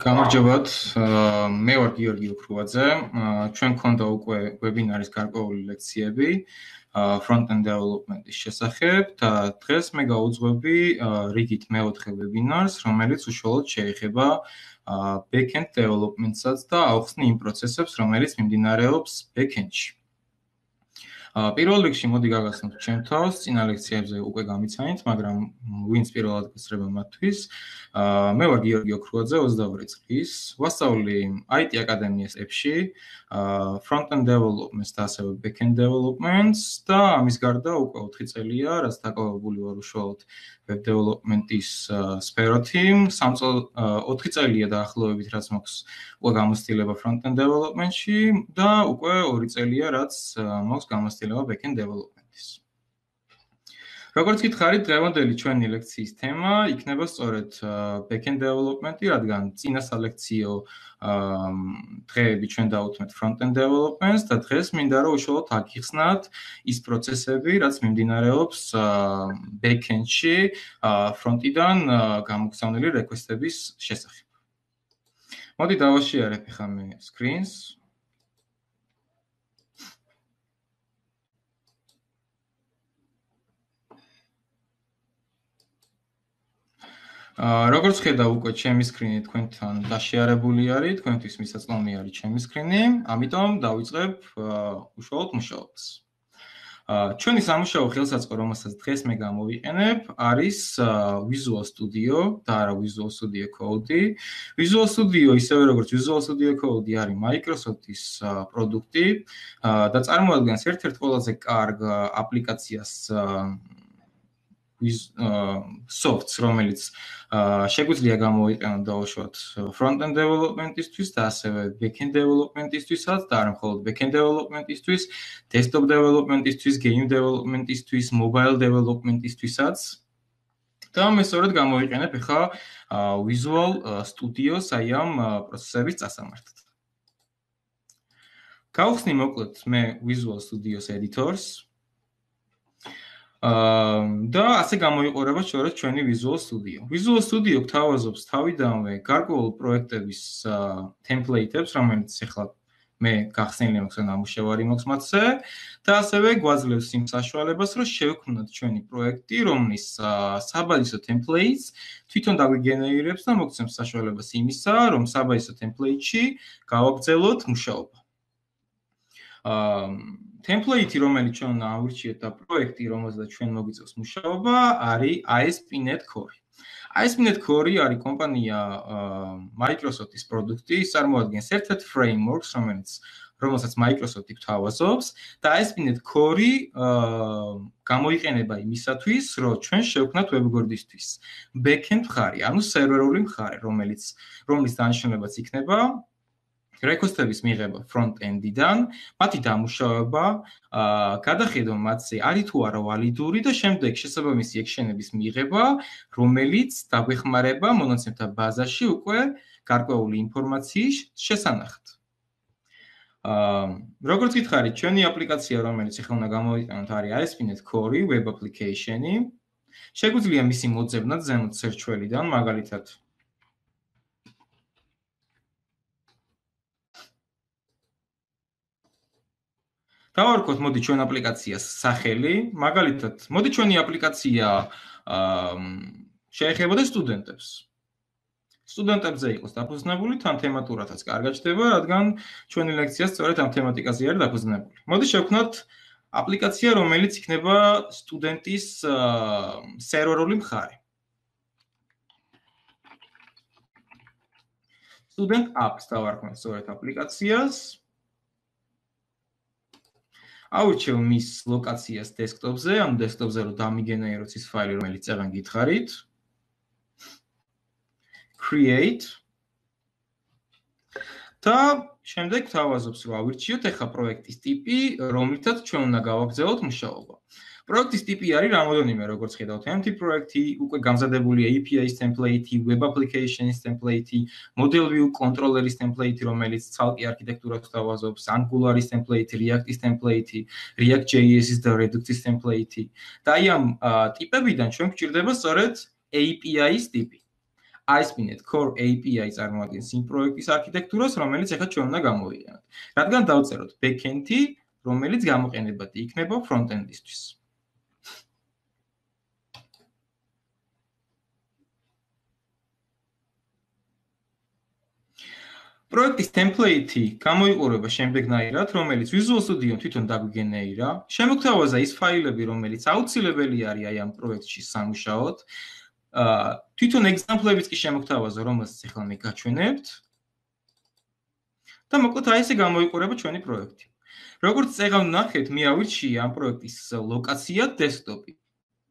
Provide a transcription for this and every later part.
გამარჯობათ, მე ვარ გიორგი უქრუაძე. ჩვენ გქონდა უკვე ვებინარის გარკვეული ლექციები front-end development-ის შესახებ და დღეს მე გავუძღვები რიგით მეოთხე ვებინარს, რომელიც უშუალოდ შეეხება back-end development-საც და ავხსნი იმ პროცესებს, რომელიც მიმდინარეობს back-end-ში. პირველ რიგში მოდი გაგაცნოთ ჩემ თავს, წინა ლექციებზე უკვე გამიცანით, მაგრამ ვინც პირველად გესწრება მათთვის. მე ვარ გიორგი ოქრუაძე, 22 წლის, ვასწავლი IT აკადემიას F-ში, front-end development-ს და ასევე back-end development-ს და ამის გარდა უკვე 4 წელია, რაც დაკავებული ვარ უშუალოდ web development-ის სფეროთი. 4 წელია დაახლოებით, რაც მაქვს უკვე გამოცდილება front-end development-ში და უკვე 2 წელია, რაც მაქვს გამოცდილება back-end development-ის. როგორც გითხარით, დღევანდელი ჩვენი ლექციის თემა იქნება სწორედ back-end development-ი, რადგან წინა სალექციო დღეები ჩვენ დავუთმეთ front-end development-ს და დღეს მინდა რომ უშუალოდ აგიხსნათ ის პროცესები, რაც მიმდინარეობს back-end-ში front-იდან გამოგზავნილი request-ების შესახებ. მოდი დავაშიარებ ახლა მე screens. როგორც ხედავ უკვე ჩემი სკრინი თქვენთან დაშიარებული არის, თქვენთვის მისაწვდომი არის ჩემი სკრინი, ამიტომ დავიწყებ უშუალოდ მუშაობას. ჩვენი სამუშაო ხელსაწყო, რომელსაც დღეს მე გამოვიყენებ, არის Visual Studio და არა Visual Studio Code. Visual Studio, ისევე როგორც Visual Studio Code არის Microsoft-ის პროდუქტი და წარმოადგენს ერთ-ერთ ყველაზე კარგ აპლიკაციას softs, რომელიც შეგვიძლია გამოვიყენოთ დაუშვათ front-end development-ისთვის და ასევე back-end development-ისთვისაც და არა მხოლოდ back-end development-ისთვის, desktop development-ისთვის, game development-ისთვის, mobile development-ისთვისაც. და მე სწორედ გამოვიყენებ ახლა Visual Studio-ს აი ამ პროცესების წასამართად. გავხსნი მოკლედ მე Visual Studio-ს editors. და ასე გამოიყურება სწორედ ჩვენი Visual Studio. Visual Studio გთავაზობს თავიდანვე გარკვეულ პროექტების template-ებს, რომელიც ახლა მე გახსნილი მაქვს და ნამუშევარი მაქვს მათზე და ასევე გვაძლევს იმ საშუალებას, რომ შევქმნათ ჩვენი პროექტი, რომლის საბაზისო templates თვითონ დაგვიგენერირებს და მოგცემს საშუალებას იმისა, რომ საბაზისო template-ში გავაგრძელოთ მუშაობა. Template-ი, რომელიც ჩვენ ავირჩიეთ და პროექტი, რომელზეც ჩვენ მოგვიწევს მუშაობა, არის ASP.NET Core. ASP.NET Core არის კომპანია Microsoft-ის პროდუქტი, ის წარმოადგენს ერთ-ერთ frameworks, რომელსაც Microsoft-ი გვთავაზობს და ASP.NET Core გამოიყენება იმისათვის, რომ ჩვენ შევქმნათ webguard-ისთვის back-end მხარე, ანუ სერვერული მხარე, რომლის დანიშნულებაც იქნება request-ების მიღება front-end-დან, მათი დამუშავება, გადახედვა მათზე არის თუ არა ვალიდური და შემდეგ შესაბამისი ექშენების მიღება, რომელიც დაგვეხმარება მონაცემთა ბაზაში უკვე გარკვეული ინფორმაციის შესანახად. როგორც გითხარით, ჩვენი აპლიკაცია, რომელიც ახლა უნდა გამოვიყენოთ, არის ASP.NET Core web application-ი. შეგვიძლია მისი მოძებნა ზემოთ search-ველიდან, მაგალითად დავარქოთ მოდი ჩვენ აპლიკაციას სახელი, მაგალითად, მოდი ჩვენი აპლიკაცია შეეხებოდა სტუდენტებს. სტუდენტებზე იყოს დაფუძნებული, თან თემატურადაც კარგად ჩდება, რადგან ჩვენი ლექცია სწორედ ამ თემატიკაზე არის დაფუძნებული. მოდი შევქმნათ აპლიკაცია, რომელიც იქნება სტუდენტის სერვერული მხარე. Student apps დავარქმევთ სწორედ აპლიკაციას. ავირჩევ მის ლოკაციას desktop-ზე, ანუ desktop-ზე რომ დამიგენეროთ ის ფაილი, რომელიც წეგან გითხარით. Create. და შემდეგ გვთავაზობს, რომ ავირჩიოთ ახლა პროექტის ტიპი, რომლითაც ჩვენ უნდა გავაგრძელოთ მუშაობა. პროექტის ტიპი არის რამოდენიმე, როგორც ხედავთ, empty პროექტი, უკვე გამზადებული API-ის template-ი, web application-ის template-ი, model view controller-ის template-ი, რომელიც ცალკე არქიტექტურას გვთავაზობს, Angular-ის template-ი, React-ის template-ი, React.js-ის და Redux-ის template-ი. და აი ამ ტიპებიდან ჩვენ გვჭირდება სწორედ API-ის ტიპი. ASP.NET Core API წარმოადგენს იმ პროექტის არქიტექტურას, რომელიც ახლა ჩვენ უნდა გამოვიყენოთ. რადგან დავწეროთ backend-ი, რომელიც გამოყენებადი იქნება front-end-ისთვის. პროექტის template-ი გამოიყურება შემდეგნაირად, რომელიც Visual Studio თვითონ დაგვიგენერირა. შემოგთავაზა ის ფაილები, რომელიც აუცილებელი არის აი ამ პროექტში სამუშაოდ. თვითონ example-ებიც კი შემოგთავაზა, რომელსაც ახლა მე გაჩვენებთ. და მოკლედ აი ესე გამოიყურება ჩვენი პროექტი. როგორც წეგავ ნახეთ, მე ავირჩიე ამ პროექტის ლოკაცია desktop-ი.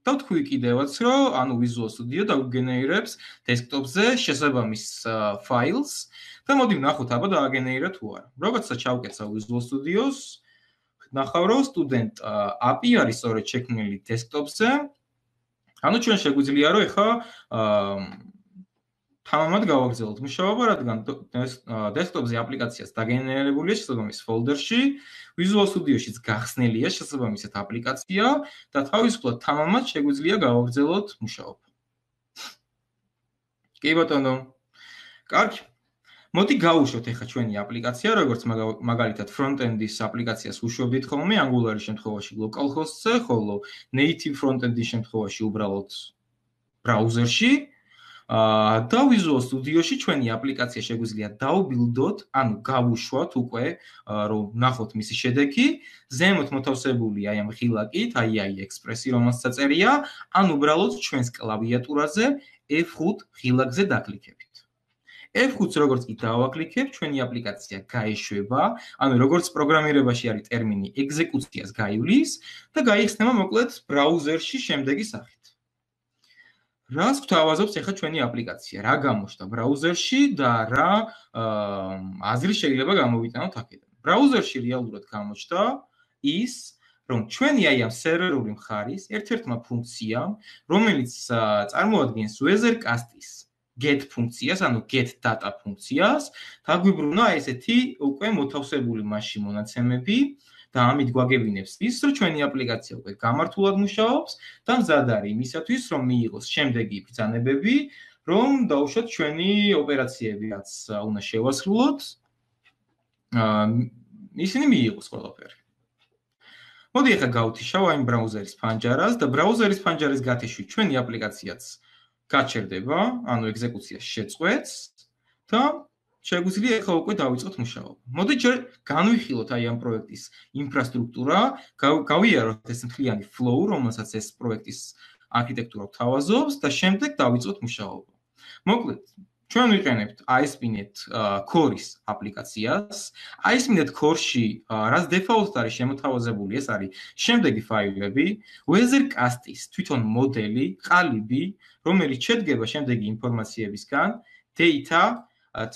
და ვთქვი კიდევაც, რომ ანუ Visual Studio დაგვიგენერირებს desktop-ზე შესაბამის files და მოდი ვნახოთ, აბა დააგენერირა თუ არა. როდესაც ჩავკეცავ Visual Studio-ს, ნახავ, რომ student API არის სწორედ შექმნილი desktop-ზე. ანუ ჩვენ შეგვიძლია, რომ ეხა თამამად გავაგრძელოთ მუშაობა, რადგან desktop-ზე აპლიკაციას დაგენერირებულია შესაბამის folder-ში, Visual Studio-შიც გახსნილია შესაბამისად აპლიკაცია და თავისუფლად თამამად შეგვიძლია გავაგრძელოთ მუშაობა. კი ბატონო. კარგი. მოდი გავუშვოთ ეხა ჩვენი აპლიკაცია, როგორც მაგალითად front-end-ის აპლიკაციას უშვებდით ხოლმე Angular-ის შემთხვევაში localhost-ზე, ხოლო native front-end-ის შემთხვევაში უბრალოდ ბრაუზერში. და Visual Studio-ში ჩვენი აპლიკაცია შეგვიძლია დავბილდოთ, ანუ გავუშვათ უკვე, რომ ნახოთ მისი შედეგი, ზემოთ მოთავსებული აი ამ ღილაკით, AI Express-ი, რომელსაც წერია, ან უბრალოდ ჩვენს კლავიატურაზე F5 ღილაკზე დაკლიკებით. F5-ს როგორც კი დავაკლიკებ, ჩვენი აპლიკაცია გაეშვება, ანუ როგორც პროგრამირებაში არის ტერმინი ექსეკუციას გაივლის და გაიხსნება მოკლედ ბრაუზერში შემდეგი სახით. რას გვთავაზობს ახლა ჩვენი აპლიკაცია, რა გამოჩნდა ბრაუზერში და რა აზრი შეიძლება გამოვიტანოთ აქედან. ბრაუზერში რეალურად გამოჩნდა ის, რომ ჩვენი აი ამ სერვერული მხარის ერთ-ერთმა ფუნქციამ, რომელიც წარმოადგენს Weathercast-ის get ფუნქციას, ანუ get data ფუნქციას, დაგვიბრუნა ესეთი უკვე მოთავსებული მასში მონაცემები და ამით გვაგებინებს ის, რომ ჩვენი აპლიკაცია უკვე გამართულად მუშაობს და მზად არის იმისათვის, რომ მიიღოს შემდეგი ბრძანებები, რომ დავუშვათ ჩვენი ოპერაციები, რაც უნდა შევასრულოთ, ისინი მიიღოს ყველაფერი. მოდი ახლა გავთიშავ აი ბრაუზერის ფანჯარას და ბრაუზერის ფანჯარის გათიშვით ჩვენი აპლიკაციაც გაჩერდება, ანუ ექსეკუციას შეწყვეტს და შეგვიძლია ახლა უკვე დავიწყოთ მუშაობა. მოდი ჯერ განვიხილოთ აი ამ პროექტის ინფრასტრუქტურა, გავიაროთ ეს მთლიანი flow, რომელსაც ეს პროექტის არქიტექტურა თავაზობს და შემდეგ დავიწყოთ მუშაობა. მოკლედ, ჩვენ ვიყენებთ ASP.NET Core-ის აპლიკაციას. ASP.NET Core-ში რაც default არის შემოთავაზებული, ეს არის შემდეგი ფაილები: Weathercast-ის თვითონ მოდელი, ყალიბი, რომელიც შედგება შემდეგი ინფორმაციებისგან: data,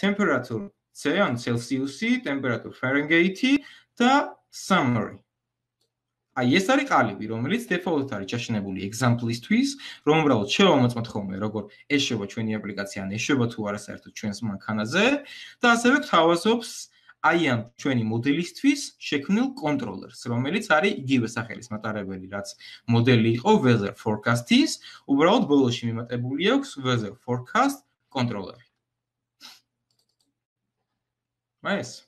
temperature C, ანუ Celsius-ი, temperature Fahrenheit-ი და summary. აი ეს არის ყალიბი, რომელიც default არის ჩაშენებული example-ისთვის, რომ უბრალოდ შევამოწმოთ ხოლმე, როგორ ეშვება ჩვენი აპლიკაცია, ან ეშვება თუ არა საერთოდ ჩვენს მანქანაზე და ასევე გვთავაზობს აი ამ ჩვენი მოდელისთვის შექმნილ კონტროლერს, რომელიც არის იგივე სახელის მატარებელი, რაც მოდელი იყო weather forecast-ის, უბრალოდ ბოლოში მიმატებული აქვს weather forecast კონტროლერი. მაეს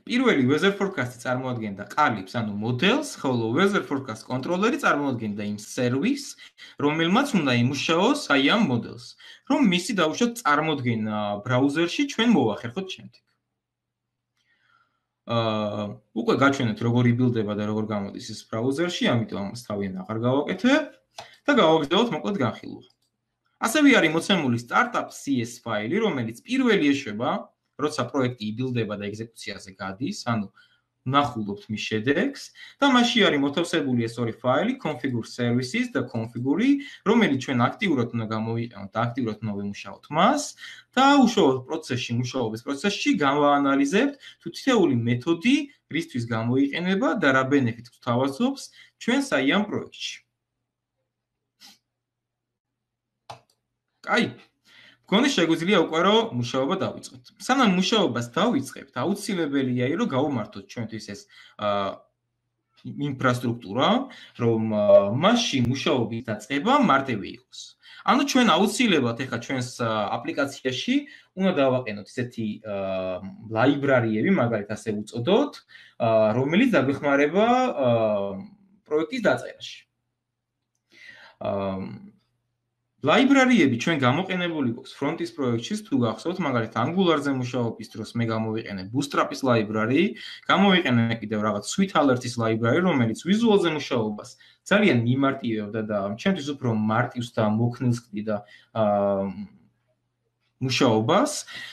პირველი weather forecast-ი წარმოადგენდა ყალიბს, ანუ მოდელს, ხოლო weather forecast კონტროლერი წარმოადგენდა იმ სერვისს, რომელმაც უნდა იმუშაოს აი ამ მოდელს, რომ მისი დავუშვათ წარმოდგენა ბრაუზერში ჩვენ მოვახერხოთ შემდეგ. უკვე გაჩვენეთ როგორ იბილდება და როგორ გამოდის ეს ბრაუზერში, ამიტომ ამას თავიდან აღარ გავაკეთებ და გავაგრძელოთ მოკლედ განხილვა. ასევე არის მოცემული startup.cs ფაილი, რომელიც პირველი ეშვება, როცა პროექტი იბილდება და ექსეკუციაზე გადის, ანუ ვნახულობთ მის შედეგს და მასში არის მოთავსებული ეს ორი ფაილი, configure services და configure, რომელიც ჩვენ აქტიურად უნდა გამოვიყენოთ და აქტიურად უნდა ვიმუშაოთ მას და უშუალოდ პროცესში, მუშაობის პროცესში გავაანალიზებთ თუ თითოეული მეთოდი რისთვის გამოიყენება და რა ბენეფიტს გვთავაზობს ჩვენს აი ამ პროექტში. კაი. მგონი შეგვიძლია უკვე რომ მუშაობა დავიწყოთ. სანამ მუშაობას დავიწყებთ, აუცილებელია რომ გავუმართოთ ჩვენთვის ეს ინფრასტრუქტურა, რომ მასში მუშაობის დაწყება მარტივი იყოს. ანუ ჩვენ აუცილებლად ეხლა ჩვენს აპლიკაციაში უნდა დავაყენოთ ესეთი ლაიბრარიები, მაგალითად ასე უწოდოთ, რომელიც დაგვეხმარება პროექტის დაწერაში. ლაიბრარიები ჩვენ გამოყენებული გვაქვს ფრონტის პროექტში, თუ გახსოვთ, მაგალითად Angular-ზე მუშაობის დროს მე გამოვიყენე Bootstrap-ის ლაიბრარი, გამოვიყენე კიდევ რაღაც Sweet Alert-ის ლაიბრარი, რომელიც ვიზუალზე მუშაობას ძალიან მიმარტივებდა და ჩემთვის უფრო მარტივს და მოქნილს ყდიდა მუშაობას.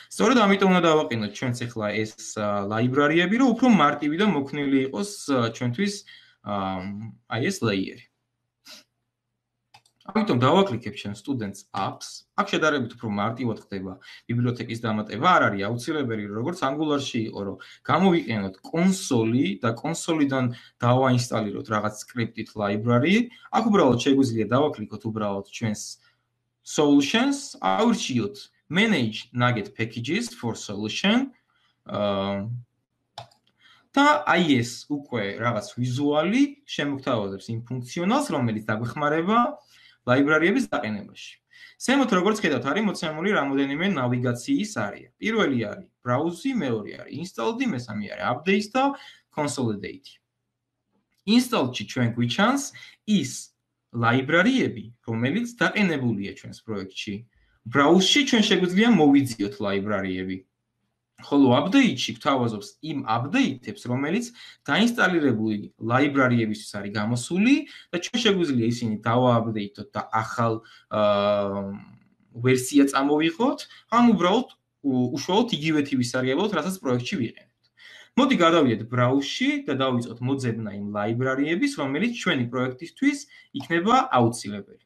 სწორედ ამიტომ უნდა დავაყენოთ ჩვენც ახლა ეს ლაიბრარიები, რომ უფრო მარტივი და მოქნილი იყოს ჩვენთვის აი ეს ლეიერი. ამიტომ დავაკლიკებ ჩვენ students apps. აქ შედარებით უფრო მარტივად ხდება ბიბლიოთეკის დამატება, არ არის აუცილებელი, როგორც Angular-ში იყო, რომ გამოვიყენოთ კონსოლი და კონსოლიდან დავაინსტალიროთ რაღაც script-ით library. აქ უბრალოდ შეგვიძლია დავაკლიკოთ უბრალოდ ჩვენს solutions, ავირჩიოთ manage nugget packages for solution. და აი ეს უკვე რაღაც ვიზუალი შემოგთავაზებს იმ ფუნქციონალს, რომელიც დაგვეხმარება ლაიბრარიების დაყენებაში. ზემოთ როგორც ხედავთ, არის მოცემული რამოდენიმე ნავიგაციის არეა. პირველი არის browse, მეორე არის install-ი, მესამე არის update და consolidate. install-ში ჩვენ გვიჩანს ის ლაიბრარიები, რომელიც დაყენებულია ჩვენს პროექტში. browse-ში ჩვენ შეგვიძლია მოვიძიოთ ლაიბრარიები. ხოლო update-ში გვთავაზობს იმ update-ებს, რომელიც დაინსტალირებული ლაიბრარიებისთვის არის გამოსული და ჩვენ შეგვიძლია ისინი დავააპდეიტოთ და ახალ ვერსია წამოვიღოთ, ან უბრალოდ უშუალოდ იგივე თივის სარგებლობთ, რასაც პროექტში ვიყენებთ. მოდი გადავიდეთ browse-ში და დავიწყოთ მოძებნა იმ ლაიბრარიების, რომელიც ჩვენი პროექტისთვის იქნება აუცილებელი.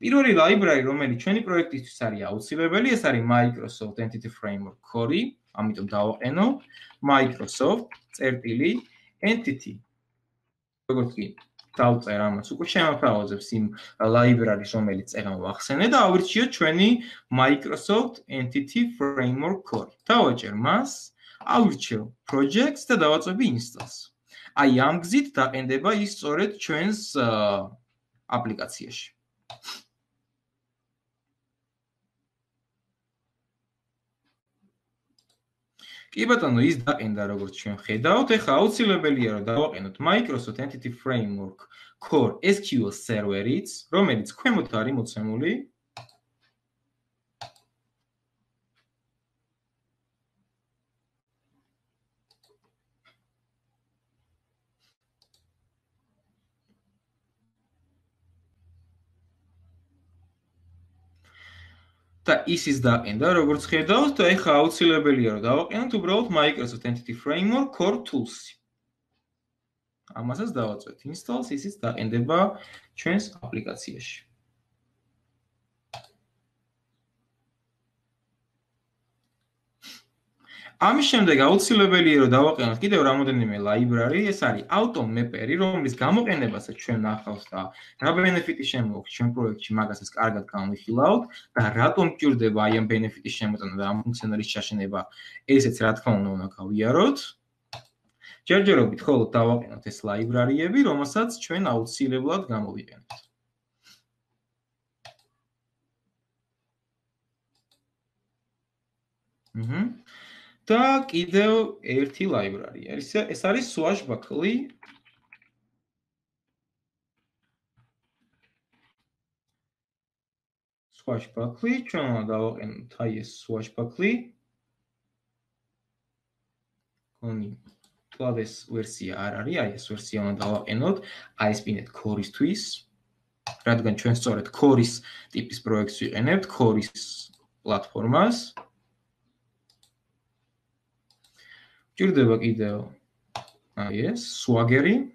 პირველი ლაიბრარი, რომელიც ჩვენი პროექტისთვის არის აუცილებელი, ეს არის Microsoft Entity Framework Core. ამიტომ დავაყენო Microsoft Entity. როგორც კი დავწერ ამას, უკვე შემოთავაზებს იმ ლაიბრარის, რომელიც წერა მოახსენე და ავირჩიოთ ჩვენი Microsoft Entity Framework Core. დავაჭერ მას, ავირჩევ projects და დავაწვევი installs. აი ამ გზით დაყენდება ის სწორედ ჩვენს აპლიკაციაში. კი ბატონო, ის დაყენდა როგორც ჩვენ ხედავთ, ეხლა აუცილებელია რომ დავაყენოთ Microsoft Entity Framework Core SQL Server-იც, რომელიც ქვემოთ არის მოცემული. და ისიც დაყენდა, როგორც ხედავთ, და ეხლა აუცილებელია რომ დავაყენოთ უბრალოდ Microsoft Entity Framework Core Tools-ი. ამასაც დავაწვევთ installs, ისიც დაყენდება ჩვენს აპლიკაციაში. ამის შემდეგ აუცილებელია რომ დავაყენოთ კიდევ რამოდენიმე library, ეს არის Atom Mapper-ი, რომლის გამოყენებასაც ჩვენ ნახავთ და რა benefit-ი შემოაქვს ჩვენ პროექტში, მაგასაც კარგად განვიხილავთ და რატომ გჭირდება აი ამ benefit-ის შემოტანა და ამ ფუნქციონალის ჩაშენება, ესეც რა თქმა უნდა გავიაროთ. ჯერჯერობით ხოლოდ დავაყენოთ ეს library-ები, რომელსაც ჩვენ აუცილებლად გამოვიყენებთ. და კიდევ ერთი library. ეს არის Swashbuckle. ჩვენ უნდა დავაყენოთ აი ეს Swashbuckle. კონი კლავ ეს ვერსია არ არის, აი ეს ვერსია უნდა დავაყენოთ ASP.NET Core-ისთვის, რადგან ჩვენ სწორედ Core-ის ტიპის პროექტს ვიყენებთ, Core-ის პლატფორმას. გჭირდება კიდევ აი ეს Swagger-ი.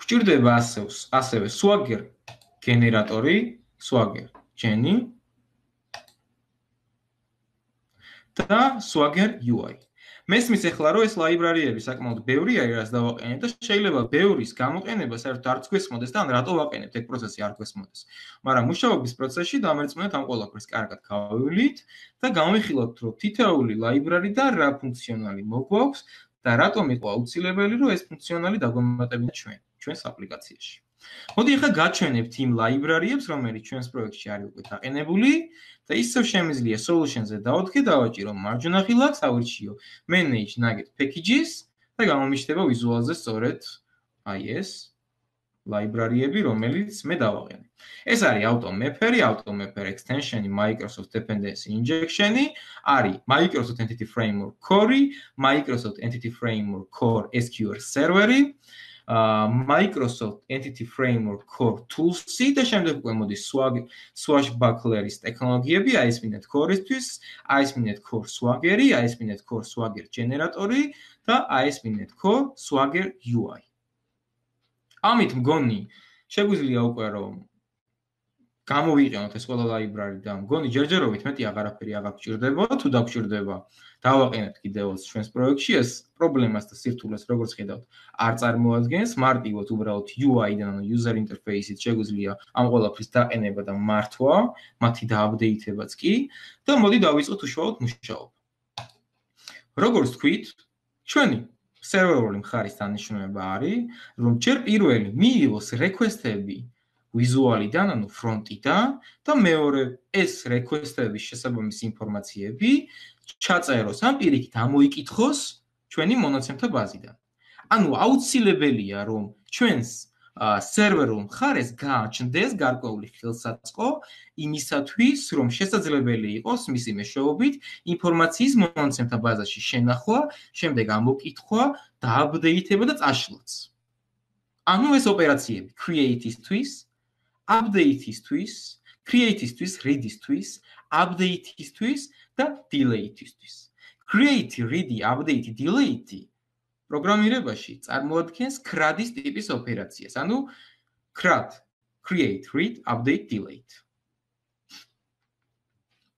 გჭირდება ასევე Swagger გენერატორი, Swagger Genie და Swagger UI. მესმის ახლა რომ ეს ლაიბრარიები საკმაოდ ბევრია რაც დავაყენებ და შეიძლება ბევრის გამოყენება საერთოდ არ გვესმოდეს და ან რატო ვაყენებთ ეგ პროცესი არ გვესმოდეს. მაგრამ მუშაობის პროცესში დამერწმუნეთ ამ ყველაფერს კარგად გავივლით და გამოვიხილოთ რომ თითოეული ლაიბრარი და რა ფუნქციონალი მოგვაქვს და რატომ იყო აუცილებელი რომ ეს ფუნქციონალი დაგვემატებინა ჩვენს აპლიკაციაში. მოდი ახლა გაჩვენებთ იმ ლაიბრარიებს, რომელიც ჩვენს პროექტში არის უკვე დაყენებული და ისევ შემიძლია solutions-ზე დავადგე, დავაჭირო მარჯვენა ხილაკს, ავირჩიო manage nugget packages და გამომიშლება ვიზუალზე სწორედ აი ეს ლაიბრარიები, რომელიც მე დავაყენე. ეს არის automapper extension-ი, Microsoft Dependency Injection-ი, არის Microsoft Entity Framework Core-ი, Microsoft Entity Framework Core SQL Server-ი, Microsoft Entity Framework Core Tools-ი და შემდეგ უკვე მოდის Swashbuckler-ის ტექნოლოგიები, ASP.NET Core-ისთვის, ASP.NET Core Swagger-ი, ASP.NET Core Swagger Generator-ი და ASP.NET Core Swagger UI. ამით მგონი შეგვიძლია უკვე რომ გამოვიყენოთ ეს ყველა ლაიბრარი და მგონი ჯერჯერობით მეტი აღარაფერი აღარ გვჭირდება, თუ დაგვჭირდება დავაყენებთ კიდევაც ჩვენს პროექტში ეს პრობლემას და სირთულეს როგორც ხედავთ არ წარმოადგენს, მარტივად უბრალოდ UI-დან ანუ user interface-ით შეგვიძლია ამ ყველაფრის დაყენება და მართვა, მათი დააპდეითებაც კი და მოდი დავიწყოთ უშუალოდ მუშაობა. როგორც თქვით, ჩვენი სერვერული მხარის დანიშნულება არის, რომ ჯერ პირველი მიიღოს რეკვესტები ვიზუალიდან, ანუ ფრონტიდან და მეორე ეს რეკვესტების შესაბამისი ინფორმაციები ჩაწეროს ან პირიქით ამოიკითხოს ჩვენი მონაცემთა ბაზიდან. ანუ აუცილებელია რომ ჩვენს სერვერულ მხარეს გააჩნდეს გარკვეული ხელსაწყო იმისათვის, რომ შესაძლებელი იყოს მისი მეშვეობით ინფორმაციის მონაცემთა ბაზაში შენახვა, შემდეგ ამოკითხვა, დააპდეითება და წაშლაც. ანუ ეს ოპერაციები create-ისთვის, update-ისთვის, create-ისთვის, read-ისთვის, update-ისთვის და delete-ისთვის. Create, read, update, delete პროგრამირებაში წარმოადგენს CRUD-ის ტიპის ოპერაციას, ანუ CRUD, create, read, update, delete.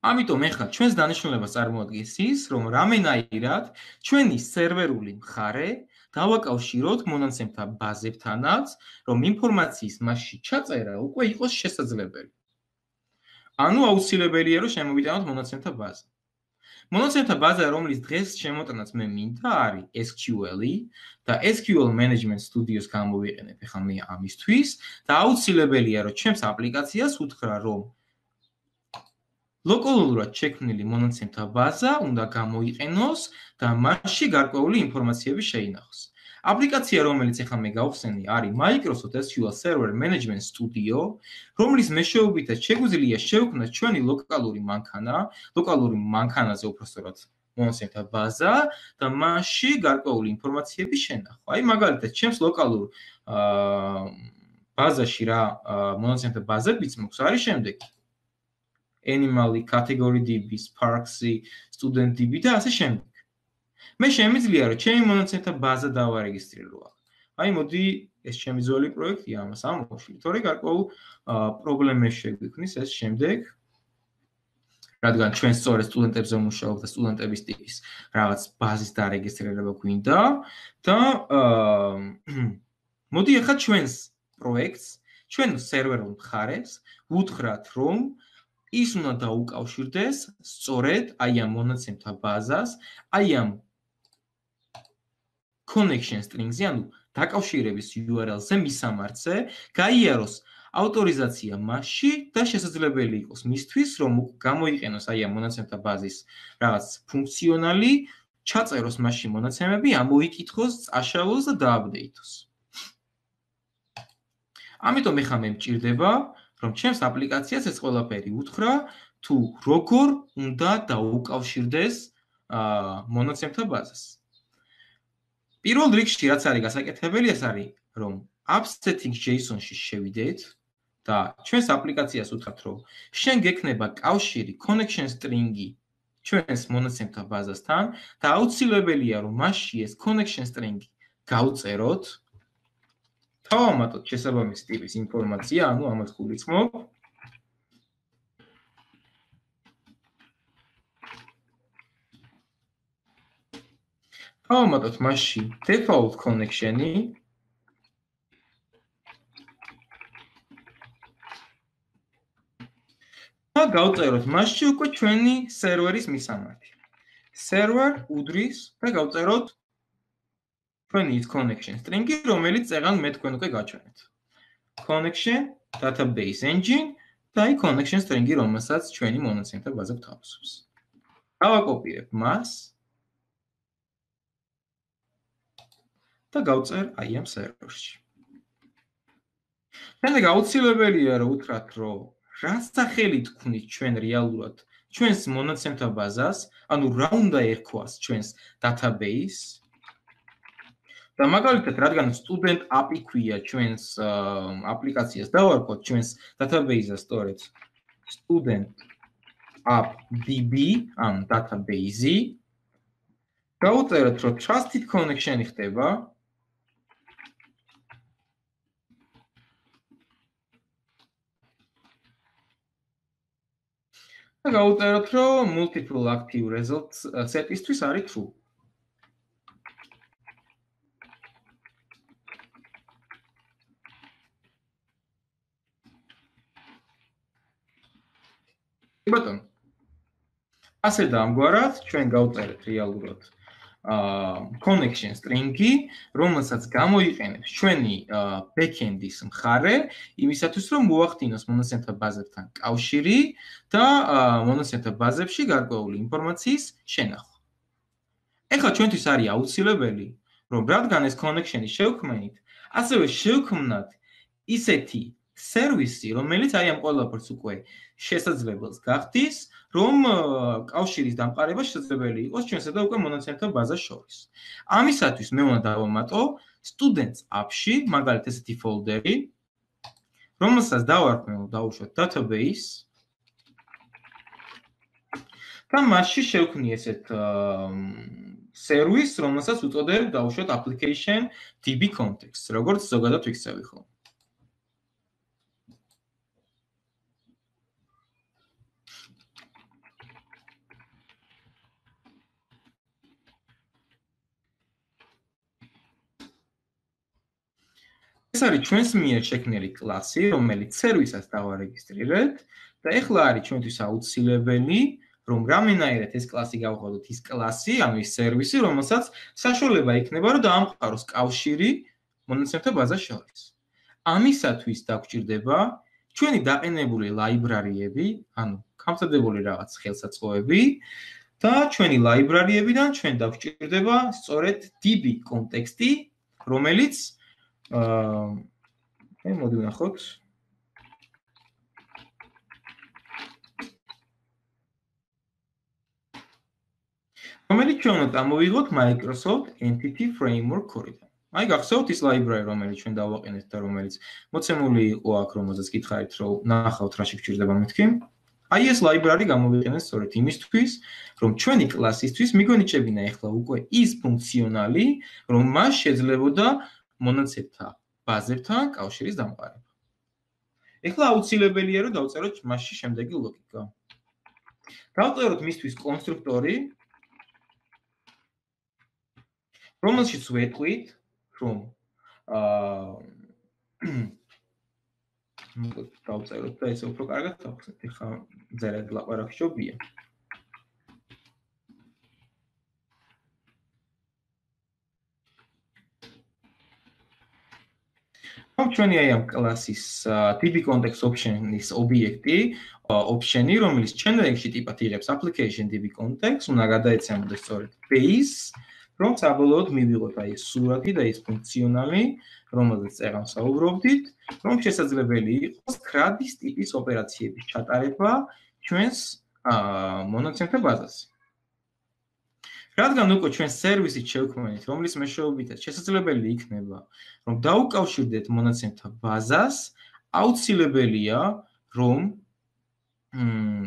ამიტომ ახლა ჩვენს დანიშნულებას წარმოადგენს ის, რომ რამენაირად ჩვენი სერვერული მხარე დავაკავშიროთ მონაცემთა ბაზებთანაც, რომ ინფორმაციის მასში ჩაწერა უკვე იყოს შესაძლებელი. ანუ აუცილებელია რომ შემოვიტანოთ მონაცემთა ბაზა. მონაცემთა ბაზა, რომლის დღეს შემოტანაც მე მინდა, არის SQL-ი და SQL Management Studio-ს გამოვიყენებ ახლა მე ამისთვის და აუცილებელია რომ ჩემს აპლიკაციას უთხრა რომ ლოკალურად შექმნილი მონაცემთა ბაზა უნდა გამოიყენოს და მასში გარკვეული ინფორმაციები შეინახოს. აპლიკაცია, რომელიც ახლა მე გავხსენი, არის Microsoft SQL Server Management Studio, რომლის მეშვეობითაც შეგვიძლია შევქმნათ ჩვენი ლოკალური მანქანაზე უпростоრად მონაცემთა ბაზა და მასში გარკვეული ინფორმაციები შენახვა. აი მაგალითად, ჩემს ლოკალურ ბაზაში რა მონაცემთა ბაზებიც მოქვს არის შემდეგი. Animal category DB, Sparksy, Student DB და ასე შემდეგ. მე შემიძლია რომ ჩემი მონაცემთა ბაზა დავარეგისტრირო. აი მოდი ეს ჩემი ძველი პროექტია, ამას ამოვშლი, თორე გარკვეულ პრობლემებს შეგვიქმნის ეს შემდეგ. რადგან ჩვენ სწორედ სტუდენტებზე ვმუშაობ და სტუდენტების ტიპის რაღაც ბაზის დარეგისტრირება გვინდა და მოდი ახლა ჩვენს პროექტს, ჩვენ სერვერულ მხარეს ვუთხრათ რომ ის უნდა დაუკავშირდეს სწორედ აი ამ მონაცემთა ბაზას, აი ამ connection string-ზე, ანუ დაკავშირების URL-ზე მისამართზე, გაიაროს ავტორიზაცია მასში და შესაძლებელი იყოს მისთვის, რომ გამოიყენოს აი ამ მონაცემთა ბაზის რაღაც ფუნქციონალი, ჩაწეროს მასში მონაცემები, ამოიკითხოს, წაშალოს და დააპდეითოს. ამიტომ ახლა მე მჭირდება რომ ჩემს აპლიკაციას ეს ყველაფერი უთხრა, თუ როგორ უნდა დაუკავშირდეს მონაცემთა ბაზას. პირველ რიგში რაც არის გასაკეთებელი, ეს არის, რომ app-settings.json-ში შევიდეთ და ჩვენს აპლიკაციას უთხრათ, რომ შენ გექნება კავშირი connection string-ი ჩვენს მონაცემთა ბაზასთან და აუცილებელია, რომ მასში ეს connection string-ი გავწეროთ. თავამატოთ შესაბამისი ტიპის ინფორმაცია, ანუ ამას გულისხმობ. ავამატოთ მასში default connection-ი და გავწეროთ მასში უკვე ჩვენი სერვერის მისამართი. Server უდრის და გავწეროთ ჩვენი connection string-ი, რომელიც წეგან მე თქვენ უკვე გაჩვენეთ. Connection database engine და connection string-ი, რომელსაც ჩვენი მონაცემთა ბაზა გვთავაზობს. გავაკოპირებ მას და გავწერ აი ამ სერვერში. შემდეგ აუცილებელია რომ უთხრათ, რომ რა სახელი თქვნით ჩვენ რეალურად ჩვენს მონაცემთა ბაზას, ანუ რა უნდა ერქვას ჩვენს database და მაგალითად, რადგან student app-ი ქვია ჩვენს აპლიკაციას, დავარქვათ ჩვენს database-ას სწორედ student app db ამ database-ი. გავუწეროთ, რომ trusted connection-ი ხდება და გავუწეროთ, რომ multiple active results set-ისთვის არის true. ბატონო. ასე და ამგვარად ჩვენ გავწერეთ რეალურად connection string-ი, რომელსაც გამოიყენებს ჩვენი backend-ის მხარე, იმისათვის რომ მოახდინოს მონაცემთა ბაზებთან კავშირი და მონაცემთა ბაზებში გარკვეული ინფორმაციის შენახვა. ეხლა ჩვენთვის არის აუცილებელი, რომ რადგან ეს connection-ი შევქმნით, ასევე შევქმნათ ისეთი სერვისი, რომელიც აი ამ ყველაფერს უკვე შესაძლებელს გახდის, რომ კავშირის დამყარება შესაძლებელი იყოს ჩვენსა და უკვე მონაცემთა ბაზას შორის. ამისათვის მე უნდა დავამატო students app-ში, მაგალითად ესეთი ფოლდერი, რომელსაც დავუშვათ database და მასში შევქმნი ესეთ სერვისს, რომელსაც უწოდებ დავუშვათ application db context, როგორც ზოგადად ვიქცევი ხოლმე. ეს არის ჩვენს მიერ შექმნილი კლასი, რომელიც სერვისას დავარეგისტრირეთ და ეხლა არის ჩვენთვის აუცილებელი, რომ რამენაირად ეს კლასი გავხადოთ ის კლასი, ანუ ის სერვისი, რომელსაც საშუალება იქნება, რომ დაამყაროს კავშირი მონაცემთა ბაზას შორის. ამისათვის დაგვჭირდება ჩვენი დაყენებული ლაიბრარიები, ანუ გამწადებული რაღაც ხელსაწყოები და ჩვენი ლაიბრარიებიდან ჩვენ დაგვჭირდება სწორედ db კონტექსტი, რომელიც მოდი ვნახოთ. რომელიც ჩვენ უნდა ამოვიღოთ Microsoft Entity Framework Corridor. აი გახსოვთ ის library, რომელიც ჩვენ დავაყენეთ და რომელიც მოცემული იყო აქ, რომელზეც გითხარით, რომ ნახავთ რა შეგვჭირდება მეთქი. აი ეს library გამოვიყენეთ სწორედ იმისთვის, რომ ჩვენი კლასისთვის მიგვენიჭებინა ეხლა უკვე ის ფუნქციონალი, რომ მას შეძლებოდა მონაცემთა ბაზებთან კავშირის დამყარება. ეხლა აუცილებელია რომ დავწეროთ მასში შემდეგი ლოგიკა. დავწეროთ მისთვის კონსტრუქტორი, რომელშიც ვეტყვით, რომ დავწეროთ და ესე უფრო კარგად დავხსნით. ეხლა ძალიან ლაპარაკი შობია. ჩვენი აი ამ კლასის db context option-ის ობიექტი, option-ი, რომელიც generic-ში ტიპად იღებს application db context, უნდა გადაეცემოდეს სწორედ base, რომ საბოლოოდ მივიღოთ აი ეს სურათი და ეს ფუნქციონალი, რომელზეც წეღან საუბრობდით, რომ შესაძლებელი იყოს CRUD-ის ტიპის ოპერაციების ჩატარება ჩვენს მონაცემთა ბაზაზე. რადგან უკვე ჩვენ სერვისით შევქმნით, რომლის მეშვეობითაც შესაძლებელი იქნება, რომ დაუკავშირდეთ მონაცემთა ბაზას, აუცილებელია, რომ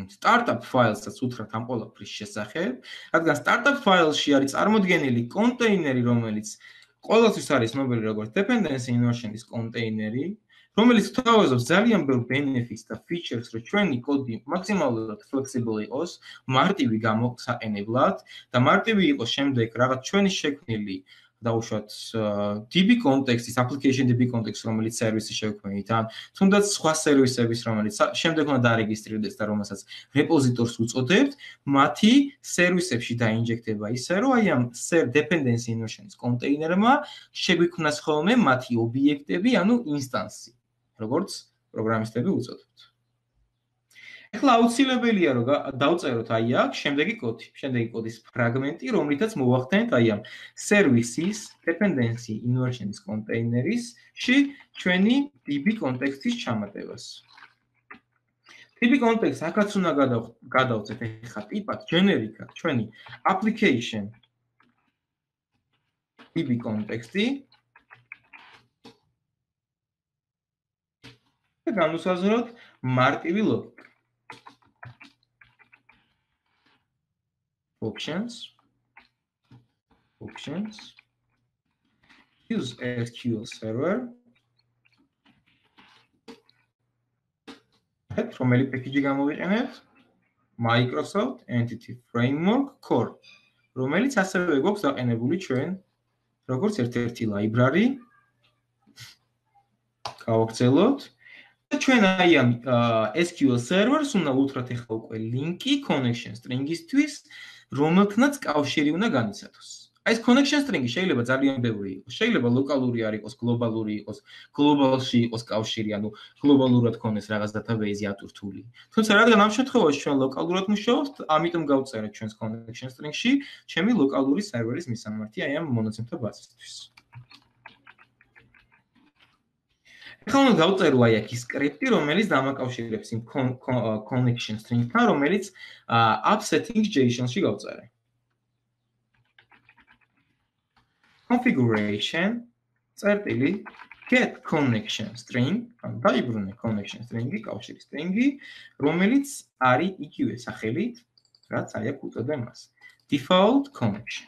startup file-საც უთხრათ ამ ყველაფრის შესახებ, რადგან startup file-ში არის წარმოდგენილი კონტეინერი, რომელიც ყველასთვის არის ცნობილი როგორც dependency inversion-ის კონტეინერი, რომელიც თავაზობს ძალიან ბევრ benefits და features, რომ ჩვენი კოდი მაქსიმალურად flexible იყოს, მარტივი გამოსაყენებლად და მარტივი იყოს შემდეგ რაღაც ჩვენი შექმნილი დაუშვათ DB კონტექსტის, application DB კონტექსტ, რომელიც სერვისი შევქმნით, ან თუნდაც სხვა სერვისების, რომელიც შემდეგ უნდა დარეგისტრირდეს და რომელსაც რეპოზიტორს უწოდებთ, მათი სერვისებში დაინჯექტება ისე, რომ აი ამ dependency inversion-ის კონტეინერმა შეგვიქმნას ხოლმე მათი ობიექტები, ანუ ინსტანსი, როგორც პროგრამისტები უწოდებთ. ეხლა აუცილებელია რომ დავწეროთ აი აქ შემდეგი კოდის ფრაგმენტი, რომლითაც მოვახდენთ აი ამ სერვისის dependency inversion-ის კონტეინერში ჩვენი DB კონტექსტის ჩამატებას. DB კონტექსტს აქაც უნდა გადავწეთ ეხლა ტიპად generic-ად ჩვენი application DB კონტექსტი და განვუსაზღვროთ მარტივი ლოგიკა. Options, use SQL Server, რომელი package გამოვიყენებთ? Microsoft Entity Framework Core, რომელიც ასევე გვაქვს დაყენებული ჩვენ როგორც ერთ-ერთი library. გავაგრძელოთ. ჩვენ აი ამ SQL Server-ს უნდა უთხრათ ახლა უკვე ლინკი connection string-ისთვის, რომელთანაც კავშირი უნდა განიცადოს. აი ეს connection string-ი შეიძლება ძალიან ბევრი იყოს. შეიძლება ლოკალური არ იყოს, გლობალური იყოს, გლობალში იყოს კავშირი, ანუ გლობალურად ქონდეს რაღაც database-ი ატვირთული. თუმცა რადგან ამ შემთხვევაში ჩვენ ლოკალურად მუშაობთ, ამიტომ გავწერეთ ჩვენს connection string-ში ჩემი ლოკალური სერვერის მისამართი აი ამ მონაცემთა ბაზისთვის. ახლა უნდა დავწერო აი აქ ის სკრიპტი, რომელიც დამაკავშირებს იმ connection string-თან, რომელიც upsetting.json-ში გავწერე. configuration წერტილი get connection string, ანუ დაიბრუნე connection string-ი, კავშირი string-ი, რომელიც არის იგივე სახელით, რაც აი აქ უწოდე მას. default connection.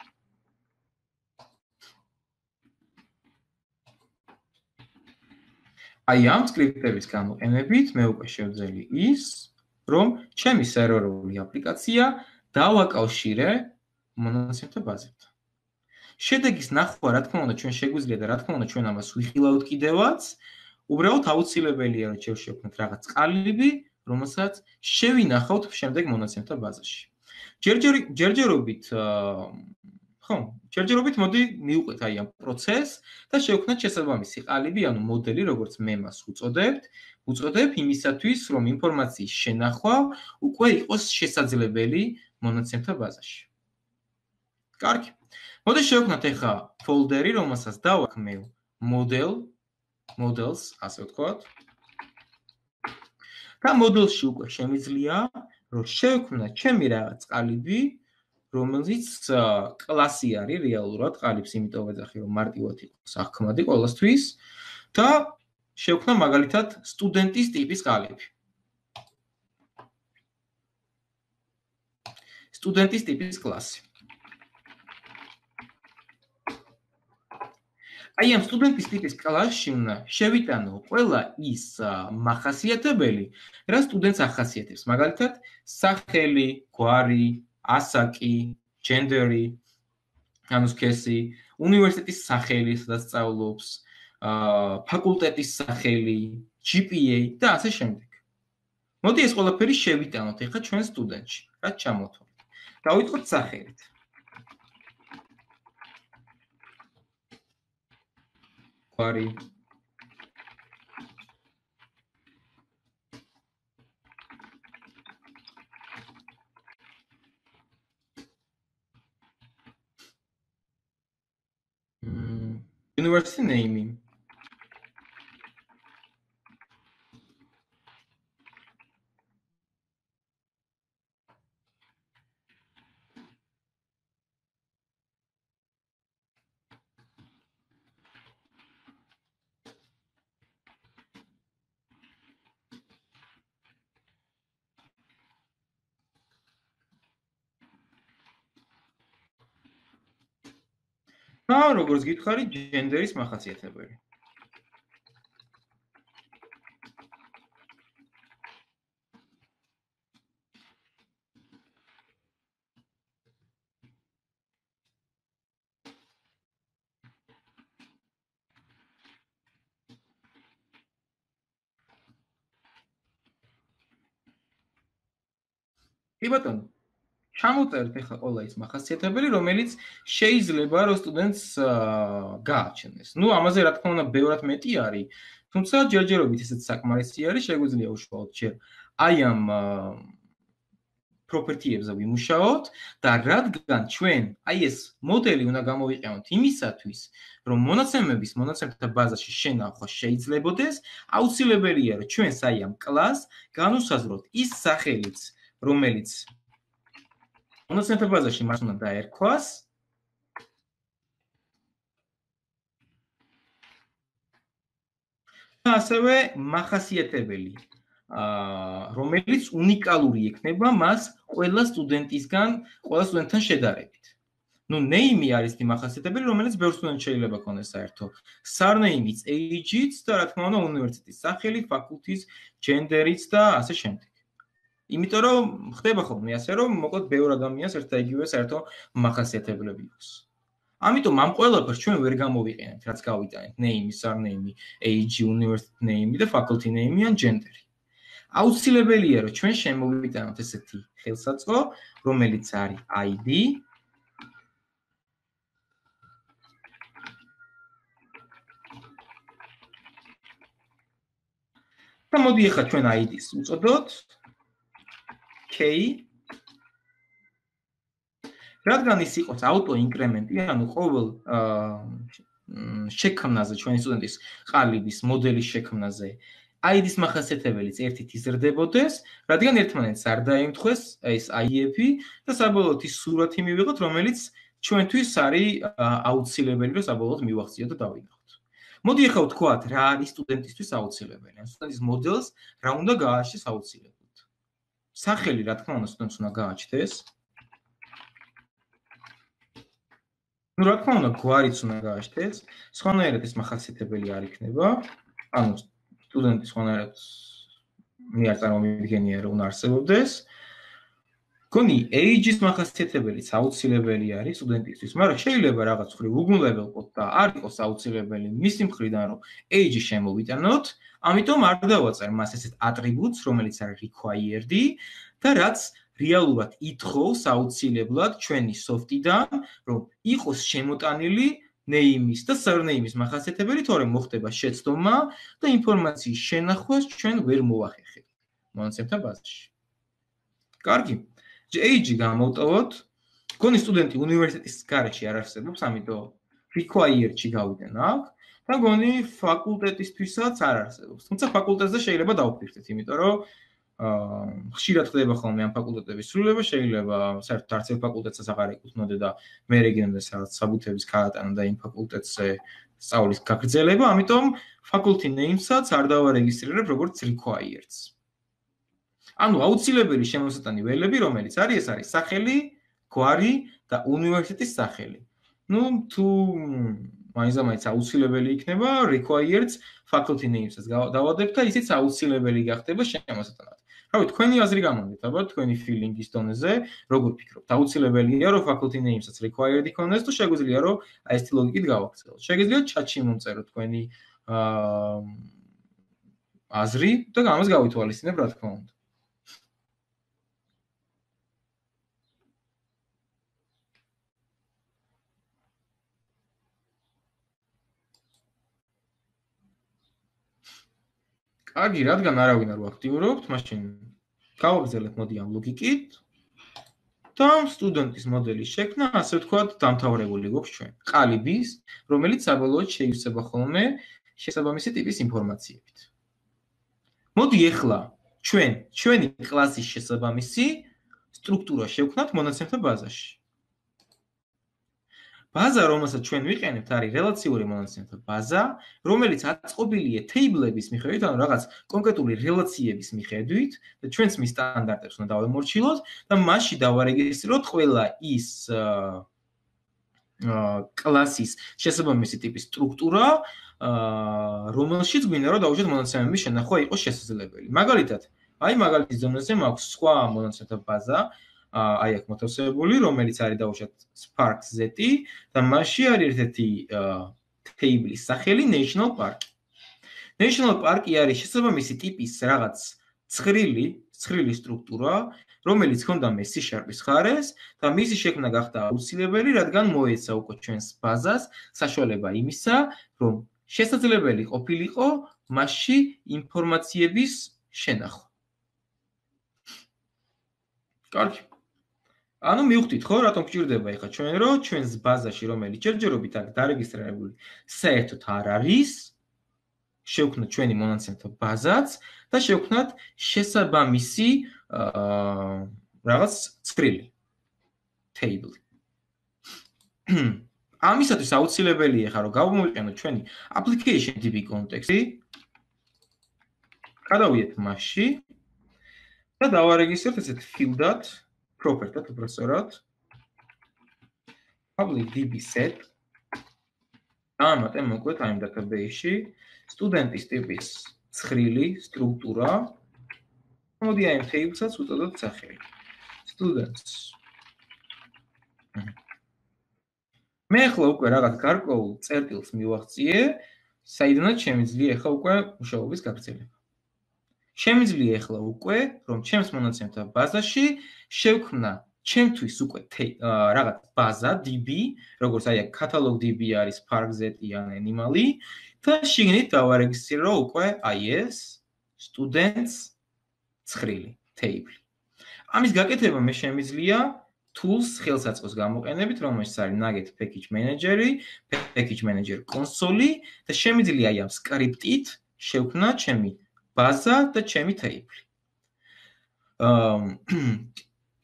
აი ამ სკრიპტების გამოყენებით მე უკვე შევძელი ის, რომ ჩემი სერვერული აპლიკაცია დავაკავშირე მონაცემთა ბაზებთან. შედეგის ნახვა, რა თქმა უნდა, ჩვენ შეგვიძლია და რა თქმა უნდა, ჩვენ ამას ვიხილავთ კიდევაც, უბრალოდ აუცილებელია, რომ შევშევქმნით რაღაც ყალიბი, რომელსაც შევინახავთ შემდეგ მონაცემთა ბაზაში. ჯერჯერობით მოდი მივყვეთ აი ამ პროცესს და შევქმნათ შესაბამისი ყალიბი, ანუ მოდელი, როგორც მე მას უწოდებ იმისათვის, რომ ინფორმაციის შენახვა უკვე იყოს შესაძლებელი მონაცემთა ბაზაში. კარგი. მოდი შევქმნათ ახლა ფოლდერი, რომელსაც დავაქმნევ models, ასე ვთქვათ. და მოდელში უკვე შემიძლია, რომ შევქმნათ ჩემი რაღაც ყალიბი, რომელიც კლასი არის რეალურად ყალიბს, იმიტომ ვეძახი, რომ მარტივად იყოს აღქმადი ყველასთვის და შევქმნა მაგალითად სტუდენტის ტიპის ყალიბი. სტუდენტის ტიპის კლასი. აი ამ სტუდენტის ტიპის კლასში უნდა შევიტანო ყველა ის მახასიათებელი, რა სტუდენტს ახასიათებს. მაგალითად, სახელი, გვარი, ასაკი, ჯენდერი, ანუ სქესი, უნივერსიტეტის სახელი, სადაც სწავლობს, ფაკულტეტის სახელი, GPA და ასე შემდეგ. მოდი ეს ყველაფერი შევიტანოთ ახლა ჩვენ სტუდენტში, რაც ჩამოთვალეთ. დავიწყოთ სახელით. გვარი. University name. და როგორც გითხარი, ჯენდერის მახასიათებელი. კი ბატონო, ჩამოწერთ ახლა ყველა ის მახასიათებელი, რომელიც შეიძლება რომ სტუდენტს გააჩნდეს. ნუ ამაზე რა თქმა უნდა ბევრად მეტი არის, თუმცა ჯერჯერობით ესეც საკმარისი არის, შეგვიძლია უშუალოდ ჯერ აი ამ პროპერტიებზე ვიმუშაოთ და რადგან ჩვენ აი ეს მოდელი უნდა გამოვიყენოთ იმისათვის, რომ მონაცემთა ბაზაში შენახვა შეიძლებოდეს, აუცილებელია რომ ჩვენს აი ამ კლასს განუსაზღვროთ ის სახელიც, რომელიც მონაცემთა ბაზაში მას უნდა დაერქვას და ასევე მახასიათებელი რომელიც უნიკალური იქნება მას ყველა სტუდენტთან შედარებით. ნუ name არის ის მახასიათებელი, რომელიც ბევრ სტუდენტს შეიძლება ქონდეს საერთო. Surname-იც, age-იც და რა თქმა უნდა უნივერსიტეტის სახელი, ფაკულტის, gender-იც და ასე შემდეგ. იმიტომ რომ ხდება ხოლმე ასე რომ მოკლედ ბევრ ადამიანს ერთ და იგივე საერთო მახასიათებლები აქვს. ამიტომ ამ ყველაფერს ჩვენ ვერ გამოვიყენებთ, რაც გავიტანეთ name, surname, age, university name და faculty name ან gender. აუცილებელია რომ ჩვენ შემოვიტანოთ ესეთი ხელსაწყო, რომელიც არის ID და მოდი ახლა ჩვენ ID-ს უწოდოთ K რადგან ის იყოს აუტო-ინკრემენტი, ანუ ყოველ შექმნაზე ჩვენი სტუდენტის ყალიბის მოდელის შექმნაზე ID-ის მახასიათებელიც ერთით იზრდებოდეს, რადგან ერთმანეთს არ დაემთხვეს ეს IF-ი და საბოლოოდ ის სურათი მივიღოთ, რომელიც ჩვენთვის არის აუცილებელი, რომ საბოლოოდ მივახციოთ და დავინახოთ. მოდი ახლა ვთქვათ, რა არის სტუდენტისთვის აუცილებელი. ან სტუდენტის მოდელს რა უნდა გააჩნდეს აუცილებლად. სახელი, რა თქმა უნდა, სტუდენტს უნდა გააჩნდეს. ნუ რა თქმა უნდა, გვარიც უნდა გააჩნდეს. სხვანაირად ეს მახასიათებელი არ იქნება. ანუ სტუდენტის სხვანაირად მე არ წარმოვიდგენია რომ უნდა არსებობდეს. გონი age-ის მახასიათებელიც აუცილებელი არის სტუდენტისთვის, მაგრამ შეიძლება რაღაც ხრი უგუნლებელყოთ და არ იყოს აუცილებელი მისი მხრიდან რომ age-ი შემოვიტანოთ, ამიტომ არ დავაწერ მას ესეთ ატრიბუტს, რომელიც არის required და რაც რეალურად ითხოვს აუცილებლად ჩვენი soft-დან, რომ იყოს შემოტანილი name-ის და surname-ის მახასიათებელი, თორემ მოხდება შეცდომა და ინფორმაციის შენახვას ჩვენ ვერ მოახერხებთ მონაცემთა ბაზაში. კარგი. age-ი გამოვტოვოთ. გონი სტუდენტი უნივერსიტეტის გარეშე არ არსებობს, ამიტომ required-ში გავიდენ აქ და გონი ფაკულტეტისთვისაც არ არსებობს. თუმცა ფაკულტეტზე შეიძლება დავფიქრდეთ, იმიტომ რომ ხშირად ხდება ხოლმე ამ ფაკულტეტების სრულება, შეიძლება საერთოდ არც ერთ ფაკულტეტსაც აღარ ეკუთვნოდე და მე რეგიონზე სადაც საბუთების გაატანა და იმ ფაკულტეტზე სწავლის გაგრძელება, ამიტომ faculty name-საც არ დავარეგისტრირებ როგორც required-ს. ანუ აუცილებელი შემოსატანი ველები, რომელიც არის, ეს არის სახელი, გვარი და უნივერსიტეტის სახელი. ნუ თუ მაინც აუცილებელი იქნება required faculty name-საც დავადებთ და ისიც აუცილებელი გახდება შემოსატანად. რავი, თქვენი აზრი გამონდეთ, აბა თქვენი feeling-ის დონეზე, როგორ ფიქრობთ? აუცილებელია რომ faculty name-საც required იქონდეს თუ შეგვიძლია რომ აი ეს ლოგიკით გავაქცევოთ. შეგიძლიათ chat-ში მომწეროთ თქვენი აზრი და ამას გავითვალისწინებ, რა თქმა უნდა. კარგი, რადგან არავინ არ ვაქტიურობთ, მაშინ გავაგრძელებთ მოდი ამ ლოგიკით და სტუდენტის მოდელის შექმნა, ასე ვთქვათ, დამთავრებული გვაქვს ჩვენ. ყალიბის, რომელიც საბოლოოდ შეივსება ხოლმე შესაბამისი ტიპის ინფორმაციებით. მოდი ახლა ჩვენი კლასის შესაბამისი სტრუქტურა შევქმნათ მონაცემთა ბაზაში. ბაზა, რომელსაც ჩვენ ვიყენებთ, არის რელაციური მონაცემთა ბაზა, რომელიც აწყობილია თეიბლების მიხედვით, ანუ რაღაც კონკრეტული რელაციების მიხედვით და ჩვენც მის სტანდარტებს უნდა დავემორჩილოთ და მასში დავარეგისტრიროთ ყველა ის კლასის შესაბამისი ტიპის სტრუქტურა, რომელშიც გვინდა რომ დავუშვათ მონაცემების შენახვა იყოს შესაძლებელი. მაგალითად, აი მაგალითის დონეზე მაქვს სხვა მონაცემთა ბაზა, აი აქ მოთავსებული, რომელიც არის დავუშვათ Spark-Z და მასში არის ერთ-ერთი თეიბლის სახელი National Park. National Park-ი არის შესაბამისი ტიპის რაღაც ცხრილი სტრუქტურა, რომელიც ჰქონდა მე C# ხარეს და მისი შექმნა გახდა აუცილებელი, რადგან მოეცა უკვე ჩვენს ბაზას საშუალება იმისა, რომ შესაძლებელი ყოფილიყო მასში ინფორმაციების შენახვა. კარგი. ანუ მივხვდით ხო, რატომ გჭირდება ეხლა ჩვენ რომ ჩვენს ბაზაში რომელიც ჯერჯერობით აქ დარეგისტრირებული საერთოდ არ არის, შევქმნათ ჩვენი მონაცემთა ბაზაც და შევქმნათ შესაბამისი რაღაც ცხრილი table. ამისათვის აუცილებელია ხა რომ გავმოვიყენოთ ჩვენი application DB კონტექსტი. გადავიდეთ მასში და დავარეგისტროთ ესეთ field-ად, property-ად უბრალოდ public DB set. ამატე მოკლედ ამ database-ში სტუდენტის ტიპის ცხრილი სტრუქტურა. მოდი აი table-საც უწოდოთ სახელი. students. მე ახლა უკვე რაღაც გარკვეულ წერტილს მივახციე, საიდანაც შემიძლია ახლა უკვე მუშაობის გაგრძელება. შემიძლია ახლა უკვე, რომ ჩემს მონაცემთა ბაზაში შევქმნა ჩემთვის უკვე რაღაც ბაზა DB, როგორც აი catalog DB არის park.z ან animal-ი და შიგნით დავარეგისტრირო უკვე აი ეს students ცხრილი table. ამის გაკეთება მე შემიძლია tools ხელსაწყოს გამოყენებით, რომელშიც არის nugget package manager-ი, package manager console-ი და შემიძლია აი ამ script-ით შევქმნა ჩემი ბაზა და ჩემი table.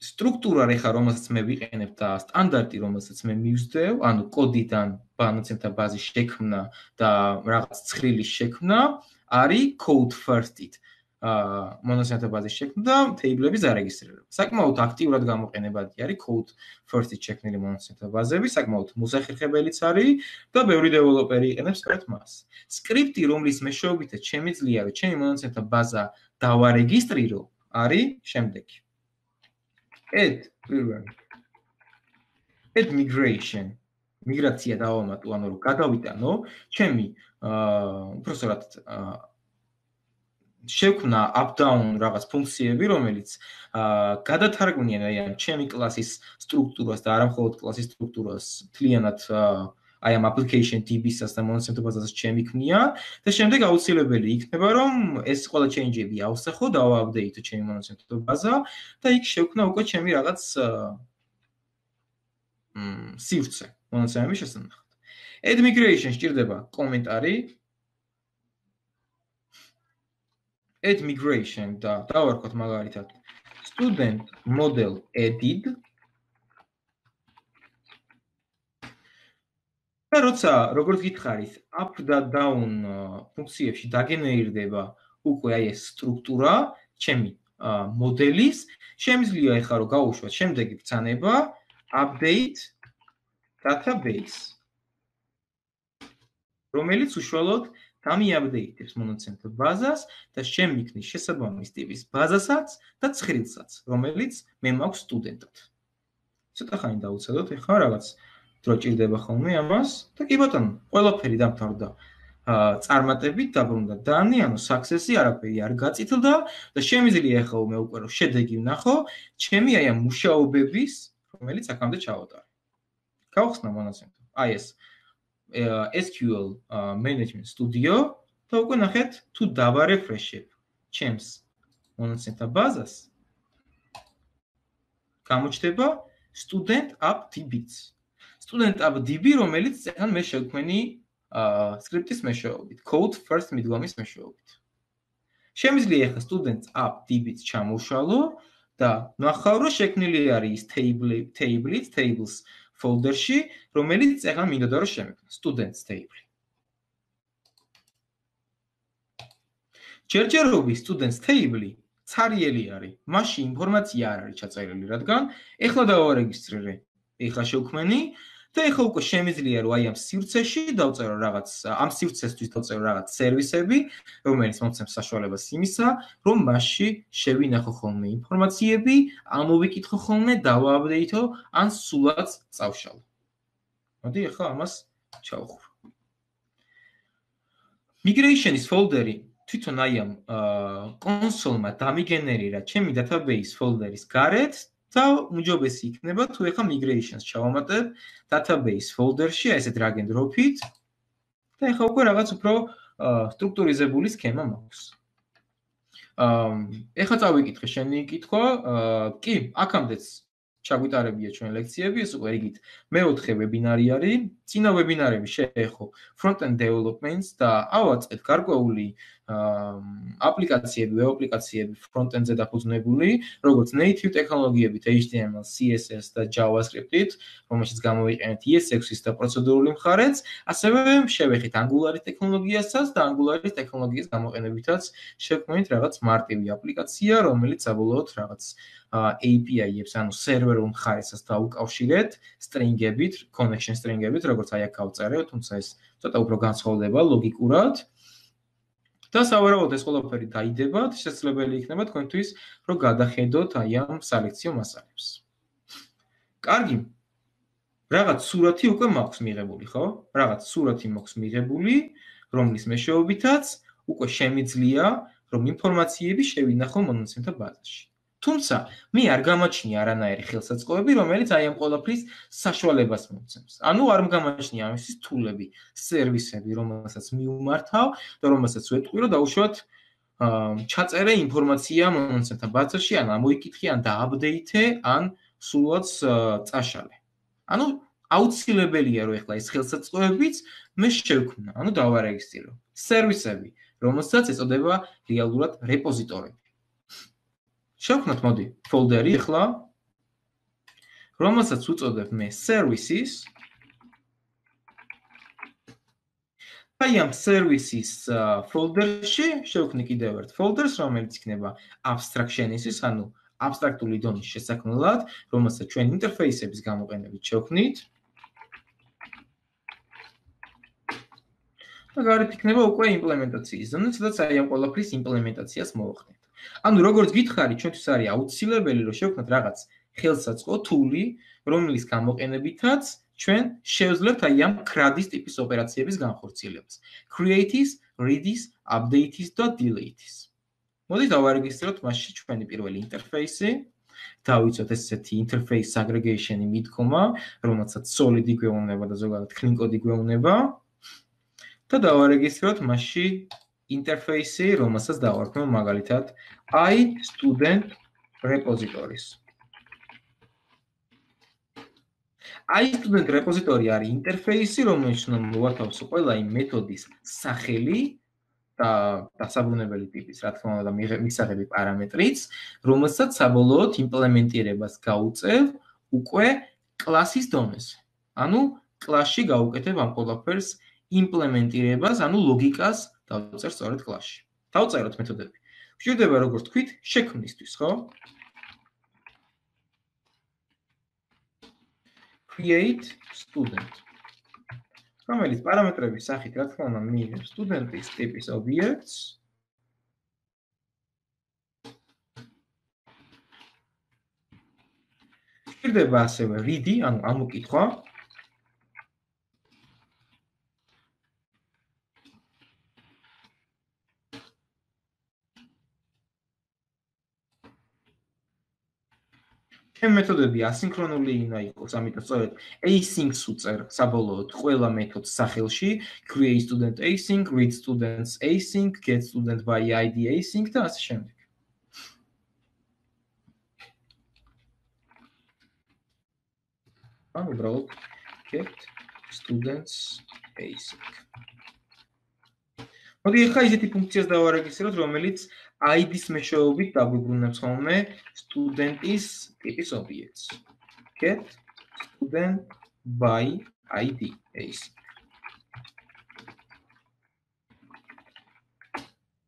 სტრუქტურა რეხა რომელსაც მე ვიყენებ და სტანდარტი რომელსაც მე მივსდევ, ანუ კოდიდან მონაცემთა ბაზის შექმნა და რაღაც ცხრილის შექმნა არის code first-ით. მონაცემთა ბაზის შექმნა და table-ების დარეგისტრირება. საკმაოდ აქტიურად გამოყენებადი არის code first-ით შექმნილი მონაცემთა ბაზები, საკმაოდ მოსახერხებელიც არის და ბევრი დეველოპერი იყენებს სწორედ მას. სკრიპტი, რომლის მეშვეობითაც შემიძლია რომ ჩემი მონაცემთა ბაზა დავარეგისტრირო, არის შემდეგი. add migration. მიგრაცია დავამატო, ანუ რომ გადავიტანო ჩემი უბრალოდ შევქმნა up-down რაღაც ფუნქციები, რომელიც გადათარგმნიან აი ამ ჩემი კლასის სტრუქტურას და არა მხოლოდ კლასის სტრუქტურას მთლიანად აი ამ application DB-საც და მონაცემთა ბაზასაც შემიქმნია და შემდეგ აუცილებელი იქნება რომ ეს ყველა change-ები ავსახო და ავაპდეიტო ჩემი მონაცემთა ბაზა და იქ შევქმნა უკვე ჩემი რაღაც სივრცე მონაცემების შესანახად. add migration სჭირდება კომენტარი add migration და დავარქვათ მაგალითად student model added და როცა როგორც გითხარით up და down ფუნქციებში დაგენერირდება უკვე აი ეს სტრუქტურა ჩემი მოდელის შემიძლია ახლა რომ გავუშვათ შემდეგი ბრძანება update database რომელიც უშუალოდ დამიაპდეიტებს მონაცემთა ბაზას და შემიქმნის შესაბამის ტიპის ბაზასაც და ცხრილსაც, რომელიც მე მაქვს სტუდენტად. ცოტა ხანი დავუცადოთ, ეხლა რაღაც დრო ჭირდება ხოლმე ამას და კი ბატონო, ყველაფერი დამთავრდა. წარმატებით დაბრუნდა დანი, ანუ success-ი არაფერი არ გაწითლდა და შემიძლია ახლა მე უკვე რომ შედეგი ვნახო, ჩემი აი ამ მუშაობების, რომელიც აქამდე ჩავატარე. გავხსნა მონაცემთა. აი ეს SQL Management Studio და უკვე ნახეთ თუ დავარეფრეშებ ჩემს მონაცემთა ბაზას გამოჩნდება student app DB-ც. student app DB, რომელიც ახლა მე შევქმნი სკრიპტის მეშვეობით, code first მიდგომის მეშვეობით. შემიძლია ახლა student app DB-ც ჩამოვშალო და ნახავ რომ შექმნილი არის tables folder-ში, რომელიც ახლა მინდოდა რომ შემექმნა students table. ჯერჯერობით students table ცარიელი არის, მასში ინფორმაცია არ არის ჩაწერილი, რადგან ახლა დავარეგისტრირე, ახლა შევქმენი და ახლა უკვე შემიძლია რომ აი ამ სივრცეში დავწერო რაღაც, ამ სივრცესთვის დავწერო რაღაც სერვისები, რომელიც მომცემს საშუალებას იმისა, რომ მასში შევინახო ხოლმე ინფორმაციები, ამოვიკითხო ხოლმე, დავააპდეიტო, ან სულაც წავშალო. მოდი ახლა ამას ჩავხურო. Migration-ის folder-ი თვითონ აი ამ კონსოლმა დამიგენერირა ჩემი database folder-ის გარეთ და უმჯობესი იქნება თუ ეხა migrations ჩავამატებ database folder-ში, აი ესე drag and drop-ით და ეხა უკვე რაღაც უფრო სტრუქტურიზებული სქემა მაქვს. ეხა წავიკითხე შენი კითხვა, კი, აქამდეც ჩაგვიტარებია ჩვენ ლექციები, ეს უკვე რიგით მეოთხე ვებინარი არის. წინა ვებინარები შეეხო front-end developments და ავაწყეთ გარკვეული აპლიკაციები, ვებ აპლიკაციები front-end-ზე დაფუძნებული, როგორც native ტექნოლოგიებით HTML, CSS და JavaScript-ით, რომელშიც გამოვიყენეთ ES6-ის და პროცედურული მხარეც, ასევე შევეხეთ Angular-ის ტექნოლოგიასაც და Angular-ის ტექნოლოგიის გამოყენებითაც შევქმნით რაღაც მარტივი აპლიკაცია, რომელიც საბოლოოდ რაღაც API-ებს, ანუ სერვერულ მხარესაც დაუკავშირეთ string-ებით, connection string-ებით, როგორც აი აქ გავწერე, თუმცა ეს ცოტა უფრო განსხვავდება ლოგიკურად. და სავარაუდოდ ეს ყველაფერი დაიდება, შესაძლებელი იქნება თქვენთვის, რომ გადახედოთ აი ამ სალექციო მასალებს. კარგი. რაღაც სურათი უკვე მაქვს მიღებული, ხო? რაღაც სურათი მაქვს მიღებული, რომლის მეშვეობითაც უკვე შემიძლია, რომ ინფორმაციები შევინახო მონაცემთა ბაზაში. თუმცა, მე არ გამაჩნია არანაირი ხელსაწყოები, რომელიც აი ამ ყველაფრის საშუალებას მომცემს. ანუ არ გამაჩნია ამისთვის თულები, სერვისები, რომელსაც მიუმართავ და რომელსაც ვეტყვი, რომ დაუშვათ ჩაწერე ინფორმაცია მონაცემთა ბაზაში, ან ამოიკითხე, ან დააპდეითე, ან სულაც წაშალე. ანუ აუცილებელია, რომ ეხლა ეს ხელსაწყოებიც მე შევქმნა, ანუ დავარეგისტრო. სერვისები, რომელსაც ეწოდება რეალურად რეპოზიტორები. შევქმნათ მოდი ფოლდერი ახლა, რომელსაც უწოდებ მე services. აი ამ services folder-ში შევქმნი კიდევ ერთ folder-ს, რომელიც იქნება abstraction-ის, ანუ აბსტრაქტული დონის შესაქმნელად, რომელსაც ჩვენ ინტერფეისების გამოყენებით შევქმნით. და გარეთ იქნება უკვე იმპლემენტაციის ზონა, სადაც აი ამ ყველაფრის იმპლემენტაციას მოვახდენთ. ანუ როგორც გითხარი, ჩვენთვის არის აუცილებელი, რომ შევქმნათ რაღაც ხელსაწყო თული, რომლის გამოყენებითაც ჩვენ შევძლებთ აი ამ CRUD-ის ტიპის ოპერაციების განხორციელებას. Create-ის, read-ის, update-ის და delete-ის. მოდით დავარეგისტროთ მასში ჩვენი პირველი ინტერფეისი. დავიცოთ ესეთი interface aggregation-ი მიდგომა, რომელსაც solid-ი გვეუბნება და ზოგადად clean code-ი გვეუბნება. და დავარეგისტროთ მასში ინტერფეისი, რომელსაც დავარქმევ მაგალითად iStudent repositories. iStudent repository არის ინტერფეისი, რომელიც მოვათავსო ყველა იმ მეთოდის სახელი და დასაბრუნებელი ტიპის, რა თქმა უნდა, მისაღები პარამეტრიც, რომელსაც საბოლოოდ იმპლემენტირებას გაუწევ უკვე კლასის დონეზე. ანუ კლასში გავუკეთებ ამ ყველაფერს იმპლემენტირებას, ანუ ლოგიკას დავწერ სწორედ კლასში. დავწეროთ მეთოდები. გვჭირდება როგორც თქვით, შექმნისთვის, ხო? Create student. რომელიც პარამეტრების სახით, რა თქმა უნდა, მიიღებს სტუდენტის ტიპის ობიექტს. გვჭირდება ასევე read-ი, ანუ ამოკითხვა. მეთოდები ასინქრონული უნდა იყოს, ამიტომ სწორედ async-ს უწერ საბოლოოდ ყველა მეთოდს სახელში, create student async, read students async, get student by id async და ასე შემდეგ. ანუ უბრალოდ get students async. მოდი ახლა ისეთი ფუნქციას დავარეგისტროთ, რომელიც id-ის მეშვეობით დაგვიბრუნებს ხოლმე სტუდენტის ტიპის ობიექტს. Get student by id async.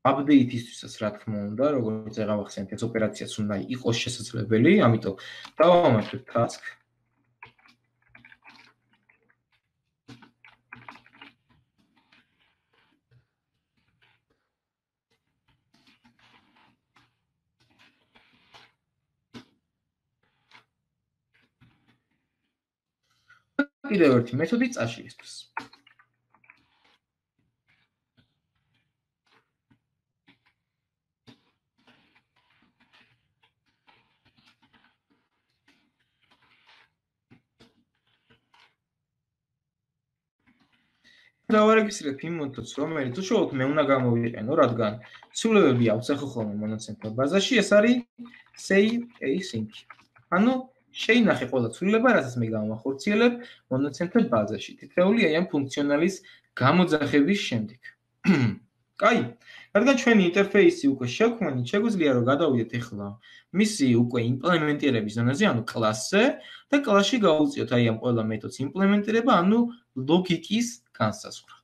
Update-ისთვის რა თქმა უნდა, როგორც აღახსენეთ, ეს ოპერაციაც უნდა იყოს შესაძლებელი, ამიტომ დავამატებ task. კიდევ ერთი მეთოდი წაშლისთვის. დავარეგისტრირებ იმ მეთოდს, რომელიც უშუალოდ მე უნდა გამოვიყენო, რადგან ცვლილებები ავწერხო ხოლმე მონაცემთა ბაზაში, ეს არის save async. ანუ შეინახე ყველა ცვლილება, რასაც მე გამახორციელებ მონაცემთა ბაზაში. თითეული აი ამ ფუნქციონალის გამოძახების შემდეგ. კაი, რადგან ჩვენი ინტერფეისი უკვე შექმნით, შეგვიძლია რომ გადავიდეთ ახლა მისი უკვე იმპლემენტირების ზონაზე, ანუ კლასზე და კლასში გავუწიოთ აი ამ ყველა მეთოდს იმპლემენტირება, ანუ ლოგიკის განსაზღვრა.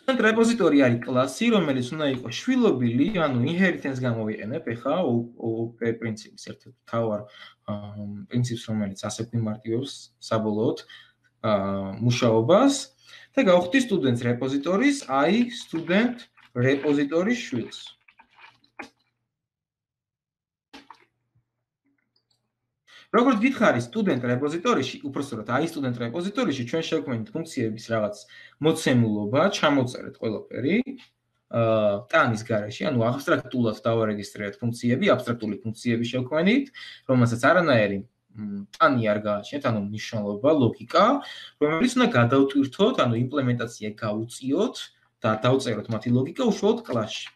Student repository არის კლასი, რომელიც უნდა იყოს შვილობილი, ანუ inheritance გამოვიყენებ ახლა OOP პრინციპის ერთ-ერთ მთავარ პრინციპს, რომელიც ასე გვიმარტივებს საბოლოოდ მუშაობას და გავხდი students repository-ს აი student repository-ს შვილს. როგორც გითხარი student repository-ში, უпростоრად აი student repository-ში ჩვენ შევქმნით ფუნქციების რაღაც მოცემულობა, ჩამოწერეთ ყველაფერი ტანის გარეშე, ანუ აბსტრაქტულად დავარეგისტრირეთ ფუნქციები, აბსტრაქტული ფუნქციები შევქმნით, რომელსაც არანაირი ტანი არ გააჩნიათ, ანუ მნიშვნელობა, ლოგიკა, რომელიც უნდა გადავტვირთოთ, ანუ იმპლემენტაცია გავუწიოთ და დავწეროთ მათი ლოგიკა უშუალოდ კლასში.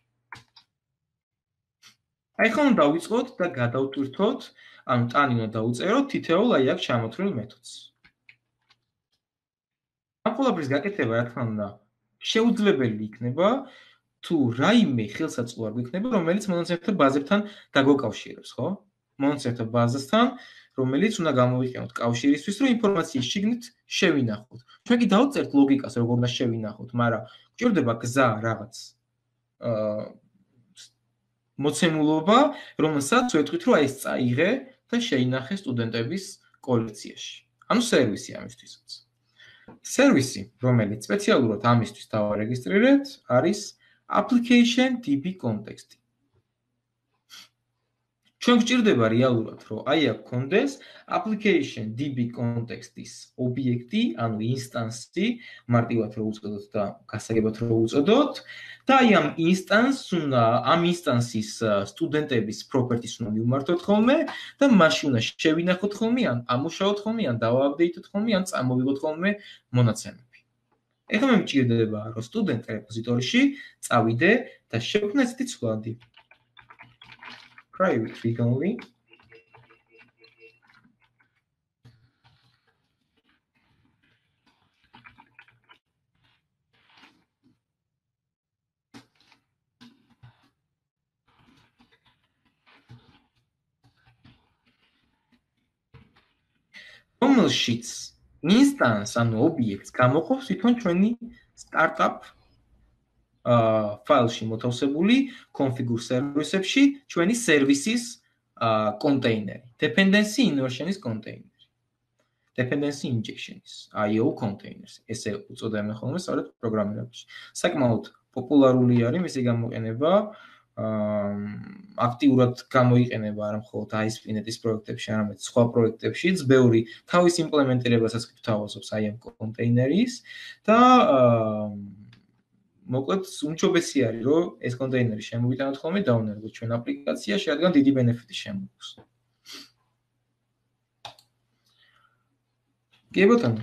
აი ხომ დავიწყოთ და გადავტვირთოთ, ანუ ტანი უნდა დავუწეროთ თითოეულ აი აქ ჩამოთვლილ მეთოდს. ამ ყველაფრის გაკეთება, რა თქმა უნდა, შეუძლებელი იქნება, თუ რაიმე ხელსაწყო არ გვექნება, რომელიც მონაცემთა ბაზებთან დაგვაკავშირებს, ხო? მონაცემთა ბაზასთან, რომელიც უნდა გამოვიყენოთ კავშირისთვის, რომ ინფორმაციის შიგნით შევინახოთ. ჩვენ კი დავწერთ ლოგიკას, როგორ უნდა შევინახოთ, მაგრამ გვჭირდება გზა რაღაც მოცემულობა, რომელსაც ვეთქვით, რომ აი ეს წაიღე და შეინახე სტუდენტების კოლექციაში. ანუ სერვისი ამისთვისაც. სერვისი, რომელიც სპეციალურად ამისთვის დავარეგისტრირეთ, არის application DB context. ჩვენ გვჭირდება რეალურად, რომ აი აქ გქონდეს application DB context-ის ობიექტი, ანუ ინსტანსი, მარტივად რო უწოდოთ და გასაგებად რო უწოდოთ, და აი ამ ამ ინსტანსის სტუდენტების properties უნდა მივმართოთ ხოლმე და მასში უნდა შევინახოთ ხოლმე, ან ამუშაოთ ხოლმე, ან დავააპდეიტოთ ხოლმე, ან წამოვიღოთ ხოლმე მონაცემები. ეხლა მე მჭირდება, რომ student repository-ში წავიდე და შევქმნე ესეთი ცვლადი. Private read only. რომელშიც instance ანუ ობიექტს გამოყოფს თვითონ ჩვენი startup ფაილში მოთავსებული configure service-ებში ჩვენი services container, dependency inversion-ის container, dependency injection-ის IO containers, ესე უწოდებენ ხოლმე სწორედ პროგრამირებაში. საკმაოდ პოპულარული არის მისი გამოყენება, აქტიურად გამოიყენება არა მხოლოდ ASP.NET-ის პროექტებში, არამედ სხვა პროექტებშიც, ბევრი თავის იმპლემენტირებასაც გვთავაზობს აი ამ კონტეინერის და მოკლედ უმჯობესი არის, რომ ეს კონტეინერი შემოვიტანოთ ხოლმე დავნერგოთ ჩვენ აპლიკაციაში, რადგან დიდი ბენეფიტი შემოგვაქვს. კი ბატონო.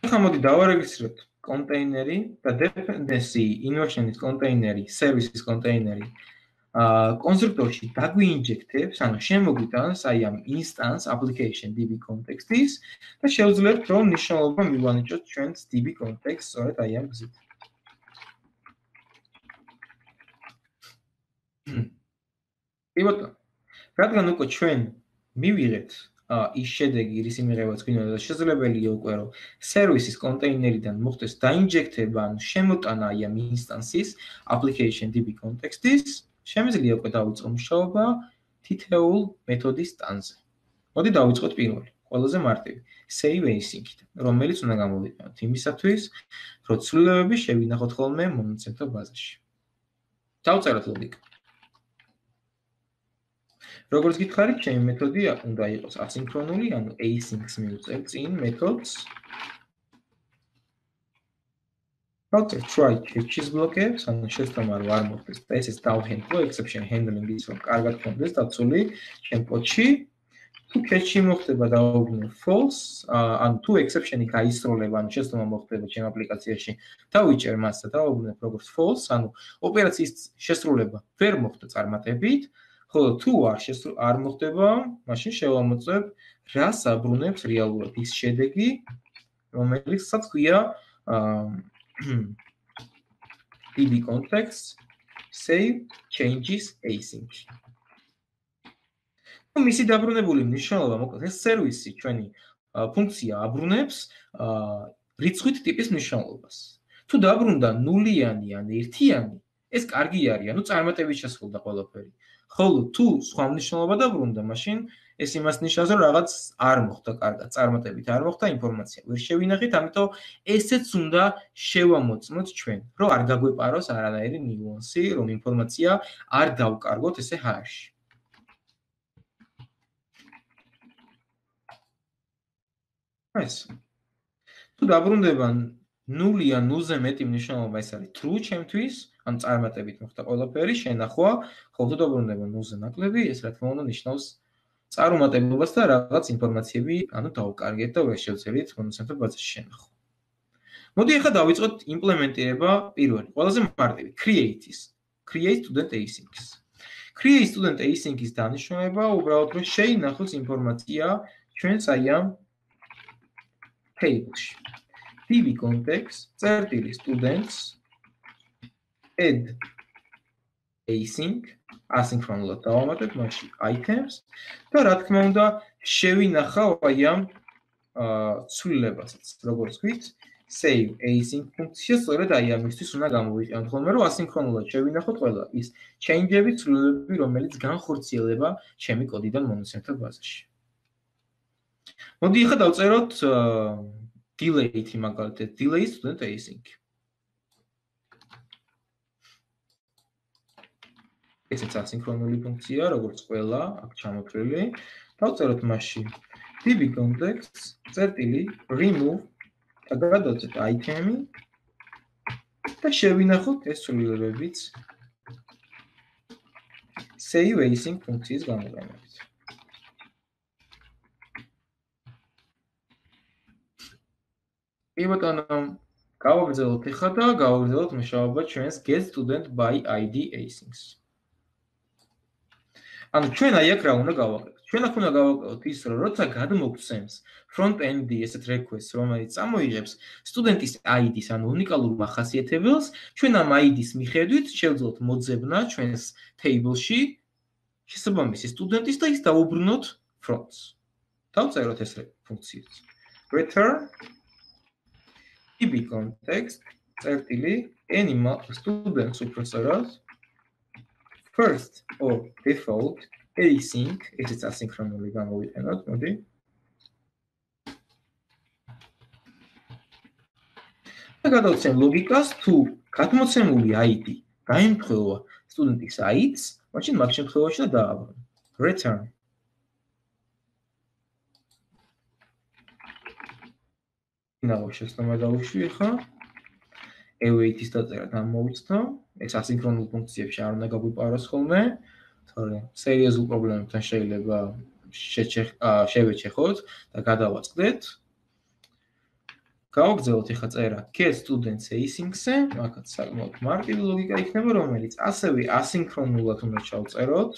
ახლა მოდი დავარეგისტრიროთ კონტეინერი და dependency inversion-ის კონტეინერი, services კონტეინერი კონსტრუქტორში დაგვინჯექტებს, ანუ შემოგვიტანს აი ამ instance application DB context-ის და შევძლებთ, რომ მნიშვნელობა მივანიჭოთ ჩვენს DB context-ს სწორედ აი ამ გზით. კი ბატონო. რადგან უკვე ჩვენ მივიღეთ ის შედეგი, რის იმიღებაც გვინდოდა და შესაძლებელია უკვე რომ services კონტეინერიდან მოხდეს დაინჯექტება, ანუ შემოტანა აი ამ instance-ის application DB context-ის, შემიძლია უკვე დავიწყო მუშაობა თითოეულ მეთოდის ტანზე. მოდი დავიწყოთ პირველი, ყველაზე მარტივი, save async-ით, რომელიც უნდა გამოვიყენოთ იმისათვის, რომ ცვლილებები შევინახოთ ხოლმე მონაცემთა ბაზაში. დავწეროთ ლოგიკა. როგორც გითხარით, ჩემი მეთოდი უნდა იყოს ასინქრონული, ანუ async-ს მივწერ წინ მეთოდს. დავწერთ try catch-ის ბლოკებს, ანუ შეცდომა რომ არ მოხდეს და ესეც დავჰენდლო exception handling-ის რომ კარგად გქონდეს დაცული ჩემ კოდში. თუ catch-ი მოხდება დავუბრუნო false, ანუ თუ exception-ი გაისროლება, ანუ შეცდომა მოხდება ჩემ აპლიკაციაში, დავიჭერ მას და დავუბრუნებ როგორც false, ანუ ოპერაციის შესრულება ვერ მოხდა წარმატებით, ხოლო თუ არ მოხდება, მაშინ შევამოწმებ რას აბრუნებს რეალურად ის შედეგი, რომელსაც ქვია db context save changes async. მისი დაბრუნებული მნიშვნელობა მოკლედ ეს სერვისი ჩვენი ფუნქცია აბრუნებს რიცხვით ტიპის მნიშვნელობას. თუ დაბრუნდა ნულიანი ან ერთიანი, ეს კარგი არის, ანუ წარმატებით შესრულდა ყველაფერი. ხოლო თუ სხვა მნიშვნელობა დაბრუნდა, მაშინ ეს იმას ნიშნავს, რომ რაღაც არ მოხდა კარგად, წარმატებით არ მოხდა, ინფორმაცია ვერ შევინახეთ, ამიტომ ესეც უნდა შევამოწმოთ ჩვენ, რომ არ გაგვეპაროს არანაირი ნიუანსი, რომ ინფორმაცია არ დავკარგოთ ესე ჰაერში. ეს. თუ დაბრუნდება ნული ან ნულზე მეტი მნიშვნელობა, ეს არის true ჩემთვის, ან წარმატებით მოხდა ყველაფერი, შენახვა, ხოლო თუ დაბრუნდება ნულზე ნაკლები, ეს რა თქმა უნდა ნიშნავს წარუმატებლობას და რაღაც ინფორმაციები, ანუ დავკარგეთ და ვერ შევძელით მონაცემთა ბაზაში შენახვა. მოდი ახლა დავიწყოთ იმპლემენტირება პირველი, ყველაზე მარტივი, create-ის. Create student async-ის. Create student async-ის დანიშნულება უბრალოდ რომ შეინახოს ინფორმაცია ჩვენს აი ამ table-ში. db context წერტილი students add async asynchronous დავამატებ მასში items და რა თქმა უნდა შევინახავ აი ამ ცვლილებასაც როგორც ვთქვით save async ფუნქცია სწორედ აი ამისთვის უნდა გამოვიყენოთ ხოლმე რომ ასინქრონულად შევინახოთ ყველა ის change-ები ცვლილებები რომელიც განხორციელება ჩემი კოდიდან მონაცემთა ბაზაში. მოდი ახლა დავწეროთ delay-ი მაგალითად delay student async. ესეც ასინქრონული ფუნქცია, როგორც ყველა აქ ჩამოთვლილი. დავწეროთ მასში db context წერტილი remove და გადავწერთ item-ი და შევინახოთ ეს ცვლილებებიც save async ფუნქციის გამოყენებით. ბატონო, გავაგრძელოთ ახლა და გავაგრძელოთ მუშაობა ჩვენს get student by id async-ს. ანუ ჩვენ აი აქ რა უნდა გავაკეთოთ? ჩვენ აქ უნდა გავაკეთოთ ის, რომ როცა გადმოგცემს front-end-ი ესეთ request, რომელიც წამოიღებს სტუდენტის ID-ს, ანუ უნიკალურ მახასიათებელს, ჩვენ ამ ID-ს მიხედვით შევძლოთ მოძებნა ჩვენს table-ში შესაბამისი სტუდენტის და ის დავუბრუნოთ front-ს. დავწეროთ ეს ფუნქციაც. return db context წერტილი animal students უბრალოდ first or default async ესეც ასინქრონული გამოვიყენოთ, მოდი. და გადავცემ ლოგიკას, თუ გადმოცემული ID გაემთხვევა სტუდენტის ID-ს, მაშინ მაგ შემთხვევაში და დააბრუნო. return ნაო შეცდომა დავუშვი ახლა. await-ის დაწერა დამოუცნო. ეს ასინქრონულ ფუნქციებში არ უნდა გაგვიპაროს ხოლმე, თორემ სერიოზულ პრობლემებთან შეიძლება შევეჩეხოთ და გადავაწყდეთ. გავაგრძელოთ ახლა წერა get students async-ზე, მაგაც საკმაოდ მარტივი ლოგიკა იქნება, რომელიც ასევე ასინქრონულად უნდა ჩავწეროთ.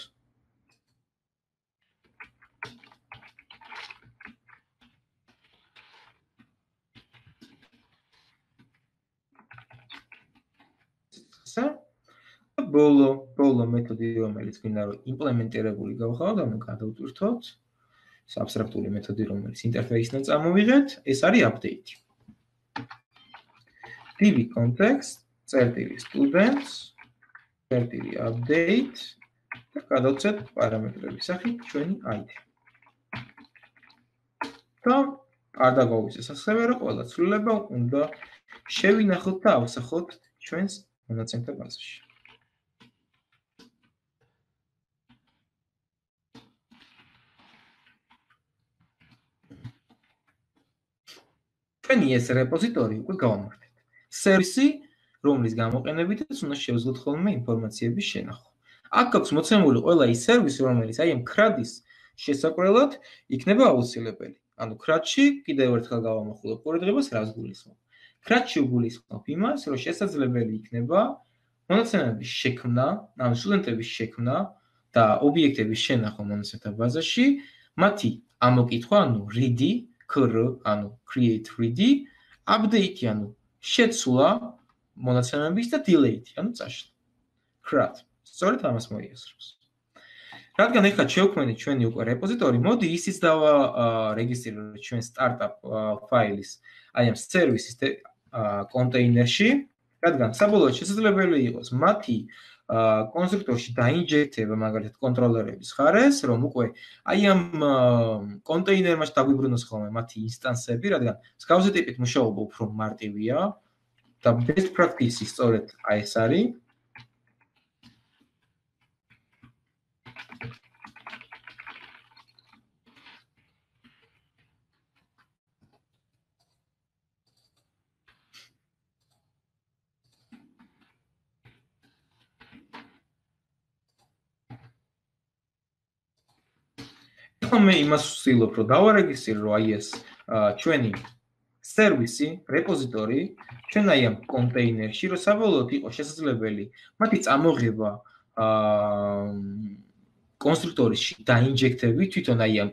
ბოლო მეთოდი რომელიც გვინდა რომ იმპლემენტირებული გავხავთ, ანუ გადავტვირთოთ. ეს აბსტრაქტული მეთოდი რომელიც ინტერფეისიდან წამოვიღეთ, ეს არის update. db context წერტილი students წერტილი update და გადავცეთ პარამეტრების სახით ჩვენი ID. და არ დაგავიწყდეს ასევე რომ ყველა ცვლილება უნდა შევინახოთ და ავსახოთ ჩვენს მონაცემთა ბაზაში. ჩვენი ეს რეპოზიტორი უკვე გავამართლეთ. სერვისი, რომლის გამოყენებითაც უნდა შევძლოთ ხოლმე ინფორმაციების შენახვა. აქ გაქვს მოცემული ყველა ის სერვისი, რომელიც აი ამ CRUD-ის შესაკვლელად იქნება აუცილებელი. ანუ CRUD-ში კიდევ ერთხელ გავამახვილებ ყურადღებას, რას გულისხმობ. CRUD-ში გულისხმობ იმას, რომ შესაძლებელი იქნება მონაცემების შექმნა, ანუ სტუდენტების შექმნა და ობიექტების შენახვა მონაცემთა ბაზაში, მათი ამოკითხვა, ანუ read, ანუ create read, update, ანუ შეცვლა მონაცემების და delete, ანუ წაშლა. CRUD. სწორედ ამას მოიაზრებს. რადგან ეხლა შევქმნით ჩვენი უკვე რეპოზიტორი, მოდი ისიც დავარეგისტრიროთ ჩვენ სტარტაპ ფაილის აი ამ სერვისის კონტეინერში, რადგან საბოლოოდ შესაძლებელი იყოს მათი კონსტრუქტორში დაინჯექტება მაგალითად კონტროლერების ხარეს, რომ უკვე აი ამ კონტეინერმაში დაგვიბრუნოს ხოლმე მათი ინსტანსები, რადგან მსგავსი ტიპით მუშაობა უფრო მარტივია და best practice სწორედ აი ეს არის. მე იმას ვცდილობ, რომ დავარეგისტრო აი ეს ჩვენი სერვისი, რეპოზიტორი, ჩვენ აი ამ კონტეინერში, რომ საბოლოოდ იყოს შესაძლებელი მათი წამოღება კონსტრუქტორში დაინჯექტები თვითონ აი ამ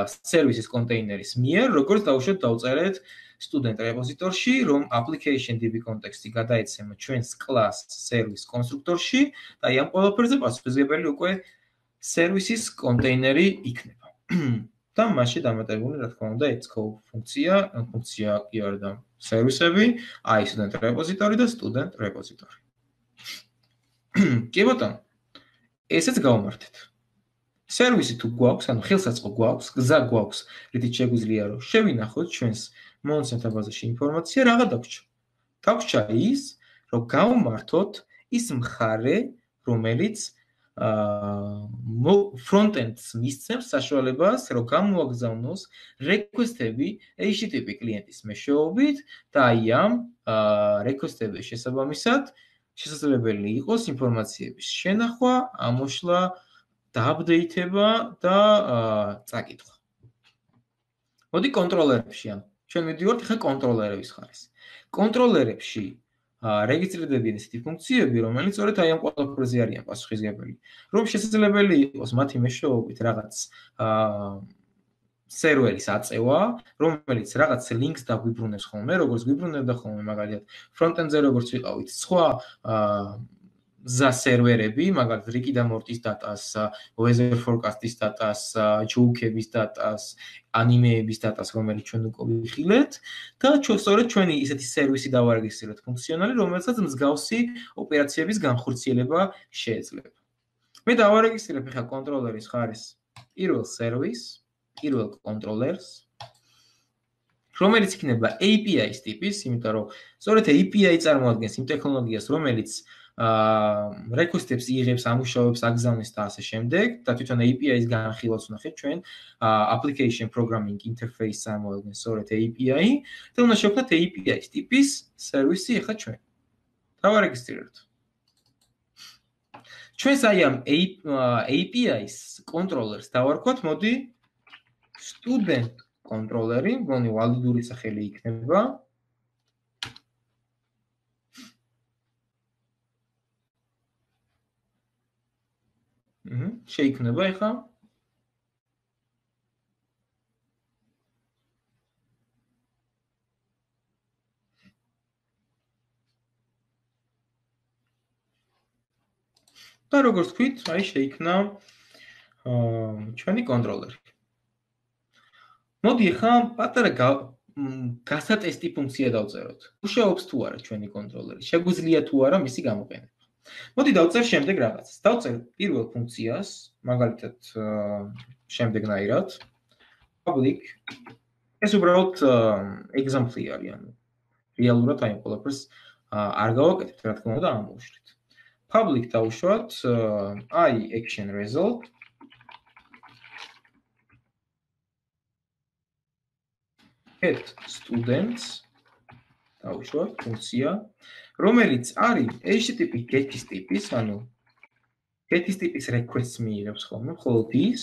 სერვისის კონტეინერის მიერ, როგორც დავუშვათ დავწერეთ student რეპოზიტორში, რომ application.db კონტექსტი გადაეცემა ჩვენს class service კონსტრუქტორში და აი ამ ყველაფერზე პასუხისმგებელი უკვე სერვისის კონტეინერი იქნება. და მასში დამატებული, რა თქმა უნდა, xcode ფუნქცია კი არა და სერვისები, აი student რეპოზიტორი და student რეპოზიტორი. კი ბატონო, ესეც გავამართეთ. სერვისი თუ გვაქვს, ანუ ხელსაწყო გვაქვს, გზა გვაქვს, რითიც შეგვიძლია რომ შევინახოთ ჩვენს მონაცემთა ბაზაში ინფორმაცია, რაღა დაგვრჩა. დაგვრჩა ის, რომ გავმართოთ ის მხარე, რომელიც front-end-ს მისცემს საშუალებას, რომ გამოაგზავნოს request-ები HTTP კლიენტის მეშვეობით და აი ამ request-ების შესაბამისად შესაძლებელი იყოს ინფორმაციების შენახვა, ამოშლა, დააპდეითება და წაკითხვა. მოდი კონტროლერებში, ანუ ჩვენ მივდივართ ახლა კონტროლერების ხარეს. კონტროლერებში რეგისტრირდებიან ისეთი ფუნქციები, რომელიც სწორედ აი ამ ყველაფერზე არიან პასუხისმგებელი. რომ შესაძლებელი იყოს მათი მეშვეობით რაღაც სერვერის აწევა, რომელიც რაღაც links დაგვიბრუნებს ხოლმე, როგორც გვიბრუნებდა ხოლმე მაგალითად front-end-ზე როგორც ვიყავით, სხვა გზა სერვერები, მაგალითად რიკი და მორტის დატას, weather forecast-ის დატას, ჯოუქების დატას, ანიმეების დატას, რომელიც ჩვენ უკვე ვიხილეთ და სწორედ ჩვენი ისეთი სერვისი დავარეგისტრიროთ ფუნქციონალი, რომელსაც მსგავსი ოპერაციების განხორციელება შეეძლება. მე დავარეგისტრირებ ახლა კონტროლერის ხარეს პირველ სერვისს, პირველ კონტროლერს, რომელიც იქნება API-ის ტიპის, იმიტომ რომ სწორედ API წარმოადგენს იმ ტექნოლოგიას, რომელიც request-ებს იღებს, ამუშავებს, აგზავნის და ასე შემდეგ და თვითონ API-ის განხილვას ვნახეთ ჩვენ application programming interface წარმოადგენს სწორედ API და უნდა შევქმნათ API-ის ტიპის სერვისი ახლა ჩვენ. დავარეგისტრიროთ. ჩვენს აი ამ API-ის კონტროლერს დავარქვათ, მოდი student კონტროლერი, მგონი ვალიდური სახელი იქნება. შეიქმნება ახლა. და როგორც თქვით, აი შეიქმნა ჩვენი კონტროლერი. მოდი ახლა პატარა გასატესტი ფუნქცია დავწეროთ. მუშაობს თუ არა ჩვენი კონტროლერი, შეგვიძლია თუ არა მისი გამოყენება. მოდი დავწერ შემდეგ რაღაცას. დავწერ პირველ ფუნქციას, მაგალითად შემდეგნაირად public ეს უბრალოდ example-ი არის, ანუ რეალურად აი ყველაფერს არ გავაკეთებთ, რა თქმა უნდა, ამოვშვრით. public დავუშვათ I action result get students დავუშვათ ფუნქცია, რომელიც არის HTTP get-ის ტიპის, ანუ get-ის ტიპის request-ს მიიღებს ხოლმე, მხოლოდ ის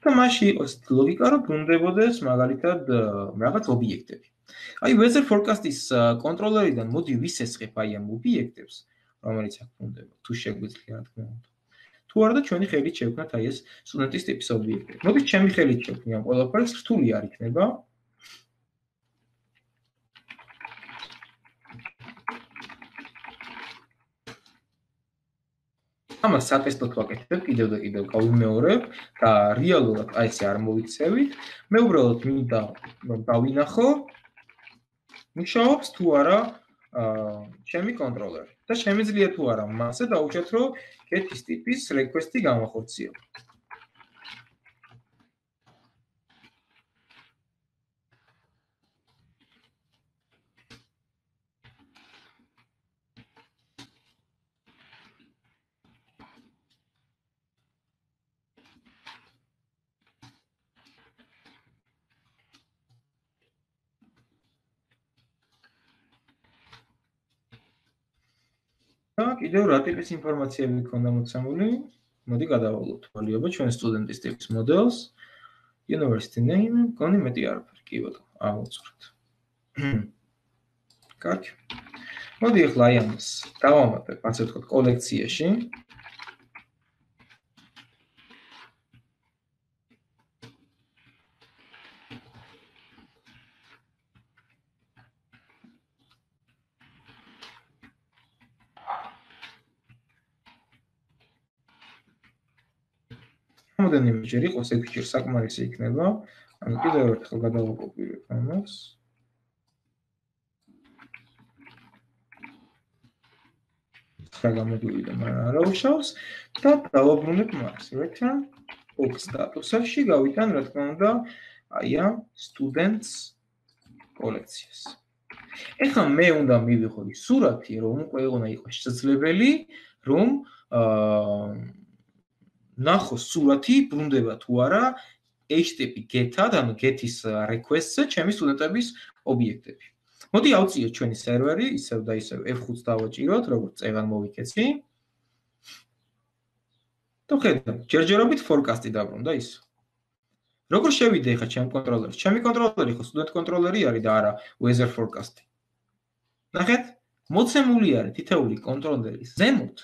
და მასში იყოს ლოგიკა, რომ ბრუნდებოდეს მაგალითად რაღაც ობიექტები. აი weather forecast-ის კონტროლერიდან მოდი ვისესხებ აი ამ ობიექტებს, რომელიც აქ ბრუნდება, თუ შეგვიძლია რა თქმა უნდა. თუ არა და ჩვენი ხელით შევქმნათ აი ეს სტუდენტის ტიპის ობიექტები. მოდით ჩემი ხელით შევქმნი ამ ყველაფერს, რთული არ იქნება. ამას სატესტოდ ვაკეთებ, კიდევ და კიდევ გავიმეორებ და რეალურად აი ესე არ მოვიქცევით. მე უბრალოდ მინდა რომ დავინახო მუშაობს თუ არა ჩემი კონტროლერი და შემიძლია თუ არა მასზე დავუშვათ, რომ get-ის ტიპის request-ი გამახორციელო. და კიდევ რა ტიპის ინფორმაციები გქონდა მოცემული? მოდი გადავალოთ თვალიობა ჩვენ სტუდენტის ტიპის მოდელს. University name, გონი მეტი არაფერი, კი ბატონო, ამოვწვრეთ. კარგი. მოდი ახლა აი ამას დავამატებ, ასე ვთქვათ, კოლექციაში. რამდენიმეჯერ იყოს, ეგრე საკმარისი იქნება. ანუ კიდევ ერთხელ გადავაკოპირებ ამას. რა გამოგვივიდა, მაგრამ არ აუშავს და დავაბრუნებ მას. Return box status-ში გავიტან, რა თქმა უნდა, აი ამ students კოლექციას. ეხლა მე უნდა მივიღო სურათი, რომ უკვე იყოს შესაძლებელი, რომ ნახოს სურათი ბრუნდება თუ არა HTTP get-ად, ანუ get-ის request-ზე ჩემი სტუდენტების ობიექტები. მოდი ავწიოთ ჩვენი სერვერი, ისევ და ისევ F5-ს დავაჭიროთ, როგორც წეგან მოვიქეცი. და ხედავთ, ჯერჯერობით forecast-ი დაბრუნდა ის. როგორ შევიდე ხა ჩემ კონტროლერში? ჩემი კონტროლერი ხო სტუდენტ კონტროლერი არის და არა weather forecast-ი. ნახეთ, მოცემული არის თითეული კონტროლერის ზემოთ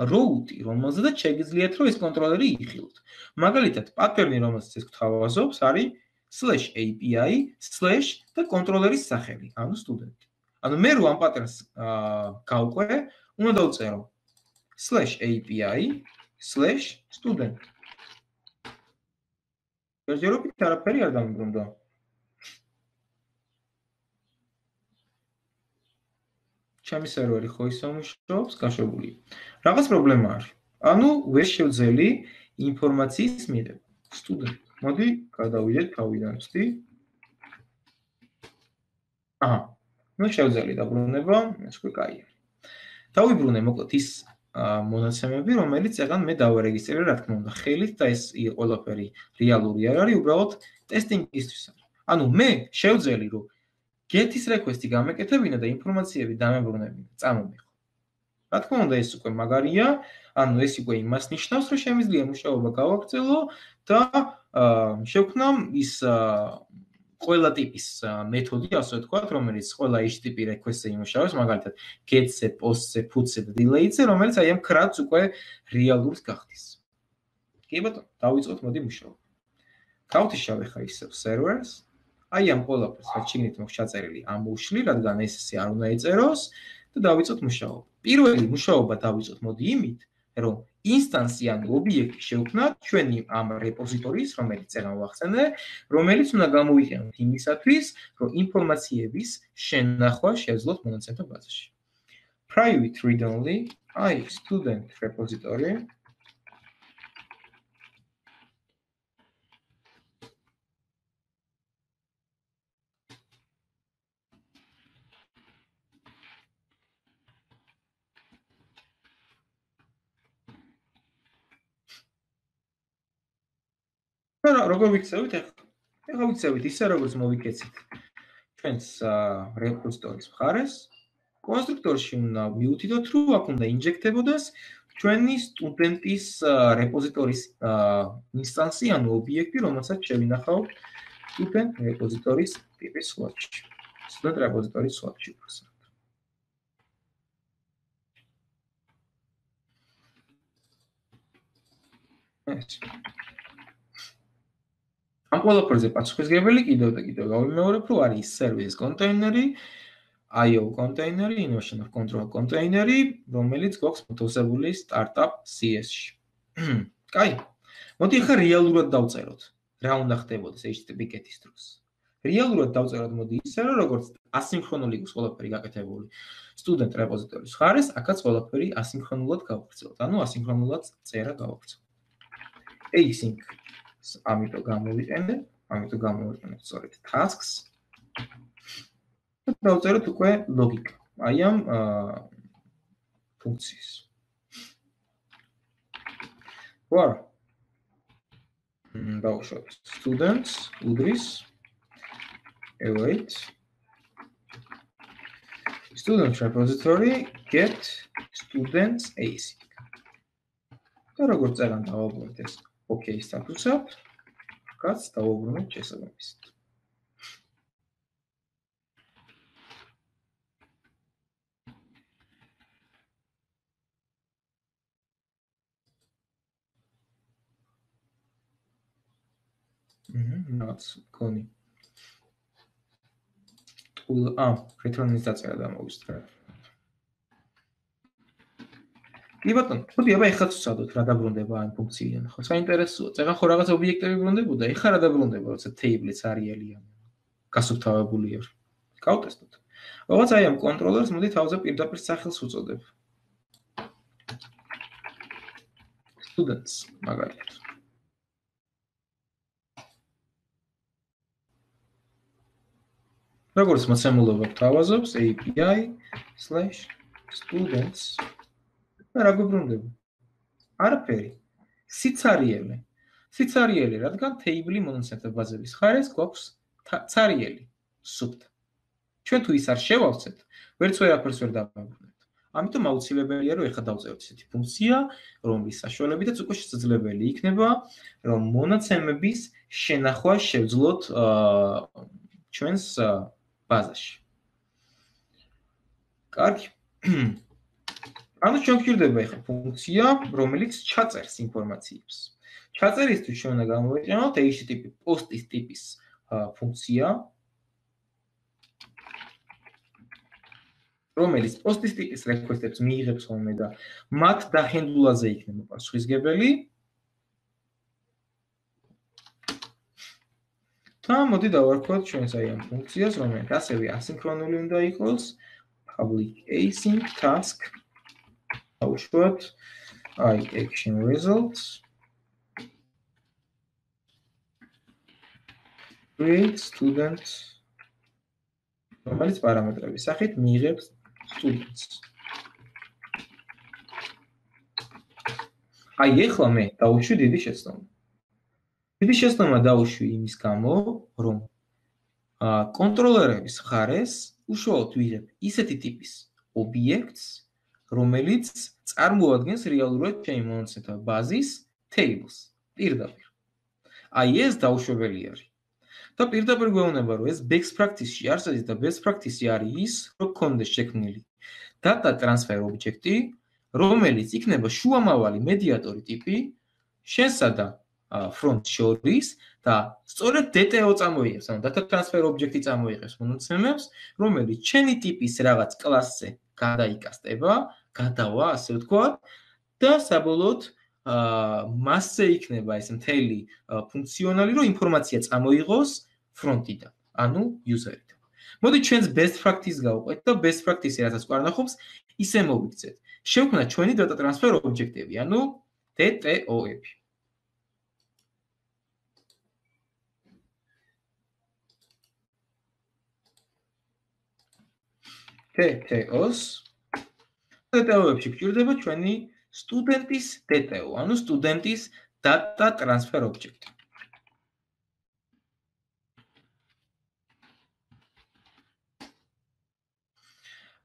route-ი, რომელზედაც შეგიძლიათ რომ ეს კონტროლერი იხილოთ. მაგალითად, პატერნი, რომელსაც ეს გვთავაზობს, არის /API/ და კონტროლერის სახელი, ანუ სტუდენტი. ანუ მე რო ამ პატერნს გავყვე, უნდა დავწერო /API/student. ჯერჯერობით არაფერი არ დამიბრუნდა. ჩემი სერვერი ხო ისე მუშაობს, გაშვებული. რაღაც პრობლემა არის. ანუ ვერ შევძელი ინფორმაციის მიღება. სტუდენტ. მოდი გადავიდეთ თავიდან ვსდი. აჰა. ნუ შევძელი დაბრუნება, ეს უკვე კაია. დავიბრუნე მოკლედ ის მონაცემები, რომელიც ეგან მე დავარეგისტრირე, რა თქმა უნდა, ხელით და ეს ყველაფერი რეალური არ არის, უბრალოდ ტესტინგისთვის არის. ანუ მე შევძელი რომ get-ის request-ი გამეკეთებინა და ინფორმაციები დამებრუნებინა, წამომიღო. რა თქმა უნდა, ეს უკვე მაგარია, ანუ ეს უკვე იმას ნიშნავს, რომ შემიძლია მუშაობა გავაგრძელო და შევქმნა ის ყველა ტიპის მეთოდი, ასე ვთქვათ, რომელიც ყველა HTTP request-ზე იმუშავებს, მაგალითად, get-ზე, post-ზე, put-ზე და delete-ზე, რომელიც აი ამ CRUD-ს უკვე რეალურს გახდის. კი ბატონო, დავიწყოთ მოდი მუშაობა. გავთიშავ ხა ისევ servers. აი ამ ყველაფერს რაც შეგნით მოხ ჩაწერილი ამოვშლი, რადგან ეს არ უნდა ეწეროს და დავიწყოთ მუშაობა. პირველი მუშაობა დავიწყოთ მოდი იმით, რომ ინსტანსი ან ობიექტი შევქმნათ ჩვენი ამ რეპოზიტორიის, რომელიც წეგან ვახსენე, რომელიც უნდა გამოვიყენოთ იმისათვის, რომ ინფორმაციების შენახვა შეძლოთ მონაცემთა ბაზაში. Private read-only, აი student repository. და როგორ ვიქცევით ახლა? ახლა ვიქცევით ისე როგორც მოვიქეცით. ჩვენს რეპოზიტორის მხარეს კონსტრუქტორში უნდა მივუთითოთ, რომ აქ უნდა ინჟექტებოდეს ჩვენი სტუდენტის რეპოზიტორის ინსტანსი, ანუ ობიექტი, რომელსაც შევინახავთ სტუდენტ რეპოზიტორის ტიპის სლოტში. სტუდენტ რეპოზიტორის სლოტში ვხსნათ. ამ ყველაფერზე პასუხისმგებელი კიდევ და კიდევ გავიმეორებ, რომ არის service კონტეინერი, IO კონტეინერი, innovation of control კონტეინერი, რომელიც გვაქვს მოთავსებული startup CS-ში. კაი. მოდი ახლა რეალურად დავწეროთ. რა უნდა ხდებოდეს HTTP GET-ის დროს. რეალურად დავწეროთ მოდი ისე, რომ როგორც ასინქრონული იყოს ყველაფერი გაკეთებული სტუდენტ რეპოზიტორის მხარეს, აქაც ყველაფერი ასინქრონულად გავაგრძელოთ. ანუ ასინქრონულად წერა გავაგრძელოთ. async ამიტომ გამოვიყენებ სწორედ tasks. დავწეროთ უკვე ლოგიკა. აი ამ ფუნქციის. ვარ. დავუშვათ students უდრის await student repository get students async. და როგორც წერან დავაბრუნოთ ეს OK სტატუსად, კაც დავაბრუნოთ შესაბამისად. რაც კონი. return-ის დაწერა დამოვისწრე. კი ბატონო, მოდი აბა ეხლა ვცადოთ რა დაბრუნდება ამ ფუნქციიდან. ხო, საინტერესოა. წეგან ხო რაღაც ობიექტები ბრუნდებოდა, ეხლა რა დაბრუნდება, როცა table-იც არიელია. გასუფთავებული არ. გავტესტოთ. რაღაც აი ამ კონტროლერს მოდი თავზე პირდაპირ სახელს უწოდებ. students მაგალითად. როგორც მოცემულობა გვთავაზობს API/students და რა გვიბრუნდება? არაფერი. სიცარიელე. სიცარიელე, რადგან table-ი მონაცემთა ბაზების ხარეს გვაქვს ცარიელი, სუფთა. ჩვენ თუ ის არ შევავცეთ, ვერც ვერაფერს ვერ დავაბრუნებთ. ამიტომ აუცილებელია, რომ ეხლა დავწეროთ ესეთი ფუნქცია, რომლის საშუალებითაც უკვე შესაძლებელი იქნება, რომ მონაცემების შენახვა შევძლოთ ჩვენს ბაზაში. კარგი. ანუ ჩვენ გვჭირდება ეხლა ფუნქცია, რომელიც ჩაწერს ინფორმაციებს. ჩაწერისთვის ჩვენ უნდა გამოვიყენოთ HTTP post-ის ტიპის ფუნქცია, რომელიც post-ის ტიპის request-ებს მიიღებს ხოლმე და მათ დაჰენდლაზე იქნება პასუხისმგებელი. და მოდი დავარქვათ ჩვენს აი ამ ფუნქციას, რომელიც ასევე ასინქრონული უნდა იყოს, public async task დავუშვათ აი action results create student რომელიც პარამეტრების სახით მიიღებს students. აი ეხლა მე დავუშვი დიდი შეცდომა. დიდი შეცდომა დავუშვი იმის გამო, რომ კონტროლერების მხარეს უშუალოდ ვიღებ ისეთი ტიპის ობიექტს, რომელიც წარმოადგენს რეალურად ჩემი მონაცემთა ბაზის tables პირდაპირ. აი ეს დაუშვებელი არის. და პირდაპირ გვეუბნება, რომ ეს best practice-ში არსებობს და best practice-ი არის ის, რომ გქონდეს შექმნილი data transfer object-ი, რომელიც იქნება შუამავალი მედიატორი ტიპი შენსა და front შორის და სწორედ DTO წამოიღებს, ანუ data transfer object-ი წამოიღებს მონაცემებს, რომელიც ჩემი ტიპის რაღაც კლასზე გადაიკასტება, გადავა, ასე ვთქვათ, და საბოლოოდ მასზე იქნება ეს მთელი ფუნქციონალი, რომ ინფორმაცია წამოიღოს ფრონტიდან, ანუ user-იდან. მოდი ჩვენს best practice გავყვეთ და best practice-ი რასაც გვარნახობს, ისე მოვიქცეთ. შევქმნათ ჩვენი data transfer object-ები, ანუ DTO-ები. DTO-ს DTO-ებში გვჭირდება ჩვენი სტუდენტის DTO, ანუ სტუდენტის data transfer object.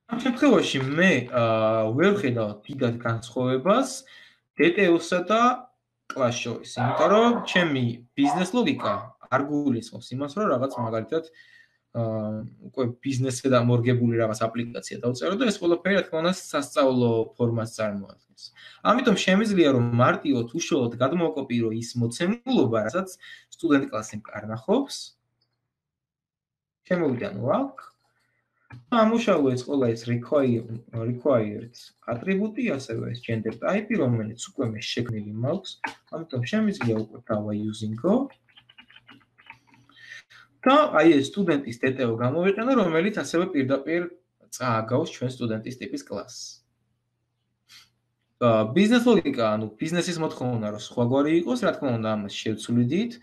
ამ შემთხვევაში მე ვერ ხედავ დიდად განსხვავებას DTO-სა და კლასს შორის, იმიტომ რომ ჩემი ბიზნეს ლოგიკა არ გულისხმობს იმას, რომ რაღაც მაგალითად უკვე ბიზნესზე დამორგებული რაღაც აპლიკაცია დავწერო და ეს ყველაფერი რა თქმა უნდა სასწავლო ფორმას წარმოადგენს. ამიტომ შემიძლია რომ მარტივად უშუალოდ გადმოვაკოპირო ის მოცემულობა, რასაც სტუდენტ კლასი მკარნახობს. შემოვიდანო აქ. ამუშავო ეს ყველა ეს required ატრიბუტი, ასევე ეს gender type, რომელიც უკვე მე შექმნილი მაქვს. ამიტომ შემიძლია უკვე დავა using-ო. და აი ეს სტუდენტის DTO გამოვიყენო, რომელიც ასევე პირდაპირ წააგავს ჩვენ სტუდენტის ტიპის კლასს. ბიზნეს ლოგიკა, ანუ ბიზნესის მოთხოვნა რომ სხვაგვარი იყოს, რა თქმა უნდა, ამას შევცვლიდით.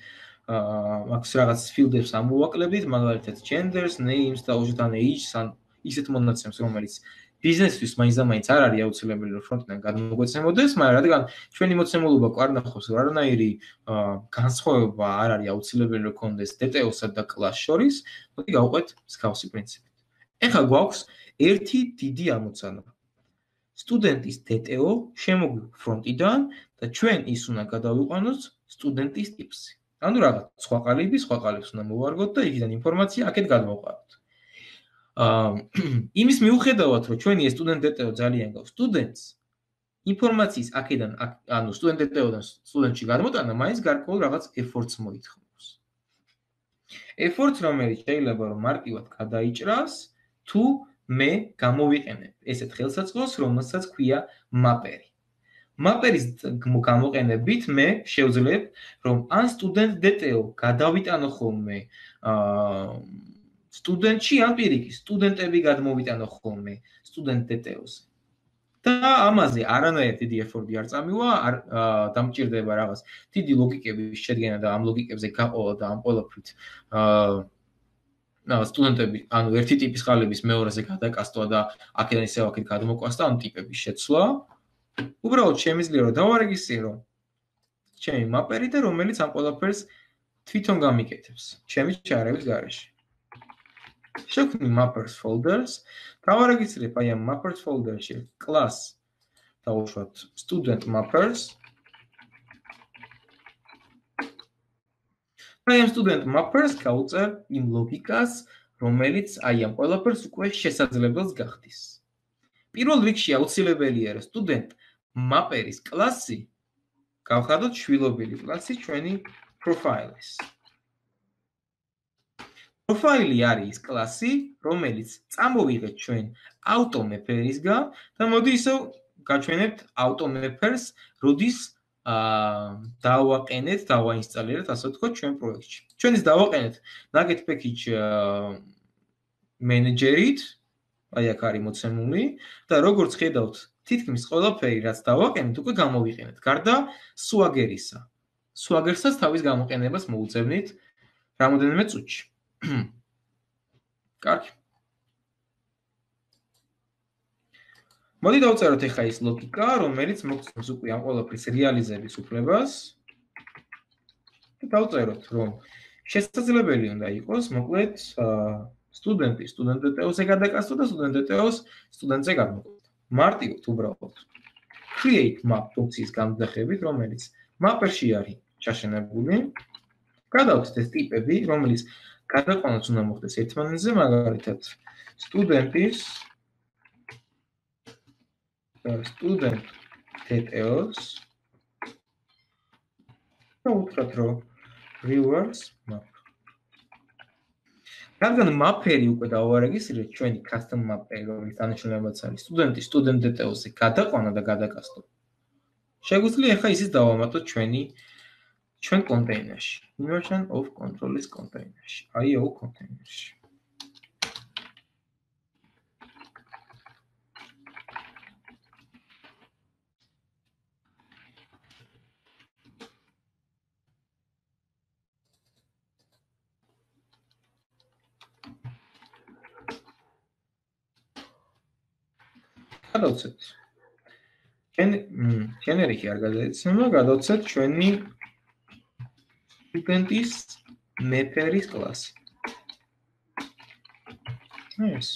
აქვს რაღაც ფილდებს ამოვაკლებდით, მაგალითად genders, names და უშუალოდ age-ს ან ისეთ მონაცემს, რომელიც ბიზნესთვის მაინც და მაინც არ არის აუცილებელი რომ ფრონტიდან გადმოგვეცემოდეს, მაგრამ რადგან ჩვენი მოცემულობა გვარნახობს რომ არანაირი განსხვავება არ არის აუცილებელი რომ გქონდეს DTO-სა და კლასს შორის, მოდი გავყვეთ მსგავსი პრინციპით. ეხლა გვაქვს ერთი დიდი ამოცანა. სტუდენტის DTO შემოგვიყვება ფრონტიდან და ჩვენ ის უნდა გადავიყვანოთ სტუდენტის ტიპსი. ანუ რაღაც სხვა ყალიბს უნდა მოვარგოთ და იქიდან ინფორმაცია აქეთ გადმოვყავთ. იმის მიუხედავად, რომ ჩვენი ეს სტუდენტ DTO ძალიან გავს სტუდენტს, ინფორმაციის აქედან, ანუ სტუდენტ DTO-დან სტუდენტში გადმოტანა, მაინც გარკვეულ რაღაც efforts მოითხოვს. efforts, რომელიც შეიძლება რომ მარტივად გადაიჭრას, თუ მე გამოვიყენებ ესეთ ხელსაწყოს, რომელსაც ქვია mapper-ი. mapper-ის გამოყენებით მე შევძლებ, რომ ან სტუდენტ DTO გადავიტანო ხოლმე სტუდენტში, ან პირიქით, სტუდენტები გადმოვიტანო ხოლმე სტუდენტ DTO-ზე. და ამაზე არანაირი დიდი effort-ი არ წამივა, არ დამჭირდება რაღაც დიდი ლოგიკების შედგენა და ამ ლოგიკებზე გაყოლა და ამ ყველაფრით სტუდენტები, ანუ ერთი ტიპის ყალიბის მეორეზე გადაკასტვა და აქედან ისევ აქეთ გადმოკვას და ამ ტიპების შეცვლა. უბრალოდ შემიძლია რომ დავარეგისტრო ჩემი mapper-ი და რომელიც ამ ყველაფერს თვითონ გამიკეთებს ჩემი ჩარების გარეშე. შევქმნი mappers folders, დავარეგისტრებ აი ამ mappers folder-ში class დავუშვათ student mappers. აი ამ student mappers გავუწერ იმ ლოგიკას, რომელიც აი ამ ყველაფერს უკვე შესაძლებელს გახდის. პირველ რიგში აუცილებელია რომ student mapper-ის კლასი გავხადოთ შვილობილი კლასი ჩვენი profile-ის. Profile-ი არის ის კლასი, რომელიც წამოვიღეთ ჩვენ auto-mapper-ისგან და მოდი ისევ გაჩვენებთ auto-mapper-ს, როდის დავაყენეთ, დავაინსტალირეთ, ასე ვთქვათ, ჩვენ პროექტში. ჩვენ ის დავაყენეთ Nugget package manager-ით, აი აქ არის მოცემული და როგორც ხედავთ, თითქმის ყველაფერი, რაც დავაყენეთ, უკვე გამოვიყენეთ. გარდა Swagger-ისა. Swagger-საც თავის გამოყენებას მოუწევნით რამოდენიმე წუთში. კარგი. მოდი დავწეროთ ახლა ის ლოგიკა, რომელიც მოგცემს უკვე ამ ყველაფრის რეალიზების უფლებას. და დავწეროთ, რომ შესაძლებელი უნდა იყოს, მოკლედ, სტუდენტი სტუდენტ DTO-ზე გადაკასტო და სტუდენტ DTO-ს სტუდენტზე გადმოყვება. მარტივად უბრალოდ create map ფუნქციის განზრახებით, რომელიც mapper-ში არის ჩაშენებული. გადავხსნით ეს ტიპები, რომელიც გადაყვანაც უნდა მოხდეს ერთმანეთზე, მაგალითად სტუდენტის და სტუდენტ DTO-ს და უთხრათ, რომ reverse map. რადგან mapper-ი უკვე დავარეგისტრირეთ ჩვენი custom mapper-ი, რომელიც დანიშნულებაც არის სტუდენტი სტუდენტ DTO-ზე გადაყვანა და გადაკასტო. შეგვიძლია ახლა ისიც დავამატოთ ჩვენ კონტეინერში. Inversion of control-ის კონტეინერში. IO კონტეინერში. გადავცეთ. generic-ი არ გადაეცემა, გადავცეთ ჩვენი სტუდენტის mapper-ის კლასი. ეს.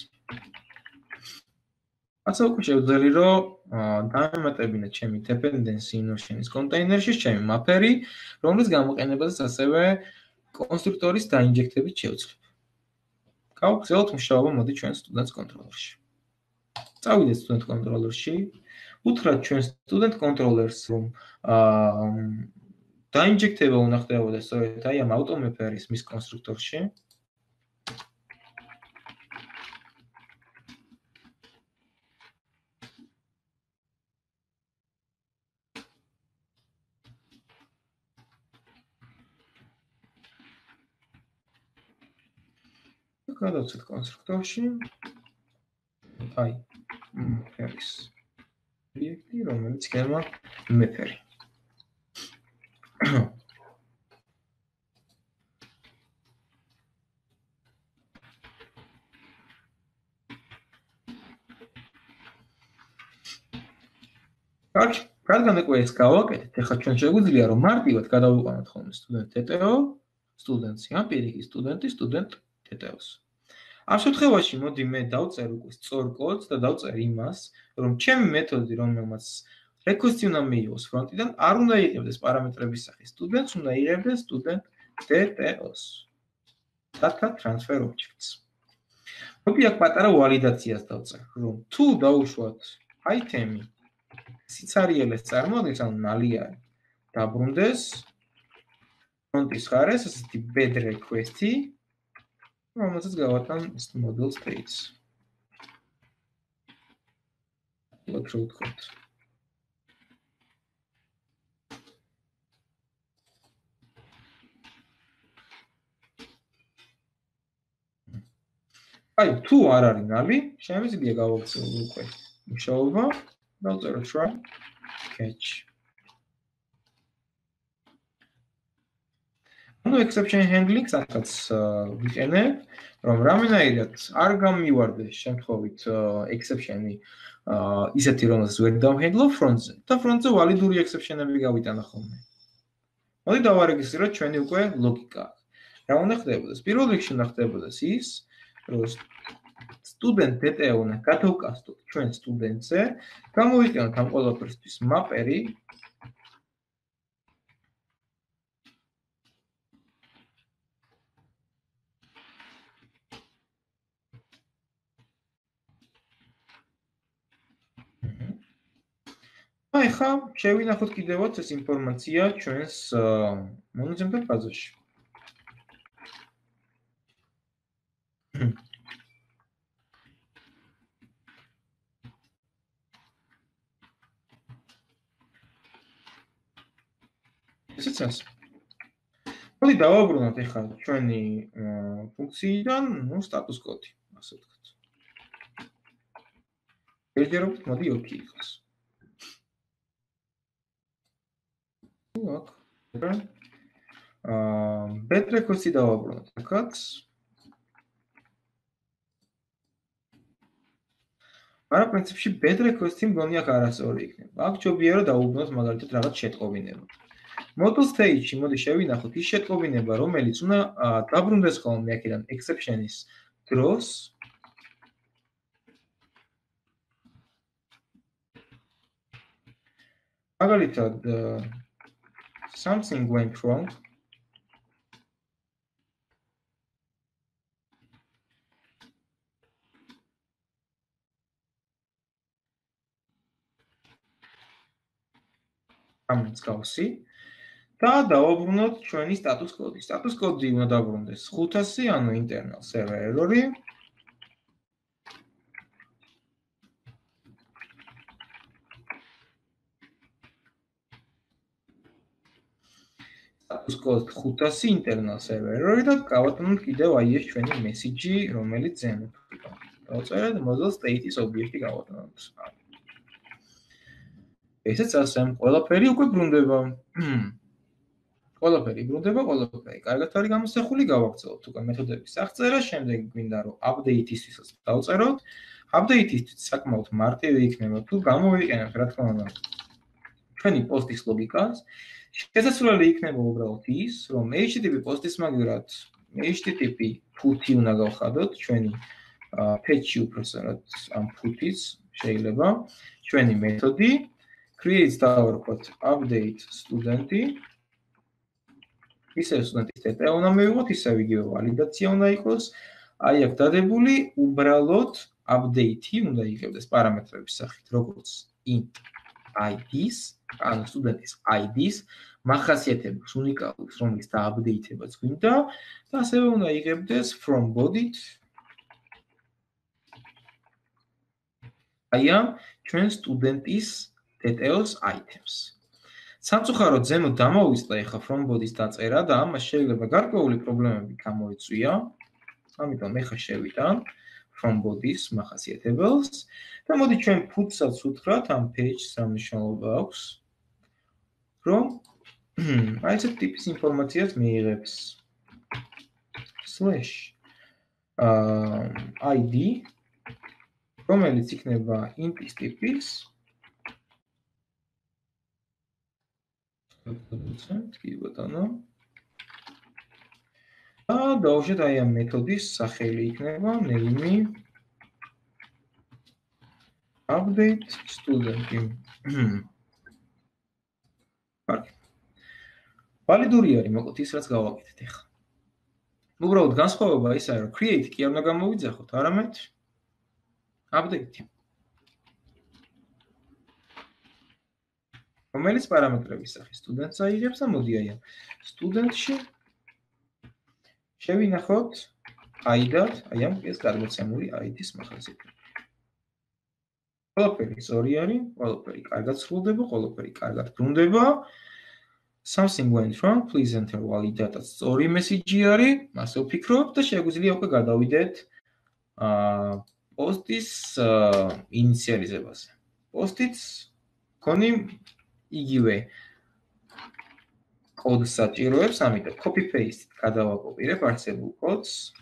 ასე უკვე შევძელი, რომ დამემატებინა ჩემი dependency notion-ის კონტეინერში ჩემი mapper-ი, რომლის გამოყენებაზეც ასევე კონსტრუქტორის დაინჯექტებით შევძლებ. გავგრძელოთ მუშაობა მოდი ჩვენ students controller-ში. წავიდეთ student controller-ში, უთხრათ ჩვენ student controller-ს, რომ დაინჯექტება უნდა ხდებოდეს სწორედ აი ამ auto-mapper-ის მის კონსტრუქტორში. გადავცეთ კონსტრუქტორში. აი, mapper-ის ობიექტი, რომელიც იქნება mapper-ი. კარგი, რადგან უკვე ეს გავაკეთეთ, ახლა ჩვენ შეგვიძლია რომ მარტივად გადავიყვანოთ ხოლმე student TTO, students-ი, ან პირიქით სტუდენტი, student TTO-ს. ამ შემთხვევაში მოდი მე დავწერ უკვე სწორ კოდს და დავწერ იმას, რომ ჩემი მეთოდი, რომელმაც request-ი უნდა მიიღოს ფრონტიდან, არ უნდა იღებდეს პარამეტრების სახის students, უნდა იღებდეს student TTO-ს. Data transfer objects. მოდი აქ პატარა ვალიდაციას დავწერ, რომ თუ დავუშვათ item-ი სიცარიელეს წარმოადგენს, ანუ ნალიანი, დაბრუნდეს ფრონტის ხარეს ასეთი bed request-ი, რომელსაც გავატან model states. What root code? აი, თუ არ არის ნალი, შემიძლია გავაქცევო უკვე მუშაობა, დავწერო try catch. ანუ exception handling-ს ახაც ვიყენებ, რომ რამენაირად არ გამივარდეს შემთხვევით exception-ი ისეთი, რომელსაც ვერ დავჰენდლობ front-ზე და front-ზე ვალიდური exception-ები გავიტანა ხოლმე. მოდი დავარეგისტრიროთ ჩვენი უკვე ლოგიკა. რა უნდა ხდებოდეს? პირველ რიგში უნდა ხდებოდეს ის, რომ student TTO უნდა გადავკასტოთ ჩვენ სტუდენტზე, გამოვიყენოთ ამ ყველაფერისთვის mapper-ი. აი ხა შევინახოთ კიდევაც ეს ინფორმაცია ჩვენს მონაცემთა ბაზაში. ესეც. მოდი დავაბრუნოთ ახლა ჩვენი ფუნქციიდან, status code-ი, ასე ვთქვათ. ერთერობით მოდი 2 იყოს. აქ. bed request-ი დავაბრუნოთ აქაც. მაგრამ პრინციპში bed request-ი მგონი აქ არასწორი იქნება. აქ ჯობია რომ დავუბრუნოთ მაგალითად რაღაც შეტყობინება. Model stage-ში მოდი შევინახოთ ის შეტყობინება, რომელიც უნდა დაბრუნდეს ხოლმე აქედან exception-ის დროს. მაგალითად something went wrong. ამის გავსი. და დავაბრუნოთ ჩვენი status code-ი. Status code-ი უნდა დაბრუნდეს 500, ანუ internal server error-ი. status code 500 internal server error-ი და გავატანოთ კიდევ აი ეს ჩვენი message-ი, რომელიც ზემოთ იყო. დავწერეთ model state-ის ობიექტი გავატანოთ. ესეც ასე, ყველაფერი უკვე ბრუნდება. ყველაფერი ბრუნდება, ყველაფერი. კარგად არის გამოსახული, გავაგრძელოთ უკვე მეთოდების აღწერა, შემდეგ გვინდა რომ update-ისთვისაც დავწეროთ. Update-ისთვის საკმაოდ მარტივი იქნება თუ გამოვიყენებთ, რა თქმა უნდა, ჩვენი post-ის ლოგიკას. შესაძლებელი იქნება უბრალოდ ის, რომ HTTP post-ის მაგალითად HTTP put-ი უნდა გავხადოთ ჩვენი patch-ი უბრალოდ ამ put-ის შეიძლება ჩვენი მეთოდი create დავარქვათ update სტუდენტი ისევ სტუდენტის data უნდა მივიღოთ, ისევ იგივე ვალიდაცია უნდა იყოს. აი აქ დადებული უბრალოდ update-ი უნდა იღებდეს პარამეტრების სახით, როგორც int id-ს, ანუ სტუდენტის id-ს, მახასიათებლებს უნიკალურს, რომელიც დააპდეითებაც გვინდა და ასევე უნდა იღებდეს from body-თ აი ამ ჩვენ სტუდენტის details items. სამწუხაროდ ზემოთ დამოვისწრე ახლა from body-ს დაწერა და ამას შეიძლება გარკვეული პრობლემები გამოიწვია. ამიტომ ახლა შევიტან from body-ს მახასიათებელს და მოდი ჩვენ puts-საც უთხრათ ამ page-ს სამნიშნულობა აქვს, რომ აი ეს ტიპის ინფორმაციას მიიღებს /id რომელიც იქნება int-ის ტიპის კი ბატონო და დავუშვათ აი ამ მეთოდის სახელი იქნება name update student. კარგი. ვალიდური არის მოკლედ ის რაც გავაკეთეთ ახლა. უბრალოდ განსხვავება ისაა რომ create კი არ უნდა გამოვიძახოთ, არამედ update. რომელიც პარამეტრების სახით სტუდენტს აიღებს და მოდი აი ამ სტუდენტში შევინახოთ id-ად, აი ამ ეს გადმოცემული id-ის მახასიათებლები. ყველაფერი სწორი არის, ყველაფერი კარგად სრულდება, ყველაფერი კარგად ბრუნდება. Something went wrong, please enter valid data. სწორი მესიჯი არის, ასე ვფიქრობ და შეგვიძლია უკვე გადავიდეთ პოსტის ინიციალიზებაზე. პოსტიც გონი იგივე კოდს საჭიროებს, ამიტომ copy paste გადავაკოპირებ არსებულ კოდს.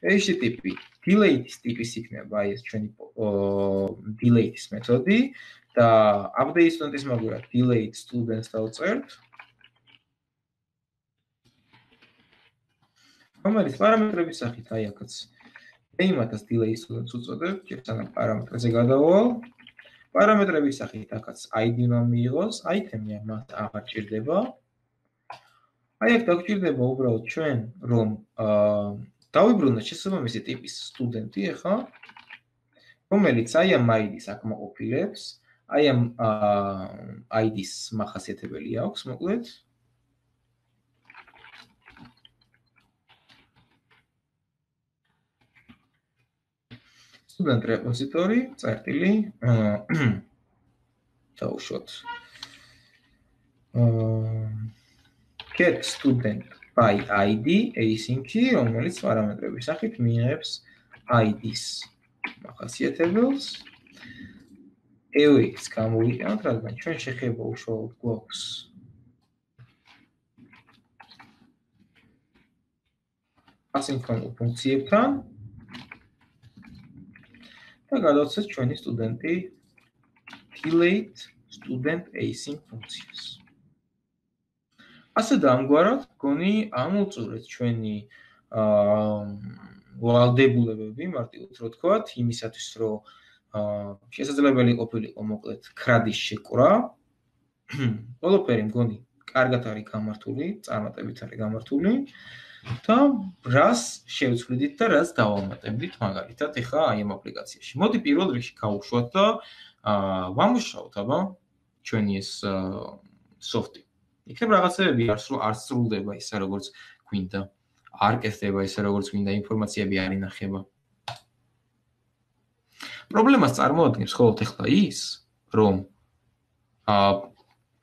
HTTP delete-ის ტიპის იქნება აი ეს ჩვენი delete-ის მეთოდი და update student-ის მაგურად delete students დავწერთ. რომელიც პარამეტრების სახით აი აქაც name-ას delete students უწოდებთ, სანამ პარამეტრზე გადავალ. პარამეტრების სახით აქაც id უნდა მიიღოს, item-ი მას აღარ ჭირდება. აი აქ დაგჭირდება უბრალოდ ჩვენ რომ დავიბრუნოთ შესაბამისი ტიპის სტუდენტი ახლა, რომელიც აი ამ id-ს აკმაყოფილებს, აი ამ id-ს მახასიათებელი აქვს, მოკლედ. Student repository, წერტილი, დავუშვათ. Get student by id async-ი, რომელიც პარამეტრების სახით მიიღებს id-ს მახასიათებელს. await-ს გამოვიყენოთ, რადგან ჩვენ შეხება უშუალოდ გვაქვს ასინქრონულ ფუნქციებთან და გადავცეთ ჩვენი სტუდენტი delete student async ფუნქციას. ასე დამგვარად გონი ამოვწურეთ ჩვენი ვალდებულებები, მარტივად რო ვთქვათ, იმისათვის რომ შესაძლებელი ყოფილიყო მოკლედ CRUD-ის შეკრა. ყველაფერი მგონი კარგად არის გამართული, წარმატებით არის გამართული და რას შევცვლიდით და რას დავამატებდით მაგალითად ახლა აი ამ აპლიკაციაში. მოდი პირველ რიგში გავუშვათ და ვამუშაოთ აბა ჩვენი ეს სოფტი. იქნებ რაღაცეები არ სრულდება ისე როგორც გვინდა, არ კეთდება ისე როგორც გვინდა, ინფორმაციები არ ინახება. პრობლემას წარმოადგენს ხოლმე ახლა ის, რომ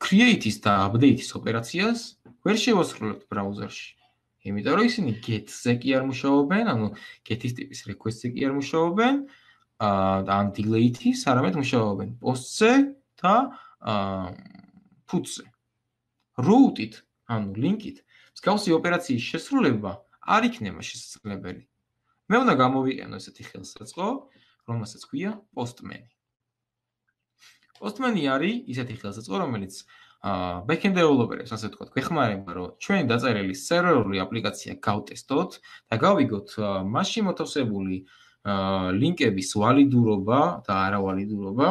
create-ის და update-ის ოპერაციას ვერ შევასრულებთ ბრაუზერში. იმიტომ რომ ისინი get-ზე კი არ მუშაობენ, ანუ get-ის ტიპის request-ზე კი არ მუშაობენ, და ან delete-ის არამედ მუშაობენ post-ზე და put-ზე. route-ით, ანუ link-ით, მსგავსი ოპერაციის შესრულება არ იქნება შესაძლებელი. მე უნდა გამოვიყენო ესეთი ხელსაწყო, რომელსაც ქვია postman. Postman არის ისეთი ხელსაწყო, რომელიც backend developers, ასე ვთქვათ, გვეხმარება, რომ ჩვენი დაწერილი სერვერული აპლიკაცია გავტესტოთ და გავიგოთ მასში მოთავსებული ლინკების ვალიდურობა და არავალიდურობა.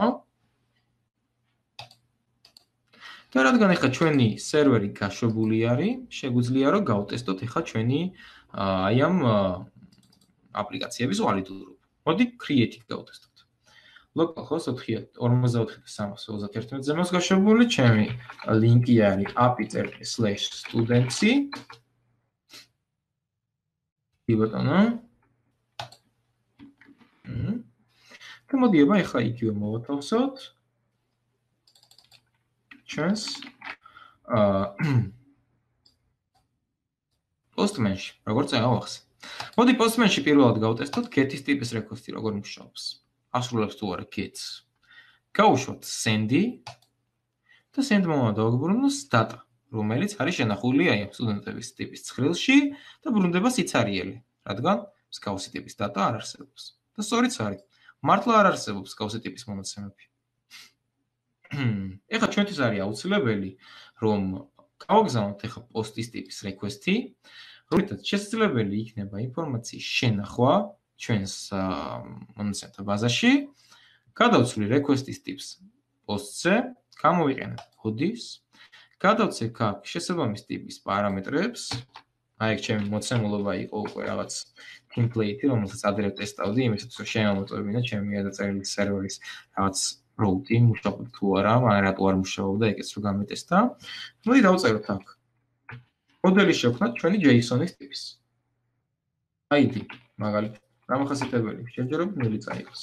და რადგან ახლა ჩვენი სერვერი გაშვებული არის, შეგვიძლია რომ გავტესტოთ ახლა ჩვენი აი ამ აპლიკაციების ვალიდურობა. მოდი create-ით გავტესტოთ. localhost 44.321-ზე მას გაშვებული, ჩემი ლინკი არის api./students. კი ბატონო. და მოდი აბა ახლა იგივე მოვათავსოთ. ჩვენს Postman-ში, როგორც აღახსე. მოდი Postman-ში პირველად გავტესტოთ get-ის ტიპის request-ი როგორ მუშაობს. ასრულებს თუ არა get-ს. გავუშვათ send-ი და send-მა დავაბრუნოთ data, რომელიც არის შენახული აი ამ სტუდენტების ტიპის ცხრილში და ბრუნდება სიცარიელი, რადგან მსგავსი ტიპის data არ არსებობს. და სწორიც არის. მართლა არ არსებობს მსგავსი ტიპის მონაცემები. ეხლა ჩვენთვის არის აუცილებელი, რომ გავაგზავნოთ ეხლა post-ის ტიპის request-ი, რომლითაც შესაძლებელი იქნება ინფორმაციის შენახვა ჩვენს მონაცემთა ბაზაში, გადავცვლი request-ის ტიპს post-ზე, გამოვიყენებ body-ს, გადავცემ აქ შესაბამის ტიპის პარამეტრებს, აი აქ ჩემი მოცემულობა იყო უკვე რაღაც template-ი, რომელსაც ადრე ტესტავდი, იმისათვის რომ შემოვაწვევინა ჩემი გადაწერილი სერვერის რაღაც route-ი, მუშაობდა თუ არა, მაგრამ რატო არ მუშაობდა, ეგეც რო გამეტესტა. მოდი დავწეროთ აქ. მოდელი შევქმნათ ჩვენი JSON-ის ტიპის. ID, მაგალითად, დამახასიათებელი, შეჯერებით 0 წაიღოს.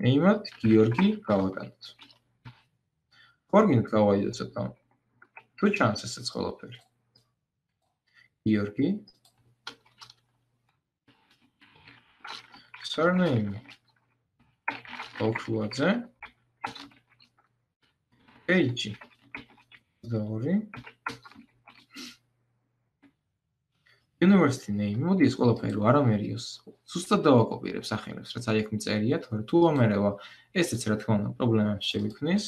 name-ად გიორგი გავაკეთოთ. ორგინოთ გავაიდოთ ცოტა. თუ ჩანს ესეც ყველაფერი. გიორგი. Surname. ოქრუაძე. Age. Sorry. University name. მოდი ეს ყველაფერი არ ამერიოს. ზუსტად დავაკოპირებ სახელებს, რაც აი აქ მიწერია, თორე თუ ამერევა, ესეც რა თქმა უნდა პრობლემებს შეგვიქმნის.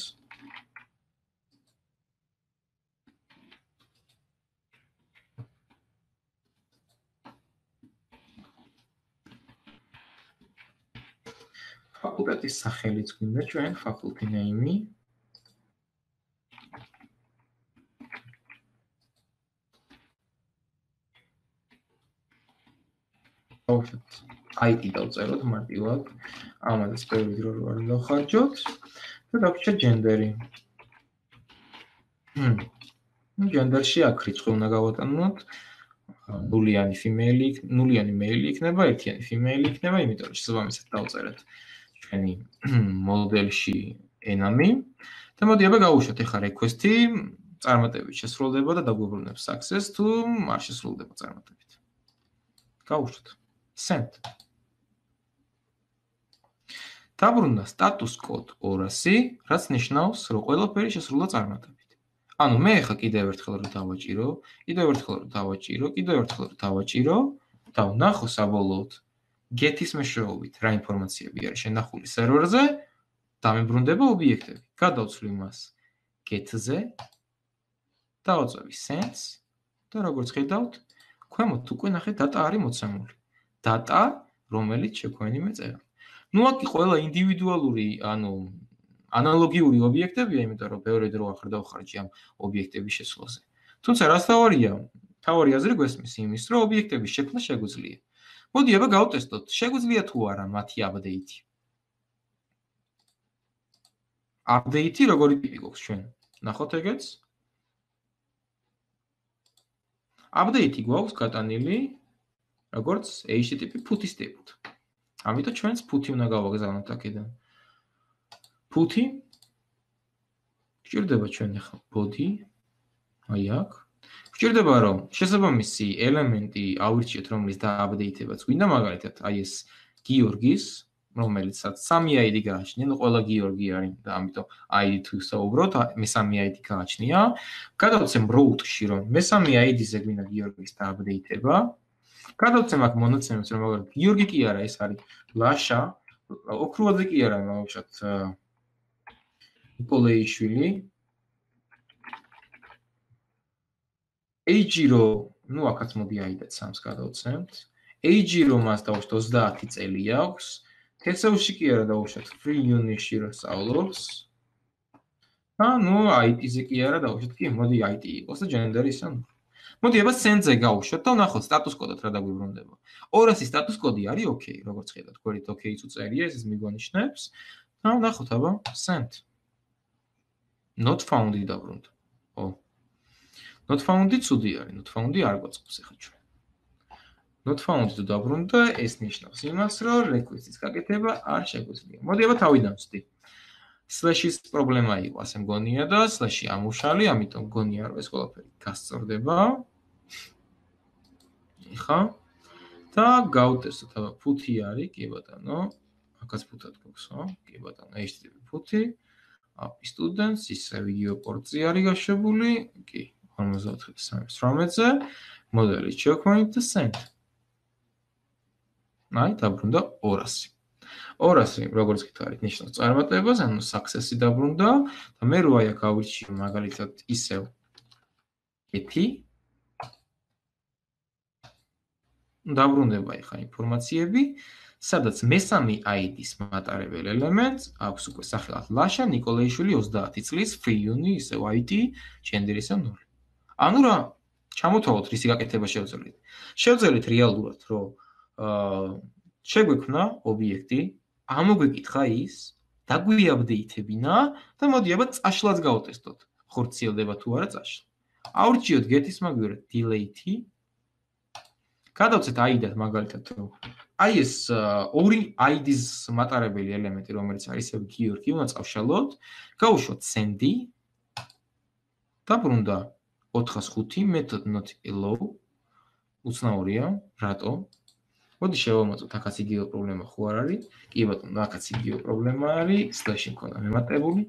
ფაკულტეტის სახელიც გვინდა ჩვენ, faculty name-ი. დავუშვათ ID დავწეროთ მარტივად. ამაზე ბევრი დრო არ დავხარჯოთ და დავუშვათ gender-ი. gender-ში აქ რიცხვი უნდა გავატანოთ. ნულიანი female, ნულიანი male იქნება, ერთიანი female იქნება, იმიტომ რომ შესაბამისად დავწერეთ ჩვენი მოდელში enemy და მოდი აბა გავუშვათ ახლა request-ი, წარმატებით შესრულდება და დაგვიბრუნებს success თუ არ შესრულდება წარმატებით. გავუშვათ send. დაბრუნდა status code 200, რაც ნიშნავს, რომ ყველაფერი შესრულდა წარმატებით. ანუ მე ახლა კიდევ ერთხელ რომ დავაჭირო, კიდევ ერთხელ რომ დავაჭირო და ვნახო საბოლოოდ get-ის მეშვეობით რა ინფორმაციები არის შენახული სერვერზე, დამებრუნდება ობიექტები. გადავცვლი მას get-ზე, დავაწვევი send-ს და როგორც ხედავთ, ქვემოთ უკვე ნახეთ data არის მოცემული. data, რომელიც შეგვენიმე წერა. ნუ აქ ყველა ინდივიდუალური, ანუ ანალოგიური ობიექტებია, იმიტომ რომ ბევრი დრო ახლა დავხარჯი ამ ობიექტების შესვლაზე. თუმცა რაც თავარი აზრი გვესმის იმის, რომ ობიექტების შექმნა შეგვიძლია. მოდი აბა გავტესტოთ, შეგვიძლია თუ არა მათი update-ი. Update-ი როგორი ტიპი გვაქვს ჩვენ? ნახოთ ეგეც. Update-ი გვაქვს გატანილი როგორც HTTP put-ის ტიპით. ამიტომ ჩვენს put-ი უნდა გავაგზავნოთ აქედან. Put-ი გვჭირდება ჩვენ ახლა body, აი აქ. გვჭირდება რომ შესაბამისი ელემენტი ავირჩიოთ, რომლის დააპდეიტებაც გვინდა, მაგალითად, აი ეს გიორგის, რომელიცაც 3 ID გააჩნია, ნუ ყველა გიორგი არის და ამიტომ ID თუ საუბრობთ, მესამე ID გააჩნია. გადავცემ route-ში რომ მესამე ID-ზე გვინდა გიორგის დააპდეიტება. გადავცემ აქ მონაცემებს, რომ მაგალითად გიორგი კი არა, ეს არის ლაშა, ოქრუაძე კი არა, მაგალითად ნიკოლეიშვილი. Age-ი ნუ აქაც მოდი ID-დაც 3-ს გადავცემთ. age რომ მას დავუშვათ 30 წელი აქვს. TESOL-ში კი არა დავუშვათ free unit-ში რა სწავლობს. ნუ IT-ზე კი არა დავუშვათ კი, მოდი IT იყოს და gender ისა ნუ. მოდი აბა send-ზე გავუშვათ და ვნახოთ status code-ად რა დაგვიბრუნდება. 200 status code-ი არის okay, როგორც ხედავთ, გვერდით okay-იც უწერია, ეს მიგვანიშნებს. და ვნახოთ აბა send. Not found-ი დაბრუნდა. ო. Not found-ი ცუდი არის, not found-ი არ გვაწყობს ახლა ჩვენ. Not found თუ დაბრუნდა, ეს ნიშნავს იმას, რომ request-ის გაკეთება არ შეგვიძლია. მოდი აბა თავიდან ვსდი. Slash-ის პრობლემა იყო, ასე მგონია და slash-ი ამუშალი, ამიტომ მგონია რომ ეს ყველაფერი გასწორდება. ეხა და გავტესტოთ აბა ფუთი არის, კი ბატონო. აქაც ფუთად გვაქვს, ხო? კი ბატონო, HTTP ფუთი. API students, ისე ვიდეო პორტზე არის გაშვებული, კი, 54-3-ზე, მოდელი შევქმნით და send. აი, დაბრუნდა 200. 200, როგორც გითხარით, ნიშნავს წარმატებას, ანუ success-ი დაბრუნდა და მე რო აი აქ ავირჩიე მაგალითად ისევ ეთი დაბრუნდება ახლა ინფორმაციები, სადაც მესამე ID-ის მატარებელ ელემენტს აქვს უკვე სახელად ლაშა ნიკოლაიშვილი 30 წლის free uni ისევ ID gender ისევ 0. ანუ რა ჩამოთვალოთ რისი გაკეთება შევძლებთ. შევძლებთ რეალურად, რომ შეგვექმნა ობიექტი, ამოგვეკითხა ის, დაგვიაპდეითებინა და მოდი აბა წაშლაც გავტესტოთ. ხორციელდება თუ არა წაშლა. ავრჩიოთ get-ის მაგვირად delete-ი. გადავცეთ ID-დად მაგალითად რომ აი ეს ორი ID-ის მატარებელი ელემენტი რომელიც არის ისევ გიორგი უნდა წავშალოთ, გავუშვოთ send-ი. დაბრუნდა 405 method not allow. უცნაურია, რატო? მოდი შევამოწმოთ, აქაც იგივე პრობლემა ხო არ არის? კი ბატონო, აქაც იგივე პრობლემა არის, slash-ი მქონდა მემატებული.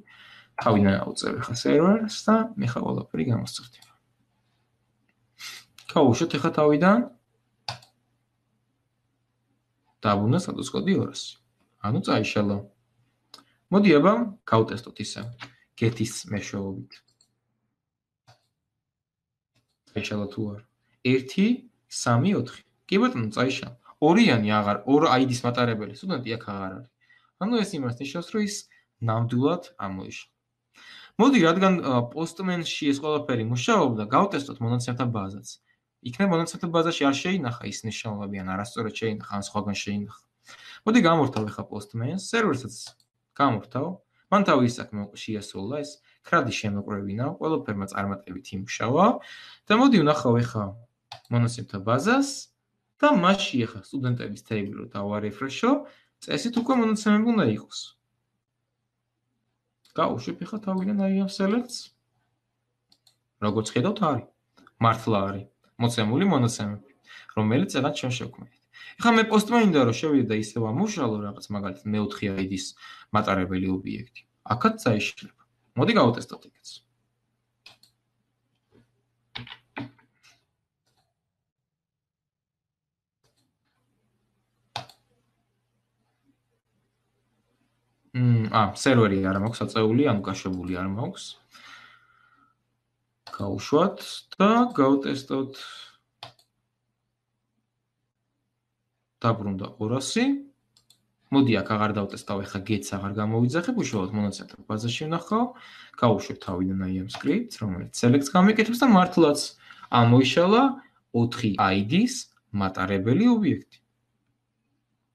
თავიდან ავწევ ახლა სერვერს და მე ხა ყველაფერი გამოსწორდება. გავუშვოთ ახლა თავიდან. დაბრუნდა status code 200. ანუ წაიშალა. მოდი აბა გავტესტოთ ისე get-ის მეშვეობით. წაიშალა თუ არა? 1 3 4. კი ბატონო, წაიშალა. ორიანი აღარ, ორ ID-ის მატარებელი სტუდენტი აქ აღარ არის. ანუ ეს იმას ნიშნავს, რომ ის ნამდვილად ამოიშალა. მოდი, რადგან Postman-ში ეს ყველაფერი მუშაობდა, გავტესტოთ მონაცემთა ბაზაც. იქნებ მონაცემთა ბაზაში არ შეინახა ის ნიშნულები, ან არასწორად შეინახა, ან სხვაგან შეინახა. მოდი გამორთავ ახლა Postman-ს, სერვერსაც გამორთავ. მან თავი საქმე შეასრულა ეს ქრადი შემოყრევინა, ყველაფერმა წარმატებით იმუშავა და მოდი ვნახავ ახლა მონაცემთა ბაზას. და მასში ახლა სტუდენტების თეიბლი რო დავარეფრეშო, წესით უკვე მონაცემები უნდა იყოს. გავუშვებ ახლა თავიდან აი ამ select-ს. როგორც ხედავთ არის. მართლა არის მოცემული მონაცემები, რომელიც ახლა ჩვენ შევქმნით. ახლა მე Postman-იდან რომ შევიდე და ისევ ამუშალო რაღაც მაგალითად მე-4 ID-ის მატარებელი ობიექტი. აქაც წაიშლება. მოდი გავტესტოთ იქაც. სერვერი არ მაქვს აწეული, ანუ გაშვებული არ მაქვს. გავუშვათ და გავტესტოთ. დაბრუნდა 200. მოდი აქ აღარ დავტესტავ, ახლა get-ს აღარ გამოვიძახებ, უშუალოდ მონაცემთა ბაზაში ვნახავ. გავუშვებ თავიდან აი ამ script-ს, რომელიც select-ს გამიკეთებს და მართლაც ამოიშალა 4 ID-ის მატარებელი ობიექტი.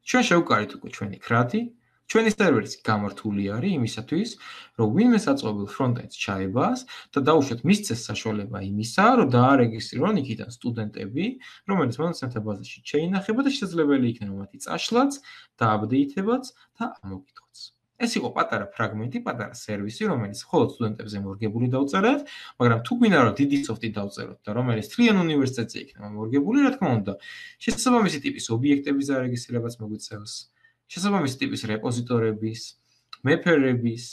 ჩვენ შევკარით უკვე ჩვენი ქრადი. ჩვენი სერვერიც გამართული არის იმისათვის, რომ ვინმე საწყობილ ფრონტენდს ჩაებას და დაუშვათ მისცეს საშუალება იმისა, რომ დაარეგისტრირონ იქიდან სტუდენტები, რომელიც მონაცემთა ბაზაში შეინახება და შესაძლებელი იქნება მათი წაშლაც, დააპდეითებაც და ამოკითხვაც. ეს იყო პატარა ფრაგმენტი, პატარა სერვისი, რომელიც მხოლოდ სტუდენტებზე მორგებული დავწერეთ, მაგრამ თუ გვინდა რომ დიდი სოფტი დავწეროთ და რომელიც თლიან უნივერსიტეტზე იქნება მორგებული, რა თქმა უნდა, შესაბამისი ტიპის ობიექტების დარეგისტრირებაც მოგვიწევს. შესაბამისი ტიპის რეპოზიტორების, მეფერების,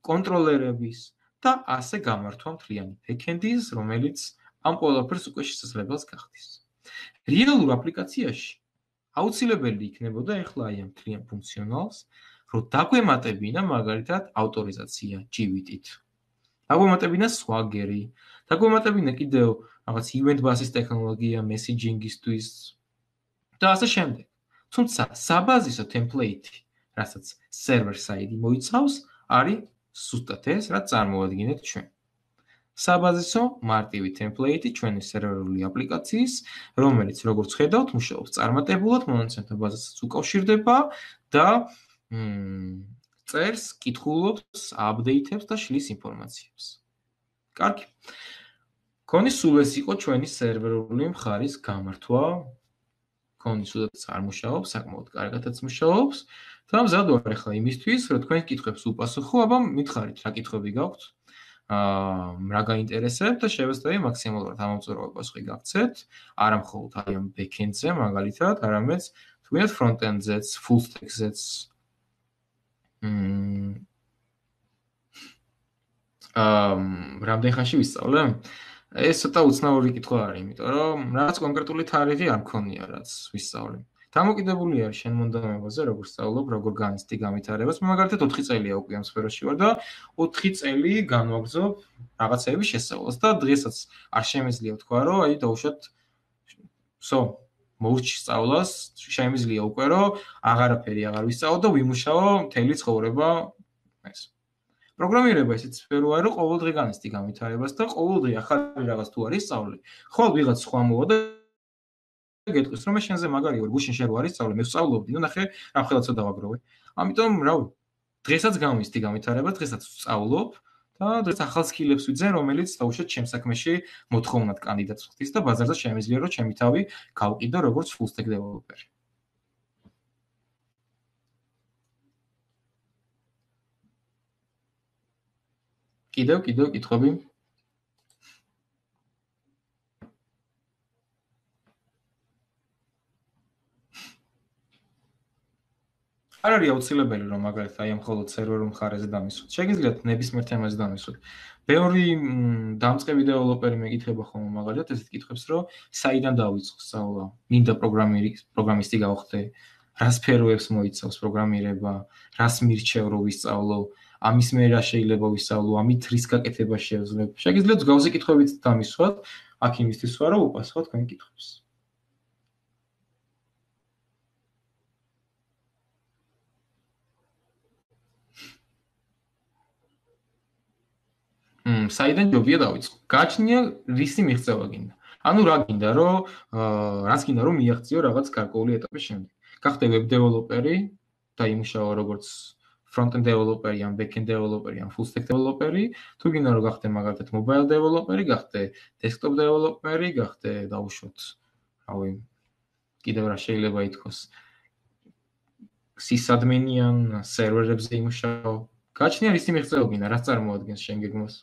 კონტროლერების და ასე გამართვა მთლიანი backend-ის, რომელიც ამ ყველაფერს უკვე შესაძლებელს გახდის. რეალურ აპლიკაციაში აუცილებელი იქნებოდა ახლა აი ამ მთლიან ფუნქციონალს, რომ დაგვემატებინა მაგალითად ავტორიზაცია GWT-ით. დაგვემატებინა Swagger-ი, დაგვემატებინა კიდევ რაღაც event basis ტექნოლოგია messaging-ისთვის და ასე შემდეგ. თუმცა საბაზისო ტემპლეიტი, რასაც server side მოიცავს, არის ზუსტად ეს, რაც წარმოადგენთ ჩვენ. საბაზისო მარტივი ტემპლეიტი ჩვენი სერვერული აპლიკაციის, რომელიც როგორც ხედავთ, მუშაობს წარმატებულად, მონაცემთა ბაზასაც უკავშირდება და წერს, კითხულობს, აპდეითებს და შლის ინფორმაციებს. კარგი. მგონი სულ ეს იყო ჩვენი სერვერული მხარის გამართვა. მგონი სულაც არ მუშაობს, საკმაოდ კარგადაც მუშაობს და მზად ვარ ახლა იმისთვის, რომ თქვენ კითხვებს უპასუხო, აბა მითხარით, რა კითხვები გაქვთ? რა გაინტერესებთ და შევეცდები მაქსიმალურად ამომწურავი პასუხი გაგცეთ, არა მხოლოდ აი ამ backend-ზე მაგალითად, არამედ თქვენს front-end-ზეც, full stack-ზეც. რამდენ ხანში ვისწავლე? ეს ცოტა უცნაური კითხვა არის, იმიტომ რომ რაღაც კონკრეტული თარიღი არ მქონია, რაც ვისწავლე. დამოკიდებული არის შენ მონდომებაზე, როგორ სწავლობ, როგორ განიცდი განვითარებას. მე მაგალითად 4 წელია უკვე ამ სფეროში ვარ და 4 წელი განვაგრძობ რაღაცების შესწავლას და დღესაც არ შემეძლია თქვა, რომ აი დავუშვათ მოურჩი სწავლას, შემეძლია უკვე რომ აღარაფერი აღარ ვისწავლო და ვიმუშაო მთელი ცხოვრება ეს. პროგრამირება ისეთ სფეროა, რომ ყოველდღე განიცდი განვითარებას და ყოველდღე ახალი რაღაც თუ არის სწავლე. ხოლმე ვიღაც სხვა მოვა და გეტყვის, რომ მე შენზე მაგარი ვარ, გუშინ შენ რო არის სწავლე, მე ვსწავლობდი, ნუ ნახე, რა ხელაცა დავაგროვე. ამიტომ, რავი, დღესაც განვიცდი განვითარებას, დღესაც ვსწავლობ და დღეს ახალ სკილებს ვიძენ, რომელიც დაუშვათ ჩემ საქმეში მოთხოვნად კანდიდატს ხდის და ბაზარზე შემიძლია, რომ ჩემი თავი გავყიდო როგორც full stack developer. კიდევ კითხვები? არ არის აუცილებელი რომ მაგალითად აი ამ მხოლოდ სერვერულ მხარეზე დამისვოთ. შეგიძლიათ ნებისმიერ თემაზე დამისვოთ. ბევრი დამწყები დეველოპერი მეკითხება ხოლმე მაგალითად ესეთ კითხვებს, რომ საიდან დავიწყო სწავლა? მინდა პროგრამისტი გავხდე? რა სფეროებს მოიცავს პროგრამირება? რას მირჩევ რომ ვისწავლო? ამის მე რა შეიძლება ვისწავლო? ამით რის გაკეთება შევძლებ? შეგიძლიათ გავზე კითხვებით დამისვათ. აქ იმისთვის ვარ, რომ უპასუხოთ თქვენ კითხვებს. საიდან ჯობია დავიწყო? გააჩნია რისი მიღწევა გინდა. ანუ რა გინდა, რომ რაც გინდა რომ მიაღწიო რაღაც გარკვეული ეტაპის შემდეგ. გახდე web developer-ი და იმუშაო როგორც front-end developer-ი, ან back-end developer-ი, ან full stack developer-ი, თუ გინდა რომ გახდე მაგალითად mobile developer-ი, გახდე desktop developer-ი, გახდე დაუშვოთ, რავი, კიდევ რა შეიძლება ითქვას. sysadmin-ი ან სერვერებზე იმუშაო. გააჩნია რისი მიღწევა გინდა, რაც წარმოადგენს შენ გეგმას.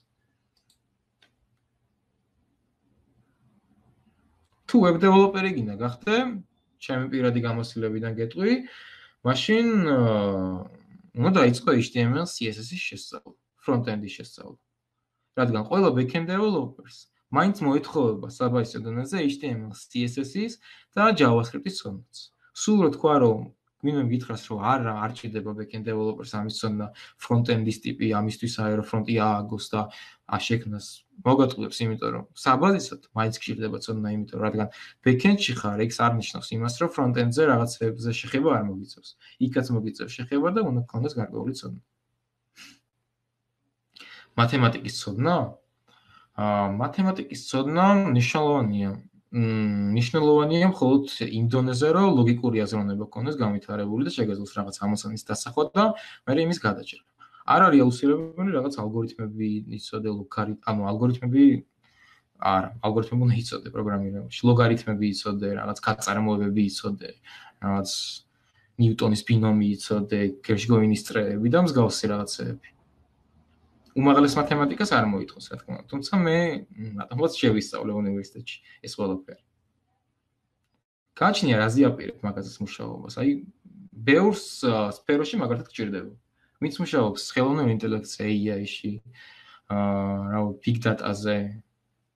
თუ web developer-ი გინდა გახდე, ჩემი პირადი გამოცდილებიდან გეტყვი, მაშინ უნდა დაიწყო HTML, CSS-ის შესწავლა, front-end-ის შესწავლა. რადგან ყველა back-end developers მაინც მოეთხოვება საბაზისო დონეზე HTML, CSS-ის და JavaScript-ის ცოდნაც. სულ რო თქვა, რომ მინდა მითხრას, რომ არ ჭირდება back-end developers ამის ცოდნა, front-end-ის ტიპი ამისთვის აერო ფრონტი ააგოს და შექმნას მოგატყუებს, იმიტომ რომ საბაზისოდ მაინც გჭირდება ცოდნა, იმიტომ რადგან back-end-ში ხარ, ეს არ ნიშნავს იმას, რომ front-end-ზე რაღაცებზე შეხება არ მოგიწევს. იქაც მოგიწევს შეხება და უნდა გქონდეს გარკვეული ცოდნა. მათემატიკის ცოდნა? მათემატიკის ცოდნა მნიშვნელოვანია. ნიშნულოვანია მხოლოდ იმ დონეზე, რომ ლოგიკური აზროვნება გქონდეს განვითარებული და შეგეძლოს რაღაც ამოცანის დასახვა და მერე იმის გადაჭრა. არ არის აუცილებელი რაღაც ალგორითმები იცოდე, ანუ ალგორითმები არა, ალგორითმები უნდა იცოდე პროგრამირებაში, ლოგარითმები იცოდე, რაღაც გაწარმოებები იცოდე, რაღაც ნიუტონის ბინომი იცოდე, გერშგოინის წრეები და მსგავსი რაღაცეები. უმაღლეს მათემატიკას არ მოითხოვს, რა თქმა უნდა, თუმცა მე მათემატიკას შევისწავლე უნივერსიტეტში ეს ყველაფერი. გააჩნია რა ზიაპირებ მაგაზეს მუშაობას, აი ბევრ სფეროში მაგალითად გჭირდება. ვინც მუშაობს ხელოვნურ ინტელექტზე, AI-ში, big data-ზე,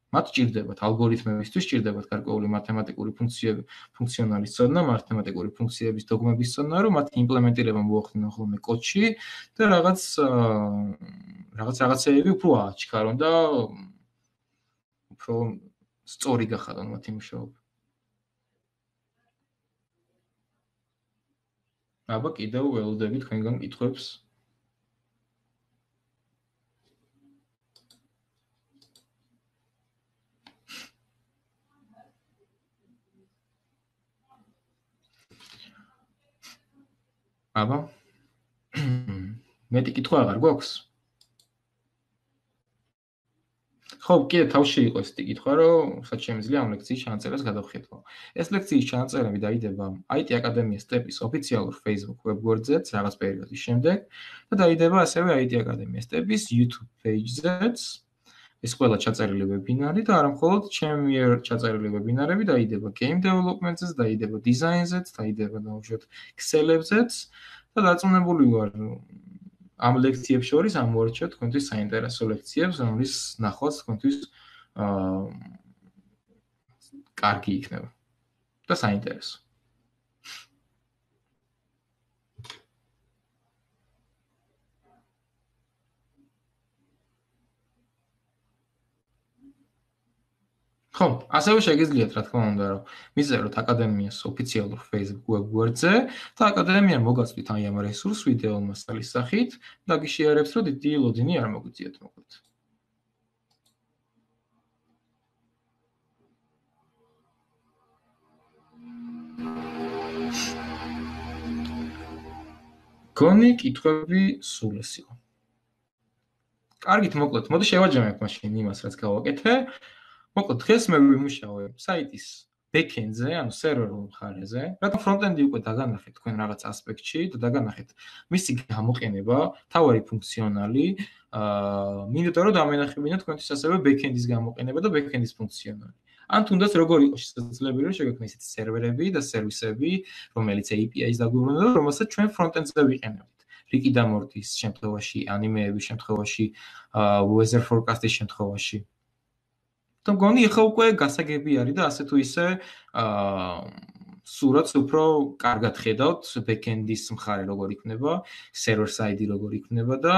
მათ ჭირდებათ ალგორითმებისთვის ჭირდებათ გარკვეული მათემატიკური ფუნქციონალის ცოდნა, მათემატიკური ფუნქციების დოგმების ცოდნა, რომ მათ იმპლემენტირება მოახდინონ ხოლმე კოდში და რაღაცეები უფრო აჩქარონ და უფრო სწორი გახადონ მათი მუშაობა. აბა კიდევ ველოდები თქვენგან კითხვებს. აბა მეტი კითხვა აღარ გვაქვს? ხო, კიდე თავში იყო ეს კითხვა, რომ სად შემიძლია ამ ლექციის ჩანაწერას გადავხედო. ეს ლექციის ჩანაწერები დაიდება IT აკადემიის სტეპის ოფიციალურ Facebook webგვერდზეც რაღაც პერიოდის შემდეგ და დაიდება ასევე IT აკადემიის სტეპის YouTube page-ზეც. ეს ყველა ჩაწერილი ვებინარი და არა მხოლოდ ჩემი მიერ ჩაწერილი ვებინარები დაიდება game development-ზეც, დაიდება design-ზეც, დაიდება დაუშვათ Excel-ებზეც და დარწმუნებული ვარ ამ ლექციებს შორის ამოვარჩიოთ თქვენთვის საინტერესო ლექციებს, რომლის ნახვაც თქვენთვის კარგი იქნება და საინტერესო. ხო, ასევე შეგიძლიათ რა თქმა უნდა, რომ მიზეროთ აკადემიას ოფიციალურ Facebook webგვერდზე და აკადემია მოგაწვით აი ამ რესურს ვიდეო მასალის სახით და გიშიარებს, რომ დიდი ლოდინი არ მოგვიწიათ მოკლედ. გონი კითხვები სულ ეს იყო. კარგით, მოკლედ, მოდი შევაჯამებ მაშინ იმას, რაც გავაკეთე. მოკლედ, დღეს მე ვიმუშავებ საიტის backend-ზე, ანუ სერვერულ მხარეზე. რადგან front-end-ი უკვე დაგანახეთ თქვენ რაღაც ასპექტში და დაგანახეთ მისი გამოყენება, თავარი ფუნქციონალი, მინდოდა რომ დამენახებინოთ თქვენთვის ასევე backend-ის გამოყენება და backend-ის ფუნქციონალი. ან თუნდაც როგორ იყო შესაძლებელი რომ შეგექმნათ ისეთი სერვერები და სერვისები, რომელიც API-ს დაგვიბრუნებდა, რომელსაც ჩვენ front-end-ზე ვიყენებთ. რიკი და მორტის შემთხვევაში, ანიმეების შემთხვევაში, weather forecast-ის შემთხვევაში. და მგონი ახლა უკვე გასაგები არის და ასე თუ ისე სურათს უფრო კარგად ხედავთ backend-ის მხარე როგორ იქნება, server side-ი როგორ იქნება და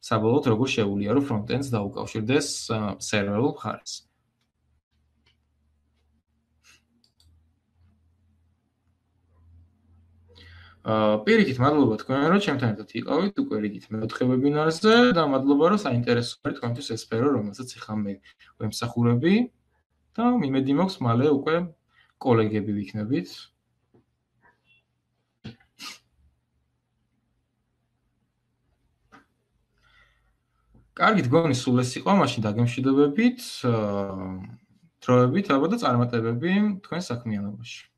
საბოლოოდ როგორ შეუძლია რომ front-end-ს დაუკავშირდეს server-ულ მხარეს. პირიქით მადლობა თქვენ რომ ჩემთან ერთად იყავით უკვე რიგით მეოთხე ვებინარზე და მადლობა რომ საინტერესო არის თქვენთვის ეს სფერო რომელსაც ახლა მე ვემსახურები და მიმედი მაქვს მალე უკვე კოლეგები ვიქნებით. კარგით, გონი სულ ეს იყო, მაშინ დაგემშვიდობებით, დროებით ალბათ და წარმატებები თქვენ საქმიანობაში.